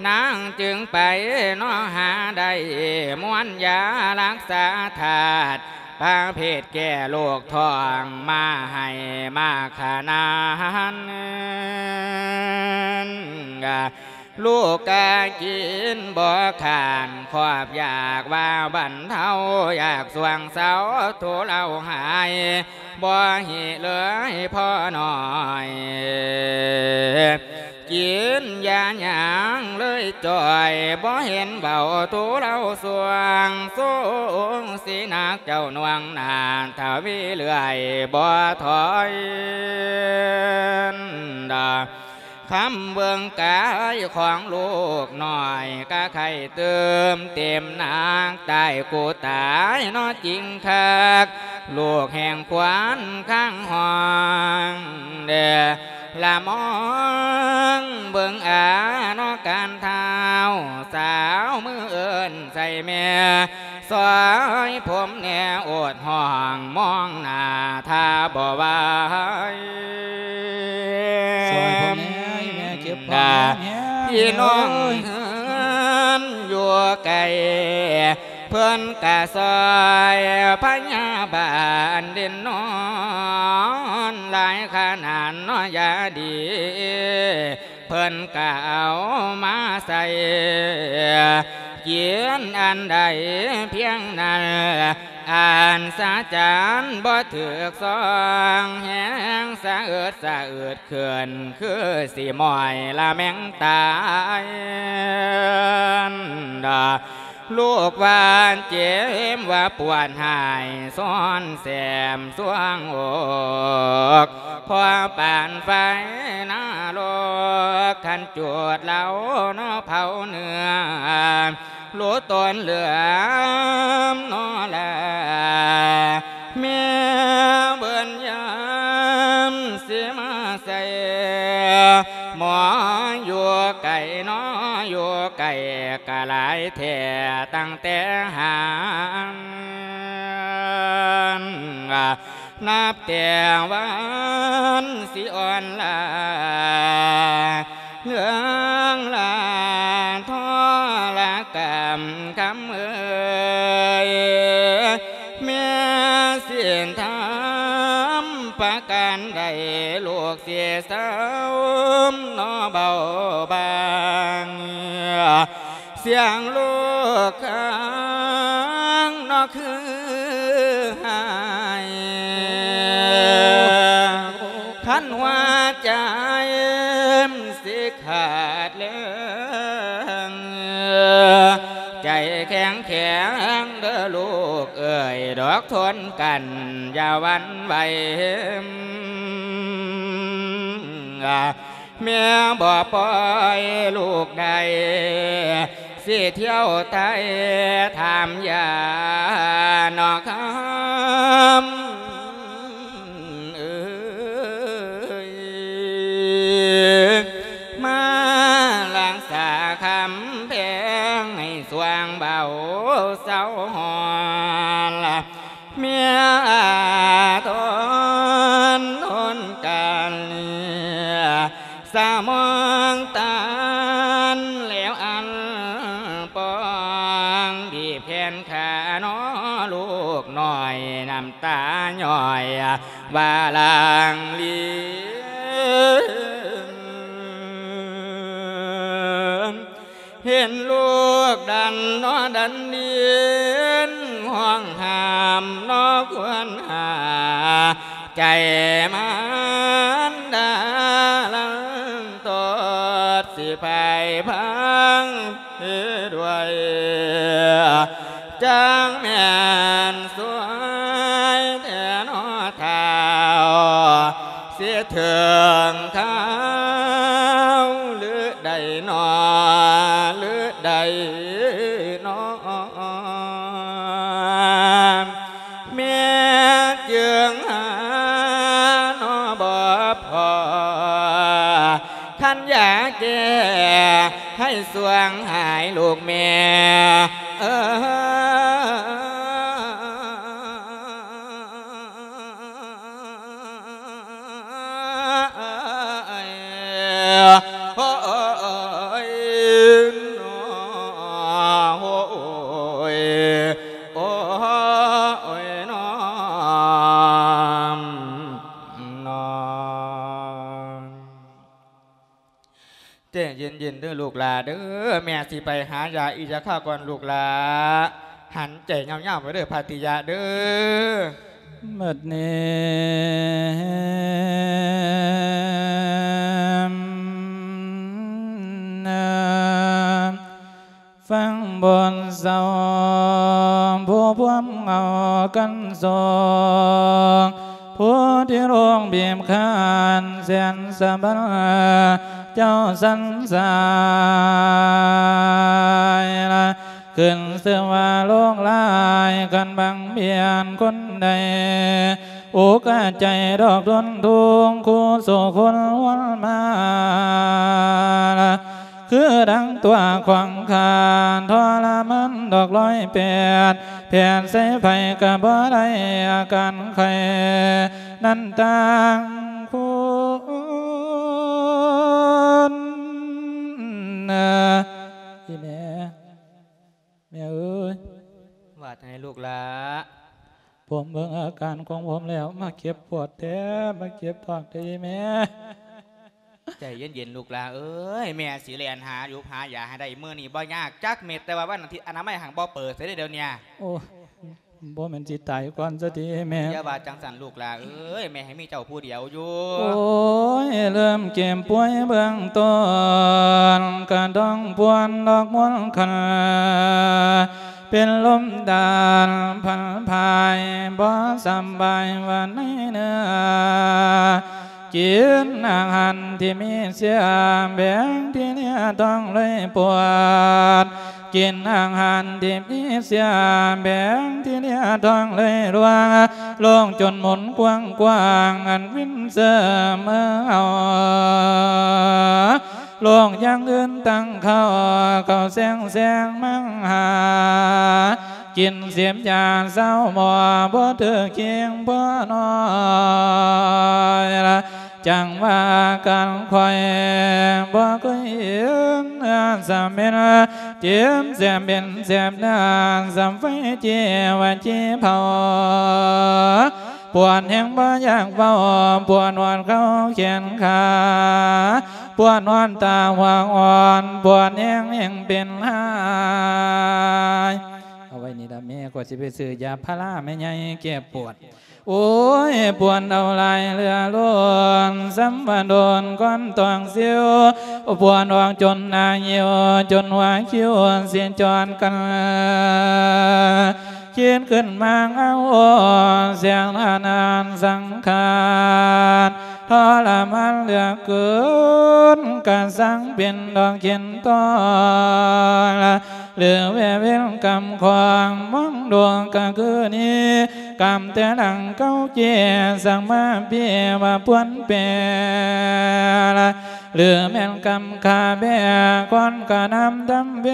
ນາງຈຶ່ງໄປເນາະຫາໄດ້ ມ້ວນຢາລັກສາທາດ ປະເພດແກ້ໂລກທ້ອງ ມາໃຫ້ມາຂະໜານ ລູກກະກິນບໍ່ຂານ ຄອບຢາກວ່າບັນເທົາ ຢາກຊ່ວງເຊົາທຸເລົາຫາຍ ບໍ່ຫິເລີຍພໍໜ້ອຍ ກິນຢາຫຍັງເລີຍຈ່ອຍ ບໍ່ເຫັນເບົາທຸເລົາຊ່ວງ ສົງຊິໜັກເຈົ້າໜ່ວງໜ້າ ທະວີເລື້ອຍບໍ່ຖອຍ ຄຳເບິ່ງກາຍຂອງລູກນ້ອຍ ກະໄຂ້ຕື່ມເຕັມໜັກ ຕາຍກູຕາຍເນາະຈິງຄັກ ລູກແຫ່ງຂວັນຄ້າງຫ້ອງ ລະມອງເບິ່ງອາເນາະການທ້າວ ສາວມືເອີ້ນໃສ່ແມ່ ຊ່ອຍຜົມແດ່ໂອດຮ້ອງ ມອງໜ້າຖ້າບໍ່ໄຫວ ຊ່ອຍຜົມແດ່ ອີແມ່ເຈັບທ້ອງແຮງໆ ພີ່ນ້ອງເອີຍ ເຮືອນຢູ່ໄກ ເພິ່ນກະຊ່ອຍພະຍາບານດິນນອນ ຫຼາຍຂະໜາດເນາະຢາດີ ເພິ່ນກະເອົາມາໃສ່ ກິນອັນໃດພຽງນັ້ນ ອັນສະຈັນບໍ່ຖືກຊ່ອງ ແຮງສະເອິດສະອືດຂຶ້ນ ຄືຊິມ້ອຍລະແມ່ງຕາຍ ລູກວ່າເຈັບວ່າປວດຫາຍ ຊ້ອນແສມຊ່ວງອົກ ພໍປານໄຟນະລົກ ຄັນຈູດເລົາເນາະເຜົາເນື້ອ ໂລດຕົ້ນເຫຼືອມເນາະລາ ແມ່ເບິ່ນຍາມຊິມາໃສ່ ໝໍຢູ່ໄກເນາະ ຢູ່ໄກກະຫຼາຍແທ້ ຕັ້ງແຕ່ຫານ ນັບແຕ່ວັນຊິອ່ອນລາ ເລື່ອງລາທໍລະກຳຄຳເອີຍ ແມ່ສິນທຳປະການໃດ ລູກຊິເຊົາເນາະເບົາບາງ ສຽງລູກຄາງເນາະຄືຫາຍ ຄັນຫົວໃຈມັນຊິຂາດເລີງ ໃຈແຂງແຂງເດີລູກເອີຍ ດອກທົນກັນຢ່າຫວັ່ນໄຫວ ແມ່ບໍ່ປ່ອຍລູກໄດ້ ຊິທ່ຽວໄຕ່ຖາມຢາເນາະຄຳເອີຍ ມາ ງໃຫ້ສວ່າງເບົາເຊົາຮ້ອນ ເມຍອາທອນທົນກັນ ສະໝອງຕານແລ້ວອັນປອງ ບີບແຂນຂາໜໍລູກນ້ອຍ ນ້ຳຕາຍ້ອຍວ່າລາງລີນ ເຫັນລູກດັນໜໍດັນດິນ ຮ້ອງຫ້າມໜໍຄວນຫາ ໃຈມານດາລັນຕອດ ຊິພາຍພັງເຮັດໄວ້ ຈັ່ງແມ່ນສວຍແທ້ໜໍທ້າວ ຊິເຖິງຄາວຫຼືໃດໜໍ ຫຼືໃດໜໍ ແມ່ຈຶ່ງຫາໜໍບໍ່ພໍ ຄັນຢາແກ້ໃຫ້ສວ່າງຫາຍລູກແມ່ເອີຍ. ໃຈເຢັນໆເດີລູກຫຼ້າເດີ ແມ່ຊິໄປຫາຢາອີກຈັກຄາວກ່ອນລູກຫຼ້າ ຫັນໃຈຍາວໆໄວ້ເດີພາຕິຍະເດີ. ບັດນີ້ ຟັງບົດເສົ້າ ຜູ້ພວມເງົາກັນສອງ ຜູ້ທີ່ໂລກບີບຄັ້ນແສນສະບາຍ ເຈົ້າສັນສາຍລະ ຂຶ້ນຊື່ວ່າໂລກຫຼາຍ ຄັນບັງບຽນຄົນໃດ ອຸກະໃຈດອກທົນທຸກ ຄູ່ສູ່ຄົນວນມາລະ ຄືດັ່ງຕົວຂອງຂ້າ ທໍລະມານດອກຮ້ອຍແປດ ແຜນໃສ່ໃຜກະບໍ່ໄດ້ ອາການໄຂ້ນັ້ນຕ່າງຄົນ. ອີແມ່ ແມ່ເອີຍ ວ່າຈັ່ງໃດລູກຫຼ້າ? ຜົມເບິ່ງອາການຂອງຜົມແລ້ວ ມາເຈັບປວດແທ້ ມາເຈັບທ້ອງແທ້ອີແມ່. ໃຈເຢັນໆ ລູກຫຼ້າເອີຍ ແມ່ຊິແລ່ນຫາຢູ່ຫາຢາໃຫ້ໄດ້ ມື້ນີ້ບໍ່ຍາກຈັກເມັດ ແຕ່ວ່າວັນອາທິດອະນາໄມຫັ້ນບໍ່ເປີດໃສເດ້ດຽວນີ້. ໂອ້ ບໍ່ແມ່ນຊິຕາຍກ່ອນຊະຕິແມ່? ຢ່າວ່າຈັ່ງຊັ້ນລູກຫຼ້າເອີຍ ແມ່ໃຫ້ມີເຈົ້າຜູ້ດຽວຢູ່. ໂອ້ຍ ເລີ່ມເຈັບປ່ວຍເບື້ອງຕົ້ນ ກະຕ້ອງປ່ວນດອກມົນຄັນ ເປັນລົມຕານພັນພາຍ ບໍ່ສຳບາຍວ່າໃນເນື້ອ ກິນອາຫານທີ່ມີເຊື້ອ ແບ່ງທີເນຍທ້ອງເລີຍປວດ ກິນອາຫານທີ່ມີເຊື້ອ ແບ່ງທີເນຍທ້ອງເລີຍລວງ ໂລກຈົນໝູນກວ້າງໆ ອັນວິນເສີມເອີເຮົາ ໂລກຢ່າງອື່ນຕັ້ງເຂົ້າ ເຂົ້າແຊງແຊງມັງຫາ ກິນເສບຢາເຊົາໝໍ ບໍ່ຖືກຄຽງພໍນ້ອຍລະ ຈັ່ງວ່າການຂ້ອຍ ບໍ່ເຄີຍເຫັນສະເໝັນ ເຈັບແສບເປັນແສບນານ ສ່ຳໄຟຈີ່ວ່າຈີ່ເຜົາ ປວດແຮງບໍ່ຢາກເວົ້າ ປວດຮອດເຂົ້າແຂນຂາ ປວດຮອດຕາຫົວອ່ອນ ປວດແຮງແຮງເປັນຫາຍ. ເອົາໄວ້ນີ້ລະແມ່ ຂ້ອຍຊິໄປຊື້ຢາພາລາແມ່ໃຫຍ່ແກ້ປວດ. ໂອ້ຍ ປວດເອົາຫຼາຍເຫຼືອລົ້ນ ສ່ຳວ່າໂດນກ້ອນຕອງຊິວ ປວດອອກຈົນໜ້າຫິວ ຈົນຫົວຄິ້ວຊິຈອດກັນ ຄິດຂຶ້ນມາເອົາ ສຽງອານານສັງຂານ ທໍລະມານເຫຼືອເກີນ ກະສັງເປັນດອກເຂັນຕອນ ຫຼືແວ່ເວນກຳຂອງ ມອງດວງກະຄືນີ້ ກຳແຕ່ຫຼັງເກົ່າເຈ ສັງມາປີວ່າປວນແປ ຫຼືແມ່ນກຳຂ້າແບກ ຄວນກະນຳທຳເວ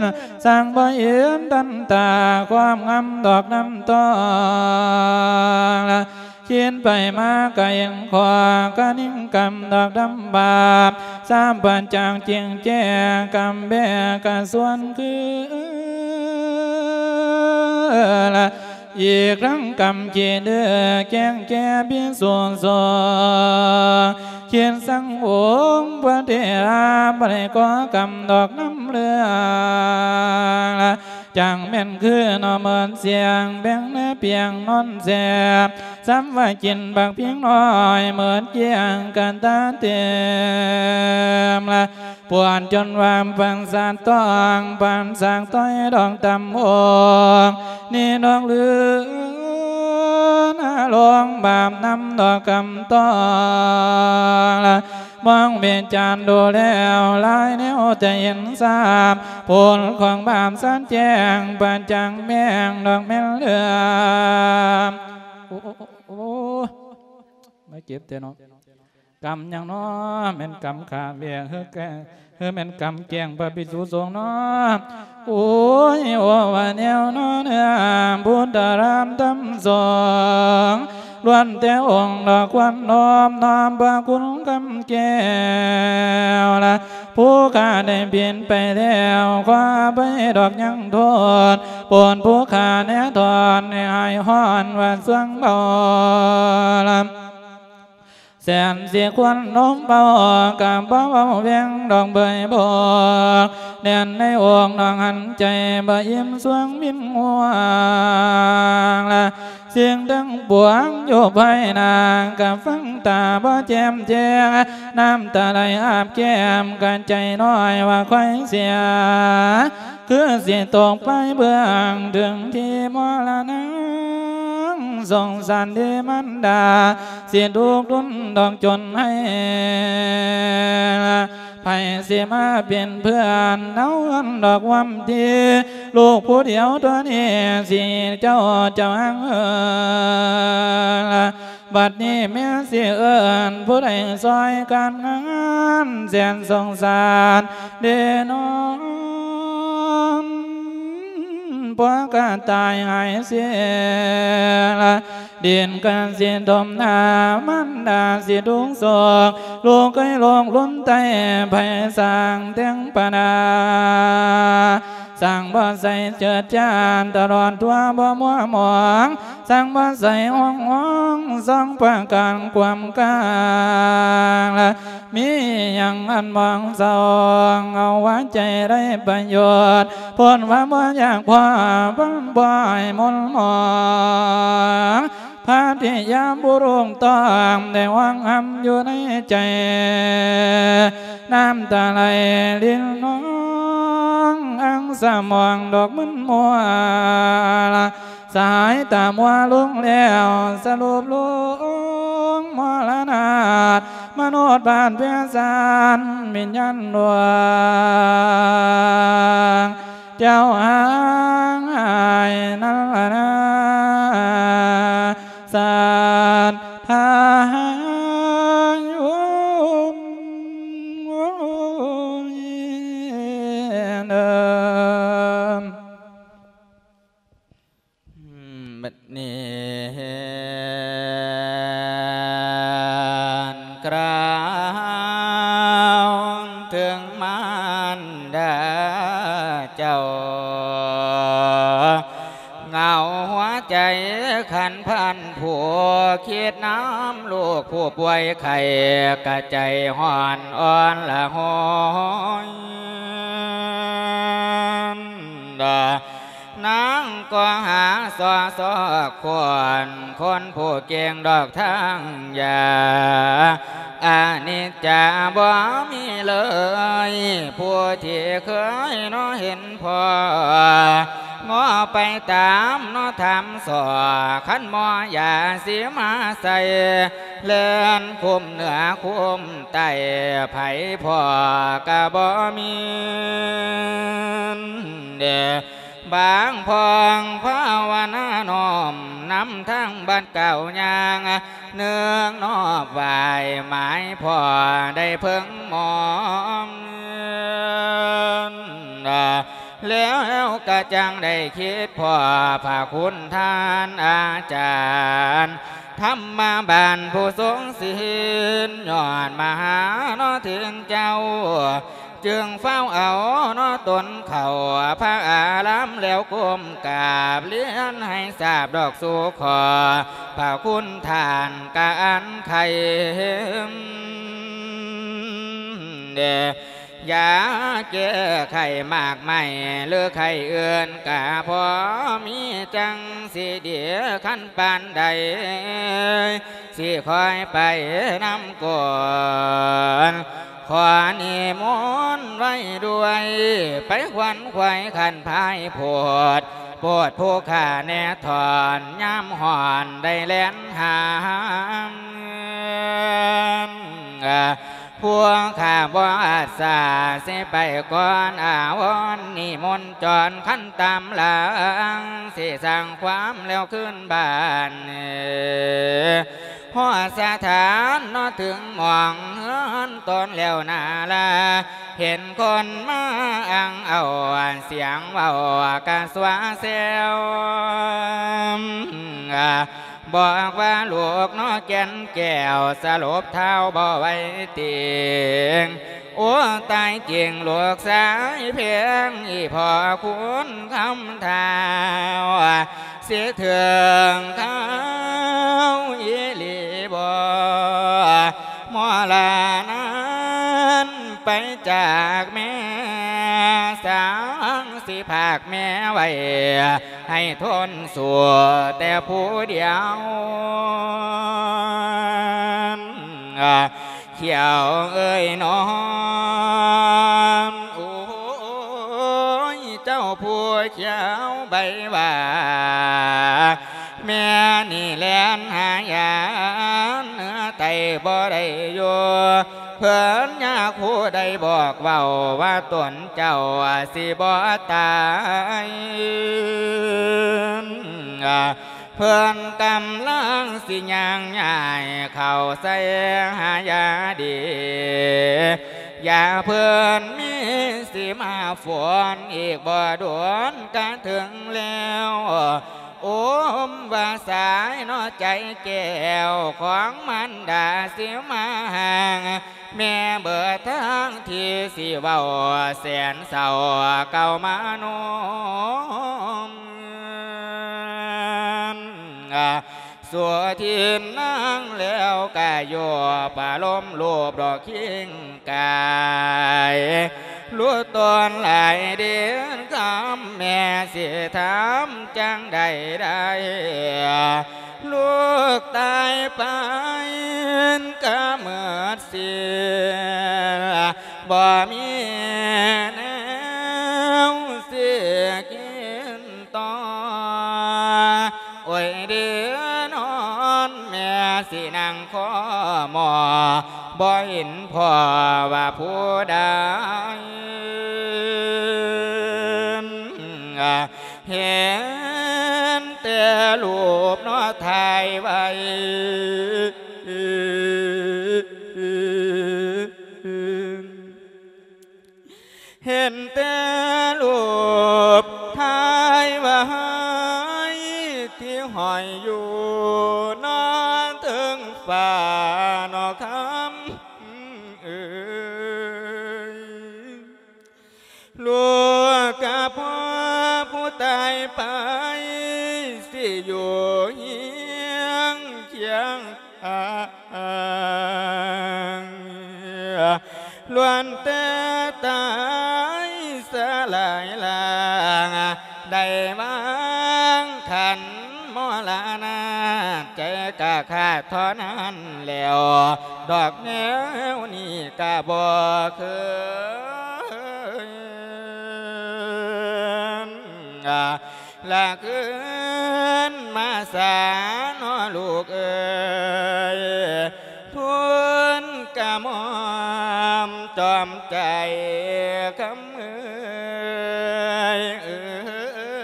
ນ ຊ່າງບໍ່ເຫັນທັນຕາ ຄວາມງາມດອກນ້ຳຕອງລະ ຄິດໄປມາກະເຫັນຂໍ້ ກະນິງກຳດອກດຳບາບ ສາມປະຈັກຈິງແຈ້ງ ກຳແບກກະຊວນຄື ລະ ອີກທັງກຳຂີ້ດື້ແກ້ງແກ່ພິກສຸສົງ ຄິດສັງອົງພະເຖລະ ບໍ່ໄດ້ກໍ່ກຳດອກນຳເລື່ອງລະ ຈັ່ງແມ່ນຄືໜໍ່ເມີນສຽງ ແບ່ງເນື້ອປຽງນອນແຊບ ສ່ຳວ່າກິນບັກພິງນ້ອຍ ເມີນກ້ຽງກະຕາເຕັມລະ ປວນຈົນວ່າປານສາດຕອງ ປານສາກຕ້ອຍດອກຕຳອົງ ນີ້ດອກລືນາລົງບາບນຳດອກກຳຕອງລະ ມອງວິຈານດູແລ້ວ ຫຼາຍແນວຈະເຫັນຊາບ ຜົນຂອງບາບຊັດແຈ້ງ ປະຈັກແຈ້ງດອກແມ່ນເລື່ອງ ໂອ້ ໂອ້ ໂອ້ ໂອ້ ມາເຈັບແທ້ເນາະ ກຳຫຍັງເນາະ ແມ່ນກຳຂ້າແບກ ຫຼືແກ ຫຼືແມ່ນກຳແກ້ງພະພິກສຸສົງເນາະ ໂອ້ຍ ໂອ້ ວ່າແນວເນາະເນືອ ພຸດທະທຳທຳສົງ ລ້ວນແຕ່ອົງດອກຄວັນນອບນ້ອມພະຄຸນຄຳແກ້ວລະ ຜູ້ຂ້າໄດ້ຜິດໄປແລ້ວ ຂໍອະໄພດອກຍັງໂທດ ໂປດຜູ້ຂ້າແນ່ທອນ ໃຫ້ຫາຍຮ້ອນວ່າຊ່ວງເບົາລະ ແສນຊິຄວນນົມເບົາ ກະບໍ່ເວົ້າແວງດອກເບີຍບອກ ແໜ້ນໃນອົກນ້ອງຫັນໃຈ ບໍ່ອີ່ມສວງວິນຫວງລະ ສິ່ງທັງປວງຢູ່ພາຍໜ້າ ກະຟັງຕາບໍ່ແຈ່ມແຈ້ງ ນ້ຳຕາໄຫຼອາບແກ້ມ ກະໃຈນ້ອຍວ່າຄວາຍເສຍ ຄືຊິຕົກໄປເບື້ອງ ເຖິງທີ່ມໍລະນະ ສົງສານເດມັນດາ ຊິທຸກທົນດອກຈົນໃຫ້ ໃຜຊິມາເປັນເພື່ອນ ເຮົາອັນດອກຫວັງດີ ລູກຜູ້ດຽວຕົວນີ້ ຊິເຈົ້າເຈົ້າຫາງເອີນລະ ບັດນີ້ແມ່ຊິເອີ້ນ ຜູ້ໃດຊ່ອຍການງານ ແສນສົງສານເດນອນ ພວກກະຕາຍຫາຍເສຍລະ ດິນກະຊິຖົມໜ້າ ມັນດາຊິທຸກໂສກ ລູກເອີຍ ໂລກລຸນໄຕ້ ໃຜສ້າງແຕ່ງປະນາ ສ້າງບໍ່ໃສ່ເຈີດຈານ ຕະຫຼອດທົ່ວບໍ່ມົວໝອງ ສ້າງບໍ່ໃສ່ຫ້ອງຫ້ອງ ສອງປະການຄວາມກາງລະ ມີຫຍັງອັນໝອງເສົ້າ ເອົາວ່າໃຈໄດ້ປະໂຫຍດ ພົ້ນວ່າບໍ່ຢາກພໍ ບໍ່ໃຫ້ມົນໝອງ ພະທິຍາບຸລຸງຕ້ອງ ໄດ້ຫວງຫຳຢູ່ໃນໃຈ ນ້ຳຕາໄຫຼລິນນອງ ອັງສະໝອງດອກມຶນມົວ ສາຍຕາມົວລົງແລ້ວ ສະຫຼຸບລົງມໍລະນາດ ມະໂນດບາດເວສານ ວິນຍານດວງ ເຈົ້າຫາງຫາຍນັ້ນລະນາ ສັດທາໂຍມ ໂອ້ຍ ເດີ ບັດນີ້ ກາວເຖິງມານດາເຈົ້າ ເຫງົາຫົວໃຈຄັນພັນ ຜູ້ຄິດນຳລູກຜູ້ປ່ວຍໄຂ້ ກະໃຈຮ້ອນອ່ອນລະຫົນ ນາງກໍຫາຊໍຊອກຄົນ ຄົນຜູ້ເກັ່ງດອກທາງຢາ ອະນິດຈາບໍ່ມີເລີຍ ຜູ້ທີ່ເຄີຍເນາະເຫັນພໍ ງໍໄປຕາມເນາະຖາມສໍ້ ຄັນໝໍຢາຊິມາໃສ່ ແລ່ນຄຸມເໜືອຄຸມໃຕ້ ໃຜພໍກະບໍ່ມີ ເດ ບາງພອງພາວະນານ້ອມນຳທາງບັດກ້າວຍ່າງ ນຶກນອບໄຫວ້ໝາຍພໍ່ໄດ້ເພິ່ງມອງ ແລ້ວກະຈັ່ງໄດ້ຄິດພໍ້ພະຄຸນທ່ານອາຈານ ທຳມະບານຜູ້ຊົງສິນ ຍອດມະຫາເນາະເຖິງເຈົ້າ ຈຶ່ງຟ້າວເອົາເນາະຕົນເຂົ້າພະອາລາມ ແລ້ວກົ້ມກາບລຽນໃຫ້ຊາບດອກສູ່ຂໍພະຄຸນທ່ານກະອັນໄຄ ຢາແກ້ໄຂ້ໝາກໄມ້ ຫຼືໄຂ້ອື່ນກະພໍມີ ຈັ່ງຊິດີຄັນປານໃດ ຊິຄອຍໄປນຳກ່ອນ ຂໍນິມົນໄວ້ດ້ວຍ ໄປຂວັນຂວາຍຂັນພາຍໂພດ ໂພດຜູ້ຂ້າແນ່ຖອນ ຍາມຮ້ອນໄດ້ແລ່ນຫາ ຜູ້ຂ້າບໍ່ອາດສາ ຊິໄປກ່ອນອາວອນນິມົນຈອນ ຄັນຕາມຫຼັງ ຊິສ້າງຄວາມແລ້ວຄືນບ້ານ ຮອດສະຖານເນາະເຖິງໝ່ອງເຮືອນຕົນແລ້ວນາລາ ເຫັນຄົນມາອ່າງເອົາ ສຽງເວົ້າກະຊົ່ວແຊວ ບອກວ່າລູກເນາະແກ່ນແກ້ວ ສະຫຼົບທ້າວບໍ່ໄຫວຕິງ ໂອ້ ຕາຍຈິງລູກຊາຍແພງ ອີ່ພໍ່ຄຸນຄຳທ້າວ ຊິເຖິງຄາວອີ່ຫຼີບໍ່ ໝໍລານັ້ນໄປຈາກແມ່ ສັງຊິພາກແມ່ໄວ້ ໃຫ້ທົນສູ້ແຕ່ຜູ້ດຽວ ຂ້ຽວເອີຍນ້ອງ ໂອ້ຍ ເຈົ້າຜູ້ຂຽວໃບຫວ້າ ແມ່ນີ້ແລ່ນຫາຍານ ເໜືອໄຕບໍ່ໄດ້ຢູ່ ເພິ່ນຍາຄູໄດ້ບອກເວົ້າວ່າຕົນເຈົ້າຊິບໍ່ຕາຍ ເພິ່ນກຳລັງຊິຍ່າງຍ້າຍເຂົ້າໃສ່ຫາຢາດີ ຢາເພິ່ນມີຊິມາຝົນ ອີກບໍ່ດົນກະເຖິງແລ້ວ ໂອມວ່າສາຍເນາະໃຈແກ້ວຂອງມານດາຊິມາຫ່າງ ແມ່ເບີດທາງທີ່ຊິເວົ້າແສນເສົ້າເກົ່າມາໂນມ ສວດທິນນາງແລ້ວກະໂຍບອາລົມໂລບດອກຄີງກາຍ ລຸດຕອນຫຼາຍເດືອນຄຳ ແມ່ຊິຖາມຈັ່ງໃດໄດ້ ລູກຕາຍໄປກະໝົດ ເສຍ ບໍ່ມີແນວຊິກິນຕໍ່ ໂອ້ຍເດີນອນ ແມ່ຊິນັ່ງຄໍໝໍ ບໍ່ເຫັນພໍ່ວ່າຜູ້ໃດ ເຫັນແຕ່ຮູບເນາະຖ່າຍໄວ້ ເຫັນແຕ່ຮູບຖ່າຍໄວ້ ທີ່ຫ້ອຍຢູ່ເນາະເທິງຟ້າເນາະຄຳເອີຍ. ລູກກະພໍ່ຜູ້ຕາຍໄປ ຊິຢູ່ຮຽງຄຽງຂ້າງ ລ້ວນແຕ່ຕາຍສະຫຼາຍລ່າງ ໄດ້ວາງຂັນມໍລະນາດ ໃຈກະຂາດເທົ່ານັ້ນແລ້ວ ດອກແນວນີ້ກະບໍ່ຄືນ ລະຄືນມາສາເນາະລູກເອີຍ ທູນກະໝອມຈອມໃຈຄຳເອີຍ.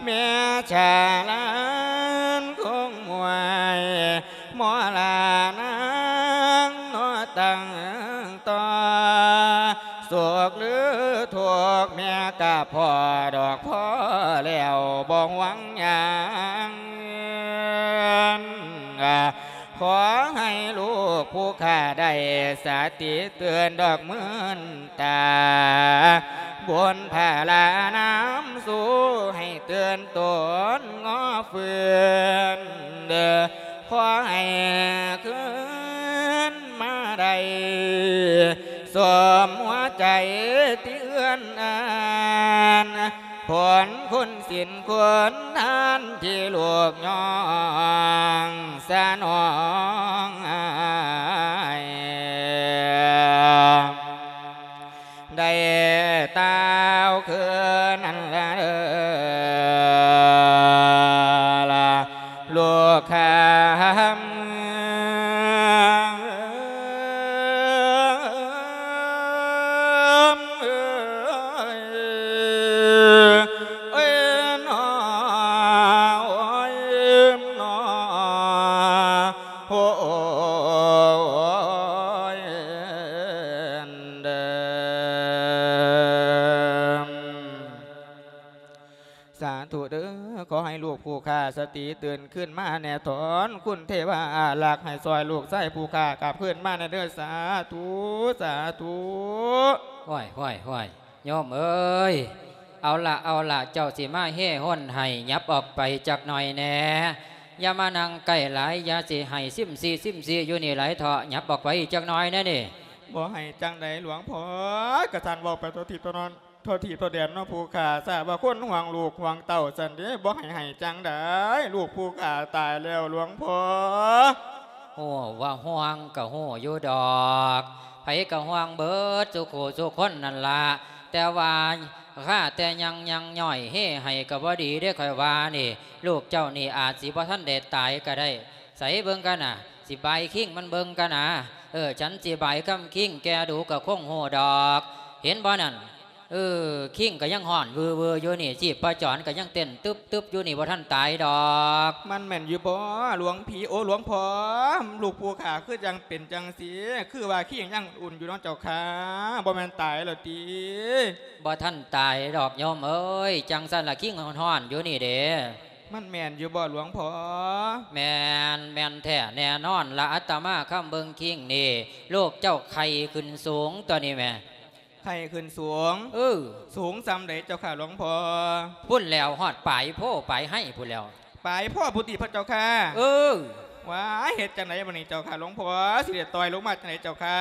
ແມ່ສາລານຄົງມວຍ ໝໍລານາງເນາະຕັ້ງຕໍ່ ສຸກຫຼືທຸກແມ່ກະພໍດອກ ພໍແລ້ວບໍ່ຫວັງຫຍັງ ຂໍໃຫ້ລູກຜູ້ຂ້າໄດ້ສະຕິເຕືອນດອກ ມື່ນຕາ ບຸນພາລານຳສູ່ໃຫ້ເຕືອນຕົນງໍຟື້ນ ຂໍໃຫ້ຄືນມາໄດ້ ສົມຫົວໃຈທີ່ເອື້ອນອານ ຜົນຄຸນສິນຄຸນທານທີ່ລູກຍ້ອງສະໜອງ ໄດ້ຕ່າວຄືນນັ້ນລະເດີ ລະລູກຂ້າ ເອີຍ ເອີຍ ເອີຍ ເນາະ ໂອ້ຍ ເນາະ ໂອ້ຍ ເດີ ສາທຸເດີ ຂໍໃຫ້ລູກຜູ້ຂ້າສະຕິຕື່ນຄືນມາແນ່ ຖອນຄຸນເທວາອາລັກ ໃຫ້ຊ່ອຍລູກຊາຍຜູ້ຂ້າກັບຄືນມາແນ່ເດີ ສາທຸ ສາທຸ. ຫ້ວຍ ຫ້ວຍ ຫ້ວຍ ໂຍມເອີຍ ເອົາລະ ເອົາລະ ເຈົ້າຊິມາເຮ່ຮົນໃຫ້ ຫຍັບອອກໄປຈັກໜ່ອຍແດ່ ຢ່າມານັ່ງໃກ້ຫຼາຍ ຢ່າຊິໃຫ້ຊິມຊີ ຊິມຊີຢູ່ນີ້ຫຼາຍເທາະ ຫຍັບອອກໄປອີກຈັກໜ່ອຍແດ່ນີ້. ບໍ່ໃຫ້ຈັ່ງໃດຫຼວງພໍ່ ກະສັນເວົ້າໄປທົ່ວທິດທົ່ວນອນ ທົ່ວທີ່ທົ່ວແດນເນາະຜູ້ຂ້າ ຊາດວ່າຄົນຫ່ວງລູກຫ່ວງເຕົ້າຊັ້ນເດ ບໍ່ໃຫ້ໃຫ້ຈັ່ງໃດ ລູກຜູ້ຂ້າຕາຍແລ້ວຫຼວງພໍ່. ຮູ້ວ່າຫ່ວງກະຮູ້ຢູ່ດອກ ໃຜກະຫ່ວງເບິດສູ່ຄູ່ສູ່ຄົນນັ້ນລະ ແຕ່ວ່າຂ້າແຕ່ຍັງຍັງຍ້ອຍເຮໃຫ້ກະບໍ່ດີເດ້ ຂ້ອຍວ່ານີ້ ລູກເຈົ້ານີ້ອາດຊິບໍ່ທັນໄດ້ຕາຍກະໄດ້ ໃສເບິ່ງກັນນະ ຊິບາຍຄິງມັນເບິ່ງກັນນະ ເອີ ສັນຊິບາຍຄຳຄິງແກ່ດູກະຄົງຮູ້ດອກ ເຫັນບໍ່ນັ້ນ ເອີ ຄິງກະຍັງຮ້ອນວືໆຢູ່ນີ້ ຊີບປະຈອນກະຍັງເຕັ້ນຕຶບໆຢູ່ນີ້ ບໍ່ທັນຕາຍດອກ. ມັນແມ່ນຢູ່ບໍ່ຫຼວງພີ່ ໂອ ຫຼວງພໍ່ ລູກຜູ້ຂ້າຄືຈັ່ງເປັນຈັ່ງຊີ້ ຄືວ່າຄິງຍັງອຸ່ນຢູ່ເນາະເຈົ້າຂ້າ ບໍ່ແມ່ນຕາຍແລ້ວຕິ? ບໍ່ທັນຕາຍດອກໂຍມເອີຍ ຈັ່ງຊັ້ນລະຄິງຮ້ອນໆຢູ່ນີ້ເດ. ມັນແມ່ນຢູ່ບໍ່ຫຼວງພໍ່? ແມ່ນ ແມ່ນແທ້ແນ່ນອນລະ ອາດຕະມາຄຳເບິ່ງຄິງນີ້ ລູກເຈົ້າໄຂ້ຂຶ້ນສູງຕົວນີ້ແໝ່. ໄຂ້ຂຶ້ນສູງ? ເອີ ສູງສ່ຳໃດເຈົ້າຂ້າຫຼວງພໍ່? ພຸ້ນແລ້ວ ຮອດປາຍໂພປາຍໄຮພຸ້ນແລ້ວ. ປາຍໂພພຸ້ນຕິພະເຈົ້າຂ້າ? ເອີ. ວ້າຍ ເຮັດຈັ່ງໃດບັດນີ້ເຈົ້າຂ້າຫຼວງພໍ່ ຊິໄດ້ຕ່ອຍລົງມາຈັ່ງໃດເຈົ້າຂ້າ?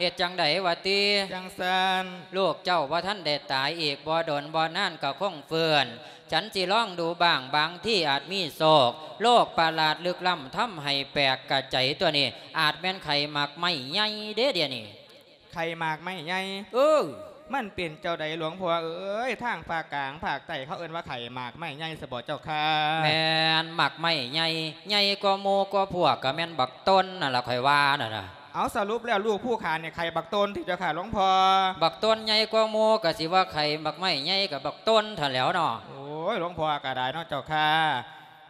ເຮັດຈັ່ງໃດວະຕິ? ຈັ່ງຊັ້ນ ລູກເຈົ້າບໍ່ທັນໄດ້ຕາຍ ອີກບໍ່ດົນບໍ່ນານກະຄົງຟື້ນ ສັນຊິລອງດູບ້າງ ບາງທີອາດມີໂຊກ ໂລກປະຫຼາດລຶກລ້ຳ ທຳໃຫ້ແປກກະໃຈຕົວນີ້ ອາດແມ່ນໄຂ້ໝາກໄມ້ໃຫຍ່ເດ້ດຽວນີ້. ໄຂ້ໝາກໄມ້ໃຫຍ່? ເອີ. ມັນເປັນຈັ່ງໃດຫຼວງພໍ່ເອີຍ? ທາງພາກກາງພາກໃຕ້ເຂົາເອີ້ນວ່າໄຂ້ໝາກໄມ້ໃຫຍ່ຊະບໍ່ເຈົ້າຂ້າ? ແມ່ນ ໝາກໄມ້ໃຫຍ່ ໃຫຍ່ກວ່າໝູ່ກວ່າພວກ ກະແມ່ນບັກຕົ້ນນັ້ນລະ ຂ້ອຍວ່ານັ້ນນະ. ເອົາ ສະຫຼຸບແລ້ວລູກຜູ້ຂ້ານີ້ໄຂ້ບັກຕົ້ນຕິເຈົ້າຂ້າຫຼວງພໍ່? ບັກຕົ້ນໃຫຍ່ກວ່າໝູ່ ກະຊິວ່າໄຂ້ໝາກໄມ້ໃຫຍ່ກະບັກຕົ້ນຫັ້ນແຫຼ້ວເນາະ. ໂອ້ຍ ຫຼວງພໍ່ກະໄດ້ເນາະເຈົ້າຂ້າ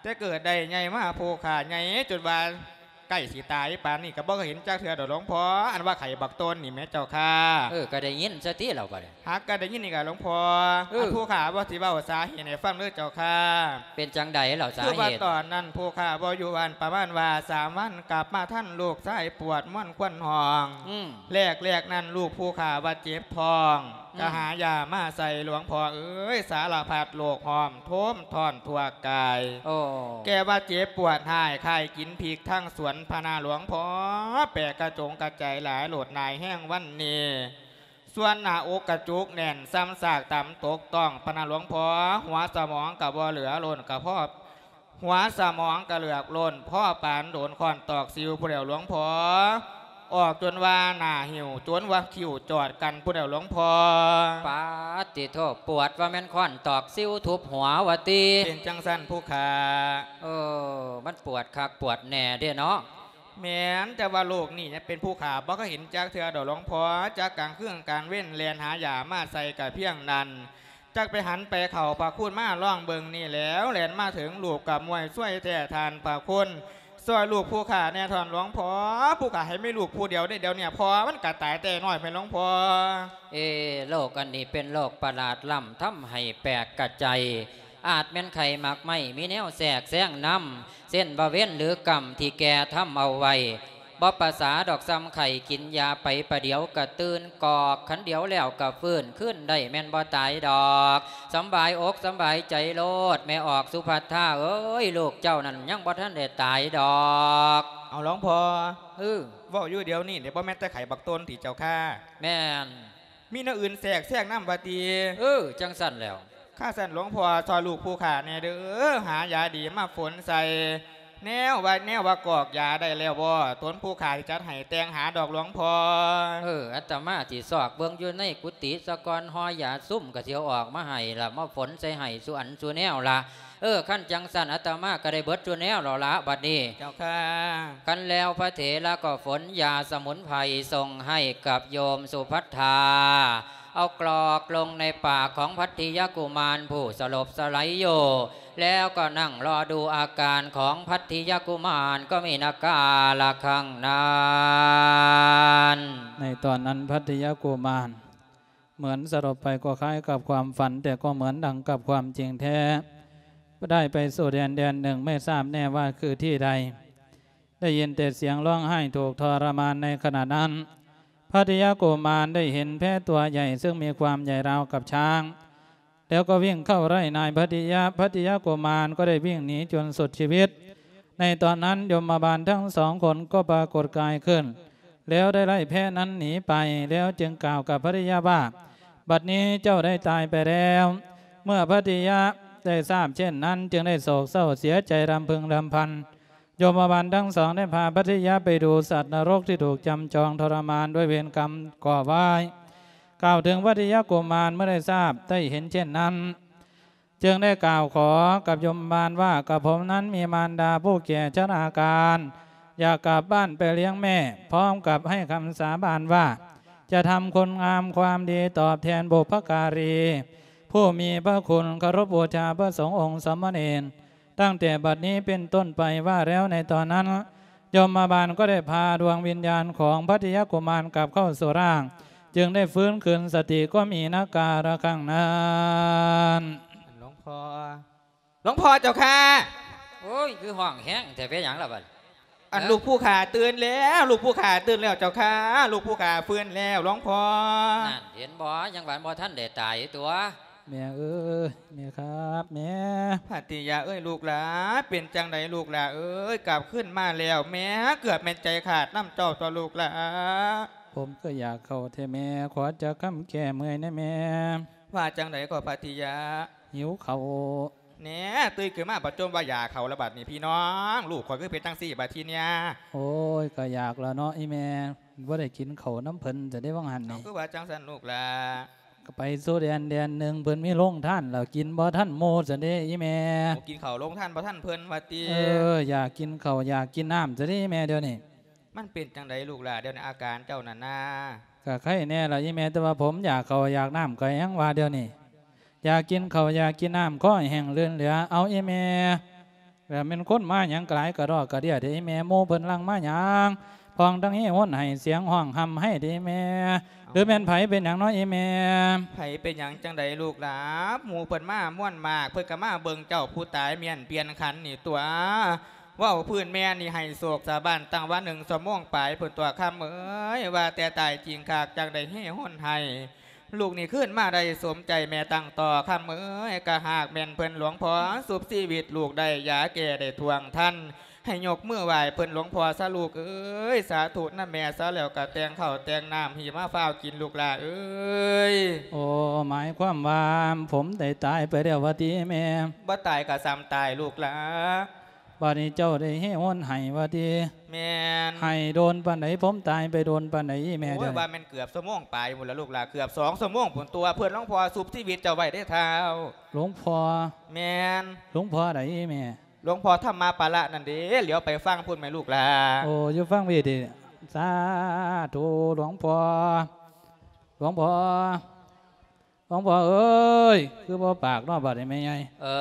ແຕ່ເກີດໄດ້ໃຫຍ່ມາ ຜູ້ຂ້າໃຫຍ່ຈົນວ່າໃກ້ຊິຕາຍປານນີ້ກະບໍ່ເຄີຍເຫັນຈັກເທື່ອດອກຫຼວງພໍ່ ອັນວ່າໄຂ້ບັກຕົ້ນນີ້ແໝ່ເຈົ້າຂ້າ. ເອີ ກະໄດ້ຍິນຊະຕິລາວບາດນີ້. ຫາກກະໄດ້ຍິນນີ້ກະຫຼວງພໍ່. ເອີ ອັນຜູ້ຂ້າວ່າຊິເວົ້າສາເຫດໃຫ້ຟັງເດີເຈົ້າຂ້າ. ເປັນຈັ່ງໃດລາວສາເຫດ? ຄືວ່າຕອນນັ້ນຜູ້ຂ້າບໍ່ຢູ່ບ້ານ ປະມານວ່າສາມວັນ ກັບມາທັນລູກຊາຍປວດມວນຄວັນຫ້ອງ. ອືມ. ແລກໆນັ້ນລູກຜູ້ຂ້າວ່າເຈັບທ້ອງ ອືມ ກະຫາຢາມາໃສ່ ຫຼວງພໍ່ເອີຍ ສາລະພັດໂລກຫ້ອມໂທມທ້ອນທົ່ວກາຍ. ໂອ້ ແກວ່າເຈັບປວດຮ້າຍຄ້າຍກິນພິກທັງສວນພະນາຫຼວງພໍ່ ແປກກະຈົງກະໃຈຫຼາຍໂລດນາຍແຮງວັນນີ້. ສ່ວນໜ້າອົກກະຈຸກແໜ້ນສ່ຳຊາກຕຳຕົກຕ້ອງພະນາຫຼວງພໍ່ ຫົວສະໝອງກະບໍ່ເຫຼືອລົ້ນກະພໍ ຫົວສະໝອງກະເຫຼືອກລົ້ນພໍປານໂດນຄ້ອນຕອກຊິວພຸ້ນແຫຼ້ວຫຼວງພໍ່. ອອກຈົນວ່າໜ້າຫິ້ວ ຈົນວ່າຄິ້ວຈອດກັນພຸ້ນແຫຼ້ວຫຼວງພໍ່. ປາດຕິໂທ ປວດວ່າແມ່ນຄ້ອນຕອກຊິວທຸບຫົວວ່າຕິ. ເປັນຈັ່ງຊັ້ນຜູ້ຂ້າ. ເອີ ມັນປວດຄັກປວດແນ່ເດ້ເນາະ. ແມ່ນ ແຕ່ວ່າໂລກນີ້ເປັນຜູ້ຂ້າບໍ່ເຄີຍເຫັນຈັກເທື່ອດອກຫຼວງພໍ່ ຈັກກາງຄືນກາງເວັນແລ່ນຫາຢາມາໃສ່ກະພຽງນັ້ນ. ຈັກໄປຫັນໄປເຂົ້າພະຄຸນມາລອງເບິ່ງນີ້ແຫຼວ ແລ່ນມາເຖິງລູກກໍມ່ວຍຊ່ວຍແທ້ທ່ານພະຄຸນ ຊ່ອຍລູກຜູ້ຂ້າແດ່ທ່ານຫຼວງພໍ່ ຜູ້ຂ້າໃຫ້ມີລູກຜູ້ດຽວເດ້ ດຽວນີ້ພໍ່ມັນກໍຕາຍແຕ່ນ້ອຍແມ່ນຫຼວງພໍ່. ເອ ໂລກອັນນີ້ເປັນໂລກປະຫຼາດລ້ຳ ທຳໃຫ້ແປກກະໄຈ ອາດແມ່ນໄຂ້ໝາກໄມ້ ມີແນວແຊກແຊງນຳ ເຊັ່ນວ່າເວນຫຼືກຳທີ່ແກ່ທຳເອົາໄວ້ ບໍ່ປະສາດອກ ສ່ຳໄຂ້ກິນຢາໄປປະດຽວກະຕື່ນກອກ ຄັນດຽວແລ້ວກະຟື້ນຄືນໄດ້ ແມ່ນບໍ່ຕາຍດອກ. ສຳບາຍອົກສຳບາຍໃຈໂລດ ແມ່ອອກສຸພັດທາເອີຍ ລູກເຈົ້ານັ້ນຍັງບໍ່ທັນໄດ້ຕາຍດອກ. ເອົາ ຫຼວງພໍ່ ເອີ ເວົ້າຢູ່ດຽວນີ້ນີ້ ບໍ່ແມ່ນແຕ່ໄຂ້ບັກຕົນຕິເຈົ້າຂ້າ? ແມ່ນ. ມີແນວອື່ນແຊກແຊງນຳວ່າຕິ? ເອີ ຈັ່ງຊັ້ນແລ້ວ. ຄັນຊັ້ນຫຼວງພໍ່ຊ່ອຍລູກຜູ້ຂ້າແດ່ເດີ ຫາຢາດີມາຝົນໃສ່ ແນວວ່າ ແນວວ່າກອກຢາໄດ້ແລ້ວບໍ່? ຕົນຜູ້ຂ້າຊິຈັດໃຫ້ແຕ່ງຫາດອກຫຼວງພໍ່. ເອີ ອາດຕະມາຊິຊອກເບິ່ງຢູ່ໃນກຸຕິສາກ່ອນ ຫໍ່ຢາຊຸມກໍຊິເອົາອອກມາໃຫ້ລະ ມາຝົນໃສ່ໃຫ້ສູ່ອັນສູ່ແນວລະ. ເອີ ຄັນຈັ່ງຊັ້ນອາດຕະມາກໍໄດ້ເບິດສູ່ແນວແລ້ວລະບັດນີ້. ເຈົ້າຂ້າ. ຄັນແລ້ວພະເຖລະກໍຝົນຢາສະໝຸນໄພສົ່ງໃຫ້ກັບໂຍມສຸພັດທາ ເອົາກລອກລົງໃນປາກຂອງພັດທິຍະກຸມານຜູ້ສະຫຼົບສະໄຫຼຢູ່ ແລ້ວກໍນັ່ງລໍດູອາການຂອງພັດທິຍະກຸມານ ກໍມີນາກາລະຄັງນັ້ນ. ໃນຕອນນັ້ນພັດທິຍະກຸມານ ເໝືອນສະຫຼົບໄປກໍຄ້າຍກັບຄວາມຝັນ ແຕ່ກໍເໝືອນດັ່ງກັບຄວາມຈິງແທ້ ໄດ້ໄປສູ່ແດນແດນໜຶ່ງ ໄມ່ຊາບແນ່ວ່າຄືທີ່ໃດ ໄດ້ຍິນແຕ່ສຽງຮ້ອງໄຫ້ທຸກທໍລະມານໃນຂະນະນັ້ນ. ພັດທິຍະກຸມານໄດ້ເຫັນແພຕົວໃຫຍ່ ເຊິ່ງມີຄວາມໃຫຍ່ລາວກັບຊ້າງ ແລ້ວກໍວິ່ງເຂົ້າໄລ່ນາຍພັດທິຍະ ພັດທິຍະກຸມານກໍໄດ້ວິ່ງໜີຈົນສຸດຊີວິດ. ໃນຕອນນັ້ນຍົມມະບານທັງສອງຄົນກໍປາກົດກາຍຂຶ້ນ ແລ້ວໄດ້ໄລ່ແພນັ້ນໜີໄປ ແລ້ວຈຶ່ງກ່າວກັບພັດທິຍະວ່າ ບັດນີ້ເຈົ້າໄດ້ຕາຍໄປແລ້ວ. ເມື່ອພັດທິຍະໄດ້ຊາບເຊັ່ນນັ້ນ ຈຶ່ງໄດ້ໂສກເສົ້າເສຍໃຈລຳພຶງລຳພັນ. ຍົມມະບານທັງສອງໄດ້ພາພັດທິຍະໄປດູສັດນະລົກທີ່ຖືກຈຳຈອງທໍລະມານດ້ວຍເວນກຳກໍ່ໄວ້. ກ່າວເຖິງພັດທິຍະກຸມານເມື່ອໄດ້ຊາບໄດ້ເຫັນເຊັ່ນນັ້ນ ຈຶ່ງໄດ້ກ່າວຂໍກັບຍົມມະບານວ່າ ກະຜົມນັ້ນມີມານດາຜູ້ແກ່ຊະລາການ ຢາກກັບບ້ານໄປລ້ຽງແມ່ ພ້ອມກັບໃຫ້ຄຳສາບານວ່າ ຈະທຳຄຸນງາມຄວາມດີຕອບແທນບຸບພະກາລີ ຜູ້ມີພະຄຸນ ເຄົາລົບບູຊາພະສົງອົງສາມະເນນ ຕັ້ງແຕ່ບັດນີ້ເປັນຕົ້ນໄປ. ວ່າແລ້ວໃນຕອນນັ້ນ ຍົມມະບານກໍໄດ້ພາດວງວິນຍານຂອງພັດທິຍະກຸມານກັບເຂົ້າສູ່ຮ່າງ ຈຶ່ງໄດ້ຟື້ນຄືນສະຕິກໍມີນາກາລະຄັງນັ້ນ. ຫຼວງພໍ່ ຫຼວງພໍ່ເຈົ້າຂ້າ. ໂອ້ຍ ຄືຮ້ອງແຮງແທ້ ເປັນຫຍັງລະບັດ? ອັນ ເອີ ລູກຜູ້ຂ້າຕື່ນແລ້ວ ລູກຜູ້ຂ້າຕື່ນແລ້ວເຈົ້າຂ້າ ລູກຜູ້ຂ້າຟື້ນແລ້ວຫຼວງພໍ່. ນັ້ນ ເຫັນບໍ່ ຍັງວ່າບໍ່ທັນໄດ້ຕາຍຕົວະ. ແມ່ເອີຍ ແມ່ຄັບ ແມ່. ພັດທິຍະເອີຍ ລູກຫຼາ ເປັນຈັ່ງໃດລູກຫຼາເອີຍ? ກັບຄືນມາແລ້ວ ແມ່ເກືອບແມ່ນໃຈຂາດນຳເຈົ້າຕົວະລູກຫຼາ. ຜົມກໍຢາກເຂົ້າແທ້ແມ່ ຂໍຈັກຄຳແກ້ເມື່ອຍແດ່ແມ່. ວ່າຈັ່ງໃດກໍພັດທິຍະ? ຫິວເຂົ້າ. ແນ່ ຕື່ນຂຶ້ນມາປະຈົ່ມວ່າຢາເຂົ້າລະບາດນີ້ ພີ່ນ້ອງ ລູກຂ້ອຍຄືເປັນຈັ່ງຊີ້ບາດທີເນຍ. ໂອ້ຍ ກໍຢາກລະເນາະອີ່ແມ່ ບໍ່ໄດ້ກິນເຂົ້ານຳເພິ່ນຊັ້ນເດ້ ວ່າງຫັ້ນນີ້. ເອົາ ຄືວ່າຈັ່ງຊັ້ນລູກຫຼາ? ກໍໄປສູ່ແດນແດນໜຶ່ງ ເພິ່ນມີໂຮງທານ ແລ້ວກິນບໍ່ທັນໝູ່ຊັ້ນເດ້ອີ່ແມ່. ໂອ້ ກິນເຂົ້າໂຮງທານບໍ່ທັນເພິ່ນວ່າຕິ? ເອີ ຢາກກິນເຂົ້າຢາກກິນນ້ຳຊັ້ນເດ້ອີ່ແມ່ ດຽວນີ້. ມັນເປັນຈັ່ງໃດລູກຫຼາ ດຽວນີ້ອາການເຈົ້ານັ້ນນາ? ກະໄຄແດ່ລະອີ່ແມ່ ແຕ່ວ່າຜົມຢາກເຂົ້າຢາກນ້ຳ ກະຍັງວ່າດຽວນີ້ ຢາກກິນເຂົ້າຢາກກິນນ້ຳ ຄໍແຫ້ງລື່ນເຫຼືອ. ເອົາອີ່ແມ່ ແລ້ວແມ່ນຄົນມາຫຍັງກະຫຼາຍກະດອກກະເດຍແທ້ອີ່ແມ່ ໝູ່ເພິ່ນຫຼັ່ງມາຫຍັງ ພ້ອມທັງເຮໂຮນໄຫ້ສຽງຮ້ອງຮ່ຳໄຫ້ເດ້ອີ່ແມ່. ຫຼືແມ່ນໃຜເປັນຫຍັງເນາະອີ່ແມ່? ໃຜເປັນຫຍັງຈັ່ງໃດລູກຫຼາ ໝູ່ເພິ່ນມາມ່ວນມາກ ເພິ່ນກະມາເບິ່ງເຈົ້າຜູ້ຕາຍມ້ຽນປ່ຽນຂັນນີ້ຕົວະ. ເວົ້າພື້ນແມ່ນີ້ໃຫ້ໂສກຊາວບ້ານຕັ້ງວ່າໜຶ່ງຊົ່ວໂມງປາຍພຸ້ນຕົວະ ຄຳເອີຍ. ວ່າແຕ່ຕາຍຈິງຄັກ ຈັ່ງໄດ້ເຮໂຮນໄຫ້ ລູກນີ້ຄືນມາໄດ້ສົມໃຈແມ່ຕັ້ງຕໍ່ ຄຳເອີຍ. ກະຫາກແມ່ນເພິ່ນຫຼວງພໍ່ຊຸບຊີວິດລູກໄດ້ ຢາແກ້ໄດ້ທ່ວງທັນ ໃຫ້ຍົກມືໄຫວ້ເພິ່ນຫຼວງພໍ່ຊະລູກເອີຍ. ສາທຸນຳແມ່ຊະ ແລ້ວກະແຕ່ງເຂົ້າແຕ່ງນ້ຳ ຮີບມາຟ້າວກິນລູກຫຼາເອີຍ. ໂອ້ ໝາຍຄວາມວ່າຜົມໄດ້ຕາຍໄປແລ້ວວ່າຕິແມ່? ບໍ່ຕາຍກະສ່ຳຕາຍລູກຫຼາ. ບາດນີ້ເຈົ້າໄດ້ເຮໂຮນໄຫ້ວ່າຕິ? ແມ່ນ. ໄຫ້ໂດນປານໃດ? ຜົມຕາຍໄປໂດນປານໃດອີ່ແມ່? ໂອ້ຍ ເຈົ້າ ວ່າແມ່ນເກືອບຊົ່ວໂມງປາຍພຸ້ນລະລູກຫຼາ ເກືອບສອງຊົ່ວໂມງພຸ້ນຕົວະ ເພິ່ນຫຼວງພໍ່ຊຸບຊີວິດເຈົ້າໄວ້ເດ້ທ້າວ. ຫຼວງພໍ່? ແມ່ນ. ຫຼວງພໍ່ໃດອີ່ແມ່? ຫຼວງພໍ່ທຳມະປະລະນັ້ນເດ້ ຫຼຽວໄປຟັງພຸ້ນແມ່ລູກຫຼາ. ໂອ້ ຢູ່ຟັງພີ້ຕິ? ສາທຸ ຫຼວງພໍ່ ຫຼວງພໍ່. ຫຼວງພໍ່ເອີຍ ຄືບໍ່ປາກເນາະບາດນີ້ແມ່ໃຫຍ່? ເອີ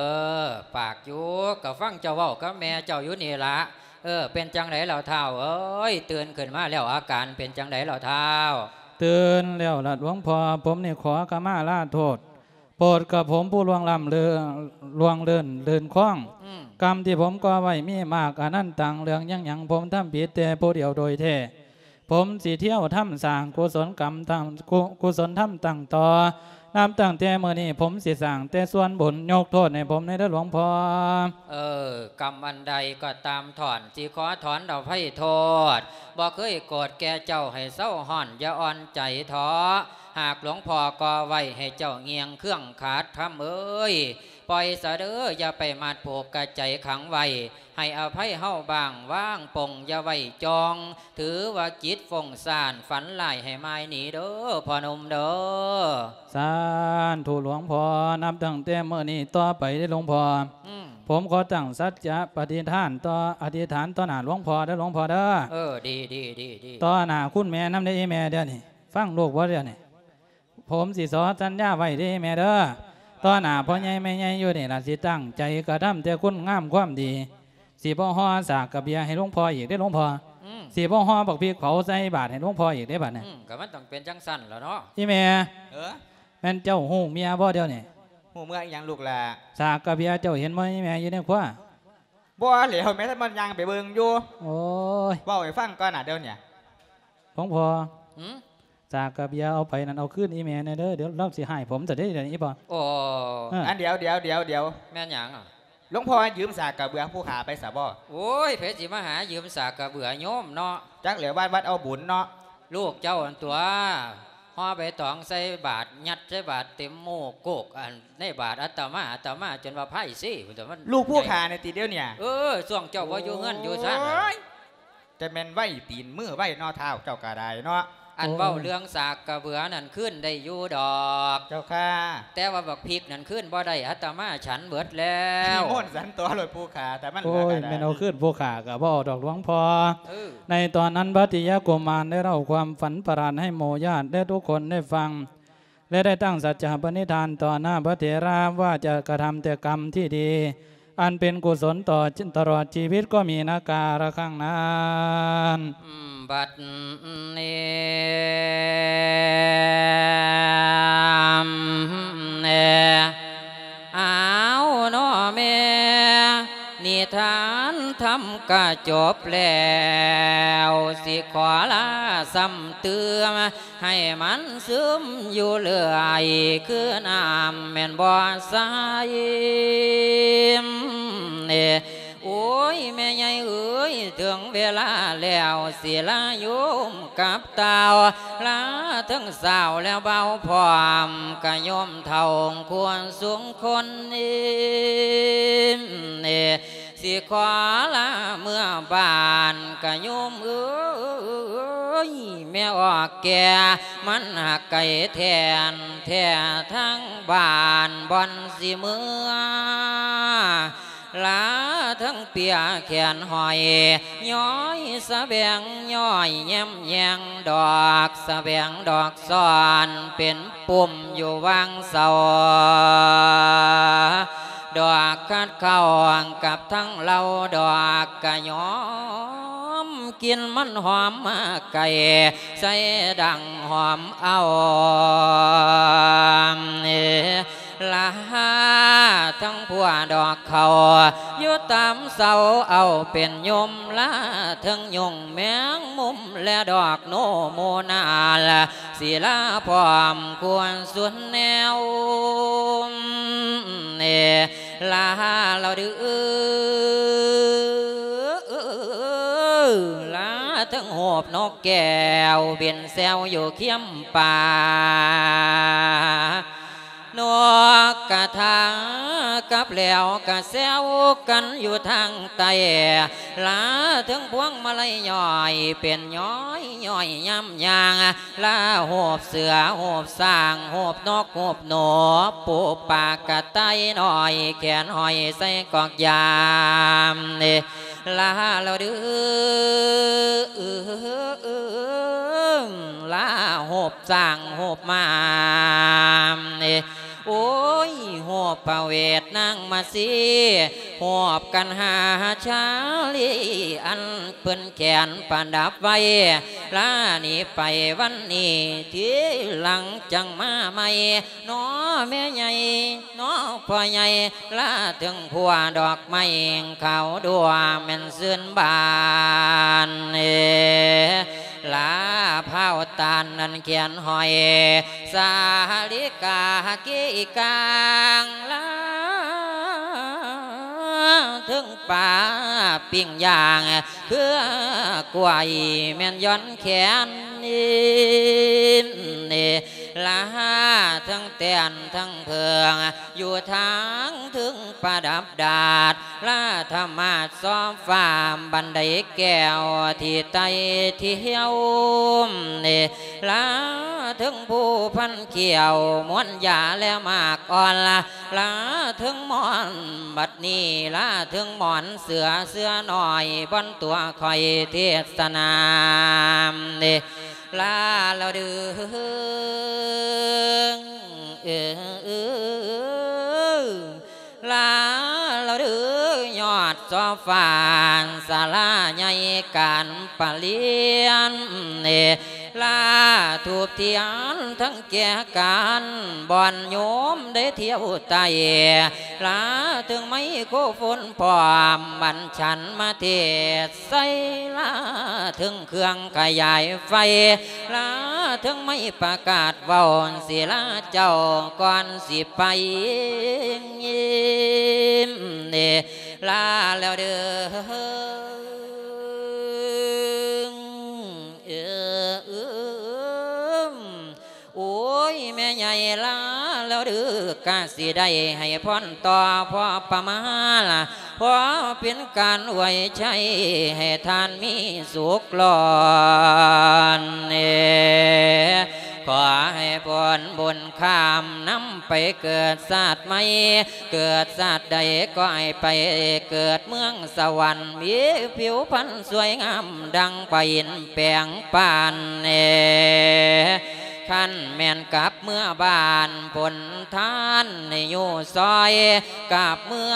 ປາກຢູ່ ກໍຟັງເຈົ້າເວົ້າກັບແມ່ເຈົ້າຢູ່ນີ້ລະ. ເອີ ເປັນຈັ່ງໃດລາວທ້າວເອີຍ? ຕື່ນຂຶ້ນມາແລ້ວ ອາການເປັນຈັ່ງໃດລາວທ້າວ? ຕື່ນແລ້ວລະຫຼວງພໍ່ ຜົມນີ້ຂໍຂະມາລາໂທດ ໂປດກະຜົມຜູ້ລ່ວງລ້ຳເລີນ ລ່ວງເລີນ ລື່ນຄອງ ອືມ ກຳທີ່ຜົມກໍ່ໄວ້ມີມາກອະນັນຕັງ ເລື່ອງຫຍັງໆ ຜົມທຳຜິດແຕ່ຜູ້ດຽວໂດຍແທ້. ຜົມຊິທຽວທຳສ້າງກຸສົນກຳ ທຳ ກຸ ກຸສົນທຳຕັ້ງຕໍ່ ນັບຕັ້ງແຕ່ມື້ນີ້ ຜົມຊິສ້າງແຕ່ສ່ວນບຸນ ຍົກໂທດໃຫ້ຜົມແດ່ເດີຫຼວງພໍ່. ເອີ ກຳອັນໃດກໍຕາມ ທ່ອນຊິຂໍຖອນອະໄພໂທດ ບໍ່ເຄີຍໂກດແກ່ເຈົ້າ ໃຫ້ເຊົາຮ້ອນ ຢ່າອ່ອນໃຈເທາະ. ຫາກຫຼວງພໍ່ກໍ່ໄວ້ ໃຫ້ເຈົ້າງ່ຽງເຄືອງຂາດ ທຳເອີຍ ປ່ອຍຊະເດີ ຢ່າໄປມັດຜູກກະໃຈຂັງໄວ້ ໃຫ້ອະໄພເຮົາບ້າງ ວາງປົງຢ່າໄວ້ຈ່ອງ ຖືວ່າຈິດຟົ້ງສ້ານ ຝັນຮ້າຍໃຫ້ໝາຍໜີເດີພໍ່ໜຸ່ມເດີ. ສາທຸຫຼວງພໍ່ ນັບຕັ້ງແຕ່ມື້ນີ້ຕໍ່ໄປເດີຫຼວງພໍ່ ອືມ ຜົມຂໍຕັ້ງສັດຈະປະຕິຖານຕໍ່ ອະທິຖານຕໍ່ໜ້າຫຼວງພໍ່ເດີຫຼວງພໍ່ເດີ. ເອີ ດີ ດີ ດີ ດີ ຕໍ່ໜ້າຄຸນແມ່ນຳເດີອີແມ່ເດີນີ້ ຟັງລູກບໍ່ເດີນີ້? ຜົມຊິຂໍສັນຍາໄວ້ເດ້ແມ່ເດີ ຕໍ່ໜ້າພໍ່ໃຫຍ່ແມ່ໃຫຍ່ຢູ່ນີ້ລະ ຊິຕັ້ງໃຈກະທຳແຕ່ຄຸນງາມຄວາມດີ ຊິບໍ່ຫໍ່ສາກກະເບຍໃຫ້ຫຼວງພໍ່ອີກເດ້ຫຼວງພໍ່ ອືມ ຊິບໍ່ຫໍ່ບັກພິກເຜົາໃສ່ບາດໃຫ້ຫຼວງພໍ່ອີກເດ້ບາດນີ້. ອືມ ກໍມັນຕ້ອງເປັນຈັ່ງຊັ້ນລະເນາະ ອີແມ່. ເອີ ແມ່ນເຈົ້າຮູ້ເມຍບໍ່ດຽວນີ້? ຮູ້ເມຍອີຫຍັງລູກຫຼ້າ? ສາກກະເບຍເຈົ້າເຫັນບໍ່ ອີແມ່ຢູ່ໃນຄົວ? ບໍ່ແລ້ວ ແມ່ນມັນຍ່າງໄປເບິ່ງຢູ່. ໂອ້ຍ ເວົ້າໃຫ້ຟັງກ່ອນນະດຽວນີ້. ຫຼວງພໍ່ ຫື? ສາກກະເບຍເອົາໄປນັ້ນ ເອົາຄືນອີແມ່ແດ່ເດີ ດຽວລາວຊິຮ້າຍຜົມຊະເດ້ດຽວນີ້ ອີພໍ່. ໂອ້ ເອີ ອັນ ດຽວ ດຽວ ດຽວ ດຽວ ແມ່ນຫຍັງ? ຫຼວງພໍ່ຢືມສາກກະເບືອຜູ້ຂ້າໄປຊະບໍ? ໂອ້ຍ ໃຜຊິມາຫາຢືມສາກກະເບືອໂຍມເນາະ. ຈັກແຫຼະ ວັດ ວັດເອົາບຸນເນາະ. ລູກເຈົ້າຫັ້ນຕົວະ ຫໍ່ໃບຕອງໃສ່ບາດ ຍັດໃສ່ບາດເຕັມໂມ້ໂກກ ອັນ ໃນບາດອາດຕະມາ ອາດຕະມາຈົນວ່າພາຍເຊພຸ້ນຕົວະ ມັນ. ລູກຜູ້ຂ້ານີ້ຕິດຽວນີ້? ເອີ ຊ່ວງເຈົ້າບໍ່ຢູ່ເຮືອນຢູ່ຊານ. ໂອ້ຍ ຈະແມ່ນໄວຕີນມືໄວເນາະ ທ້າວເຈົ້າກໍໄດ້ເນາະ. ອັນ ໂອ້ຍ ເວົ້າເລື່ອງສາກກະເບືອນັ້ນຄືນໄດ້ຢູ່ດອກ ເຈົ້າຄ່າ ແຕ່ວ່າບັກພິກນັ້ນຄືນບໍ່ໄດ້ ອາດຕະມາສັນເບິດແລ້ວ. ນິມົນສັນຕໍ່ໂລດຜູ້ຂ້າ ແຕ່ມັນເຫຼືອກໍໄດ້. ໂອ້ຍ ແມ່ນເອົາຄືນຜູ້ຂ້າກໍບໍ່ເອົາດອກຫຼວງພໍ່. ເອີ ໃນຕອນນັ້ນພະຕິຍະກຸມານໄດ້ເລົ່າຄວາມຝັນປະຫຼາດໃຫ້ໝູ່ຍາດແລະທຸກຄົນໄດ້ຟັງ ແລະໄດ້ຕັ້ງສັດຈະປະນິທານຕໍ່ໜ້າພະເຖລາວ່າຈະກະທຳແຕ່ກຳທີ່ດີ ອັນເປັນກຸສົນຕໍ່ ຕະຫຼອດຊີວິດກໍມີນະກາລະຄັ້ງນັ້ນ. ບັດນີ້ ເອົາເນາະແມ່ ນິທານທຳກະຈົບແລ້ວ ຊິຂໍລາຊ້ຳຕື່ມ ໃຫ້ມັນຊຶມຢູ່ເລື້ອຍ ຄືນ້ຳແມ່ນບໍ່ຊາຍ. ໂອ້ຍ ແມ່ໃຫຍ່ເອີຍ ເຖິງເວລາແລ້ວ ສິລາໂຍມກັບຕ່າວ ລາເຖິງສາວແລ້ວບ່າວພ້ອມ ກະໂຍມເຖົ້າຄວນສູງຄົນ ຊິຂໍລາເມືອບ້ານກະໂຍມເອີຍ ແມ່ອອກແກ່ມັນຫາກໄກແທ້ນແທ້ ທາງບ້ານບ່ອນຊິເມືອ ລາທັງເປຍແຂນຫ້ອຍ ຍ້ອຍສະແບງ ຍ້ອຍແຍ້ມແຍງ ດອກສະແບງ ດອກຊ້ອນເປັນ ປຸ່ມຢູ່ວາງເສົາ ດອກຂັດເຂົ້າກັບທັງເຫຼົ້າ ດອກກະຍອມ ກິ່ນມັນຫອມມາໄກ ໃສ່ດັງຫອມເອົາ ລາທັງພົວດອກເຂົ້າ ຢູ່ຕາມເສົາເອົາເປັນຍົມ ລາເທິງຍຸງແມງມຸມ ແລະດອກໂນໂມນາລ ສິລາພ້ອມຄວນສຸນແນວ ລາລາວດື ລາເທິງຮູບນົກແກ້ວ ບິນແຊວຢູ່ຄຽມປ່າ ນົກກະທາກັບແລ້ວກະແຊວກັນຢູ່ທາງໃຕ້ ລາເທິງພວງມາໄລຍ້ອຍເປັນຍ້ອຍ ຍ້ອຍຍາມຍ່າງ ລາຮູບເສືອ ຮູບຊ້າງ ຮູບນົກ ຮູບໜູ ປູປາກະຕ່າຍນ້ອຍ ແຂນຫ້ອຍໃສ່ກອກຢາມ ລາລາວດື ລາຮູບຊ້າງ ຮູບມ້າ ໂອ້ຍ ຮູບພະເວດນາງມາສີ ຮູບກັນຫາຊາລີ ອັນເພິ່ນແຂນປະດັບໄວ້ ລາໜີໄປວັນນີ້ ທີຫຼັງຈັ່ງມາໃໝ່ ນໍແມ່ໃຫຍ່ນໍພໍ່ໃຫຍ່ ລາເຖິງພົວດອກໄມ້ຂາວດວງແມ່ນຊື່ນບານ ລາພ້າວຕານນັ້ນແຂນຫ້ອຍ ສາລິກາກີກາງ ລາເຖິງປາປີ້ງຍ່າງ ເຄືອກ້ວຍແມ່ນຍ້ອນແຂນ ລາເຖິງແຕ່ນທັງເພິ່ງ ຢູ່ທາງເທິງປະດັບດາດ ລາທຳມາດຊອບຟ້າ ບັນໄດແກ້ວທີ່ໄຕ່ທ່ຽວ ລາເທິງພູພັນຂ້ຽວ ມ່ວນຢາແລະໝາກອ່ອນ ລາເທິງໝອນ ບັດນີ້ລາເທິງໝອນເສືອ ເສືອນ້ອຍບ່ອນຕົວຂ້ອຍເທດສະນາ ລາລະເດີ ເອີ ເອີ ລາລະເດີ ຍອດຊອບຟ້າ ສາລາໃຫຍ່ການປະລຽນ ລາທູບທຽນທັງແຈກັນ ບ່ອນໂຍມໄດ້ທ່ຽວໄຕ່ ລາເຖິງໄມໂຄໂຟນພ້ອມ ບັນຊັນມາເທດ ໃສ່ລາເຖິງເຄື່ອງຂະຫຍາຍໄຟ ລາເຖິງໄມປະກາດເວົ້າ ສິລາເຈົ້າກ່ອນຊິໄປ ລາແລ້ວເດີ ເອີ ໂອ້ຍ ແມ່ໃຫຍ່ລາແລ້ວເດີ ກະຊິໄດ້ໃຫ້ພອນຕໍ່ພໍປະມານ ພໍເປັນການອວຍໄຊໃຫ້ທ່ານມີສຸກລ້ນ ຂໍໃຫ້ຜົນບຸນຂ້າມນຳໄປເກີດຊາດໃໝ່ ເກີດຊາດໃດກໍໃຫ້ໄປເກີດເມືອງສະຫວັນ ມີຜິວພັນສວຍງາມດັ່ງປາອິນແປງປານ ຄັນແມ່ນກັບເມືອບ້ານ ຜົນທານໃຫ້ຢູ່ຊອຍ ກັບເມືອ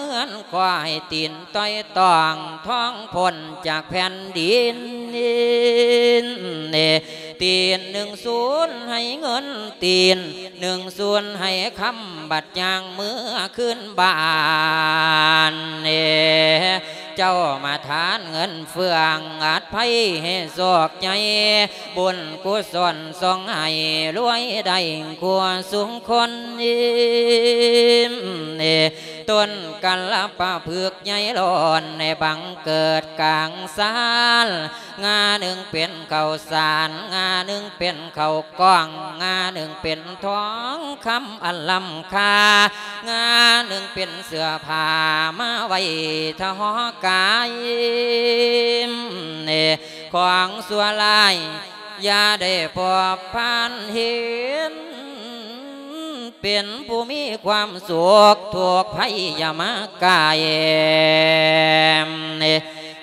ເຮືອນ ຂໍໃຫ້ຕີນຕ່ອຍຕ້ອງ ທ້ອງພົ້ນຈາກແຜ່ນດິນ ຕີນໜຶ່ງສູນໃຫ້ເງິນ ຕີນໜຶ່ງສູນໃຫ້ຄຳ ບັດຍ່າງເມືອຄືນບ້ານ ເຈົ້າມາທານເງິນເຟືອງ ອັດໄພໃຫ້ໂຊກໃຫຍ່ ບຸນກຸສົນສົ່ງໃຫ້ລວຍໄດ້ຄູ່ສູ່ຄົນ ຕົ້ນກັນລະປະພຶກໃຫຍ່ລ້ນໃນບັງເກີດກາງຊານ ງາໜຶ່ງເປັນເຂົ້າສານ ງາໜຶ່ງເປັນເຂົ້າກ້ອງ ງາໜຶ່ງເປັນທອງຄຳອັນລ້ຳຄ່າ ງາໜຶ່ງເປັນເສື້ອຜ້າມາໄວ້ທະຫໍກາຍ ຂອງຊົ່ວຮ້າຍຢ່າໄດ້ພົບຜ່ານເຫັນ ເປັນຜູ້ມີຄວາມສຸກ ທຸກໄພຢ່າມາກາຍ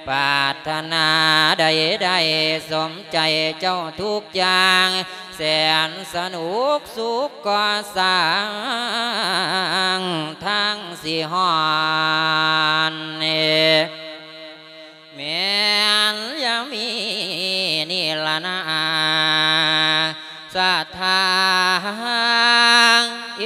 ປາດຖະໜາໃດໆ ສົມໃຈເຈົ້າທຸກຢ່າງ ແສນສະໜຸກສຸກກໍ່ສ້າງ ທາງຊິຮອດ ແມ່ນຢ່າມີນີ້ລະນາ ສະຖາ ເອ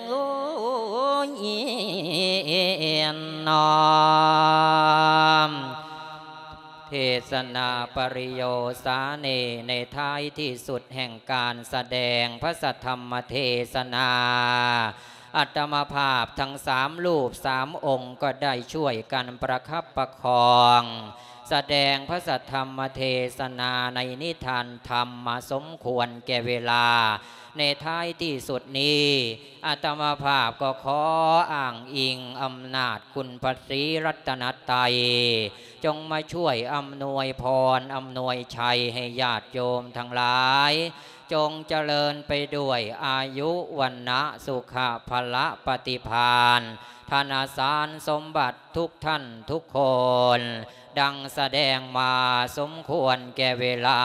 ໂອ້ຍ ນ້ອມເທດສະໜາປະລິໂຍສາເນ ໃນທ້າຍທີ່ສຸດແຫ່ງການສະແດງພະສັດທຳມະເທດສະໜາ ອາດຕະມາພາບທັງສາມຮູບສາມອົງກໍໄດ້ຊ່ວຍກັນປະຄັບປະຄອງ ສະແດງພະສັດທຳມະເທດສະໜາໃນນິທານທຳມາສົມຄວນແກ່ເວລາ ໃນທ້າຍທີ່ສຸດນີ້ ອາດຕະມາພາບກໍຂໍອ້າງອີງອຳນາດຄຸນພະສີລັດຕະນະໄຕ ຈົ່ງມາຊ່ວຍອຳນວຍພອນ ອຳນວຍໄຊໃຫ້ຍາດໂຍມທັງຫຼາຍ ຈົ່ງຈະເລີນໄປດ້ວຍອາຍຸ ວັນນະ ສຸຂະ ພະລະ ປະຕິພານ ທະນະສານສົມບັດທຸກທ່ານທຸກຄົນ ດັ່ງສະແດງມາສົມຄວນແກ່ເວລາ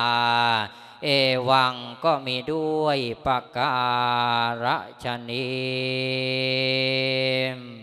ເອວັງ ກໍມີດ້ວຍປະກາລະຊະນີ້.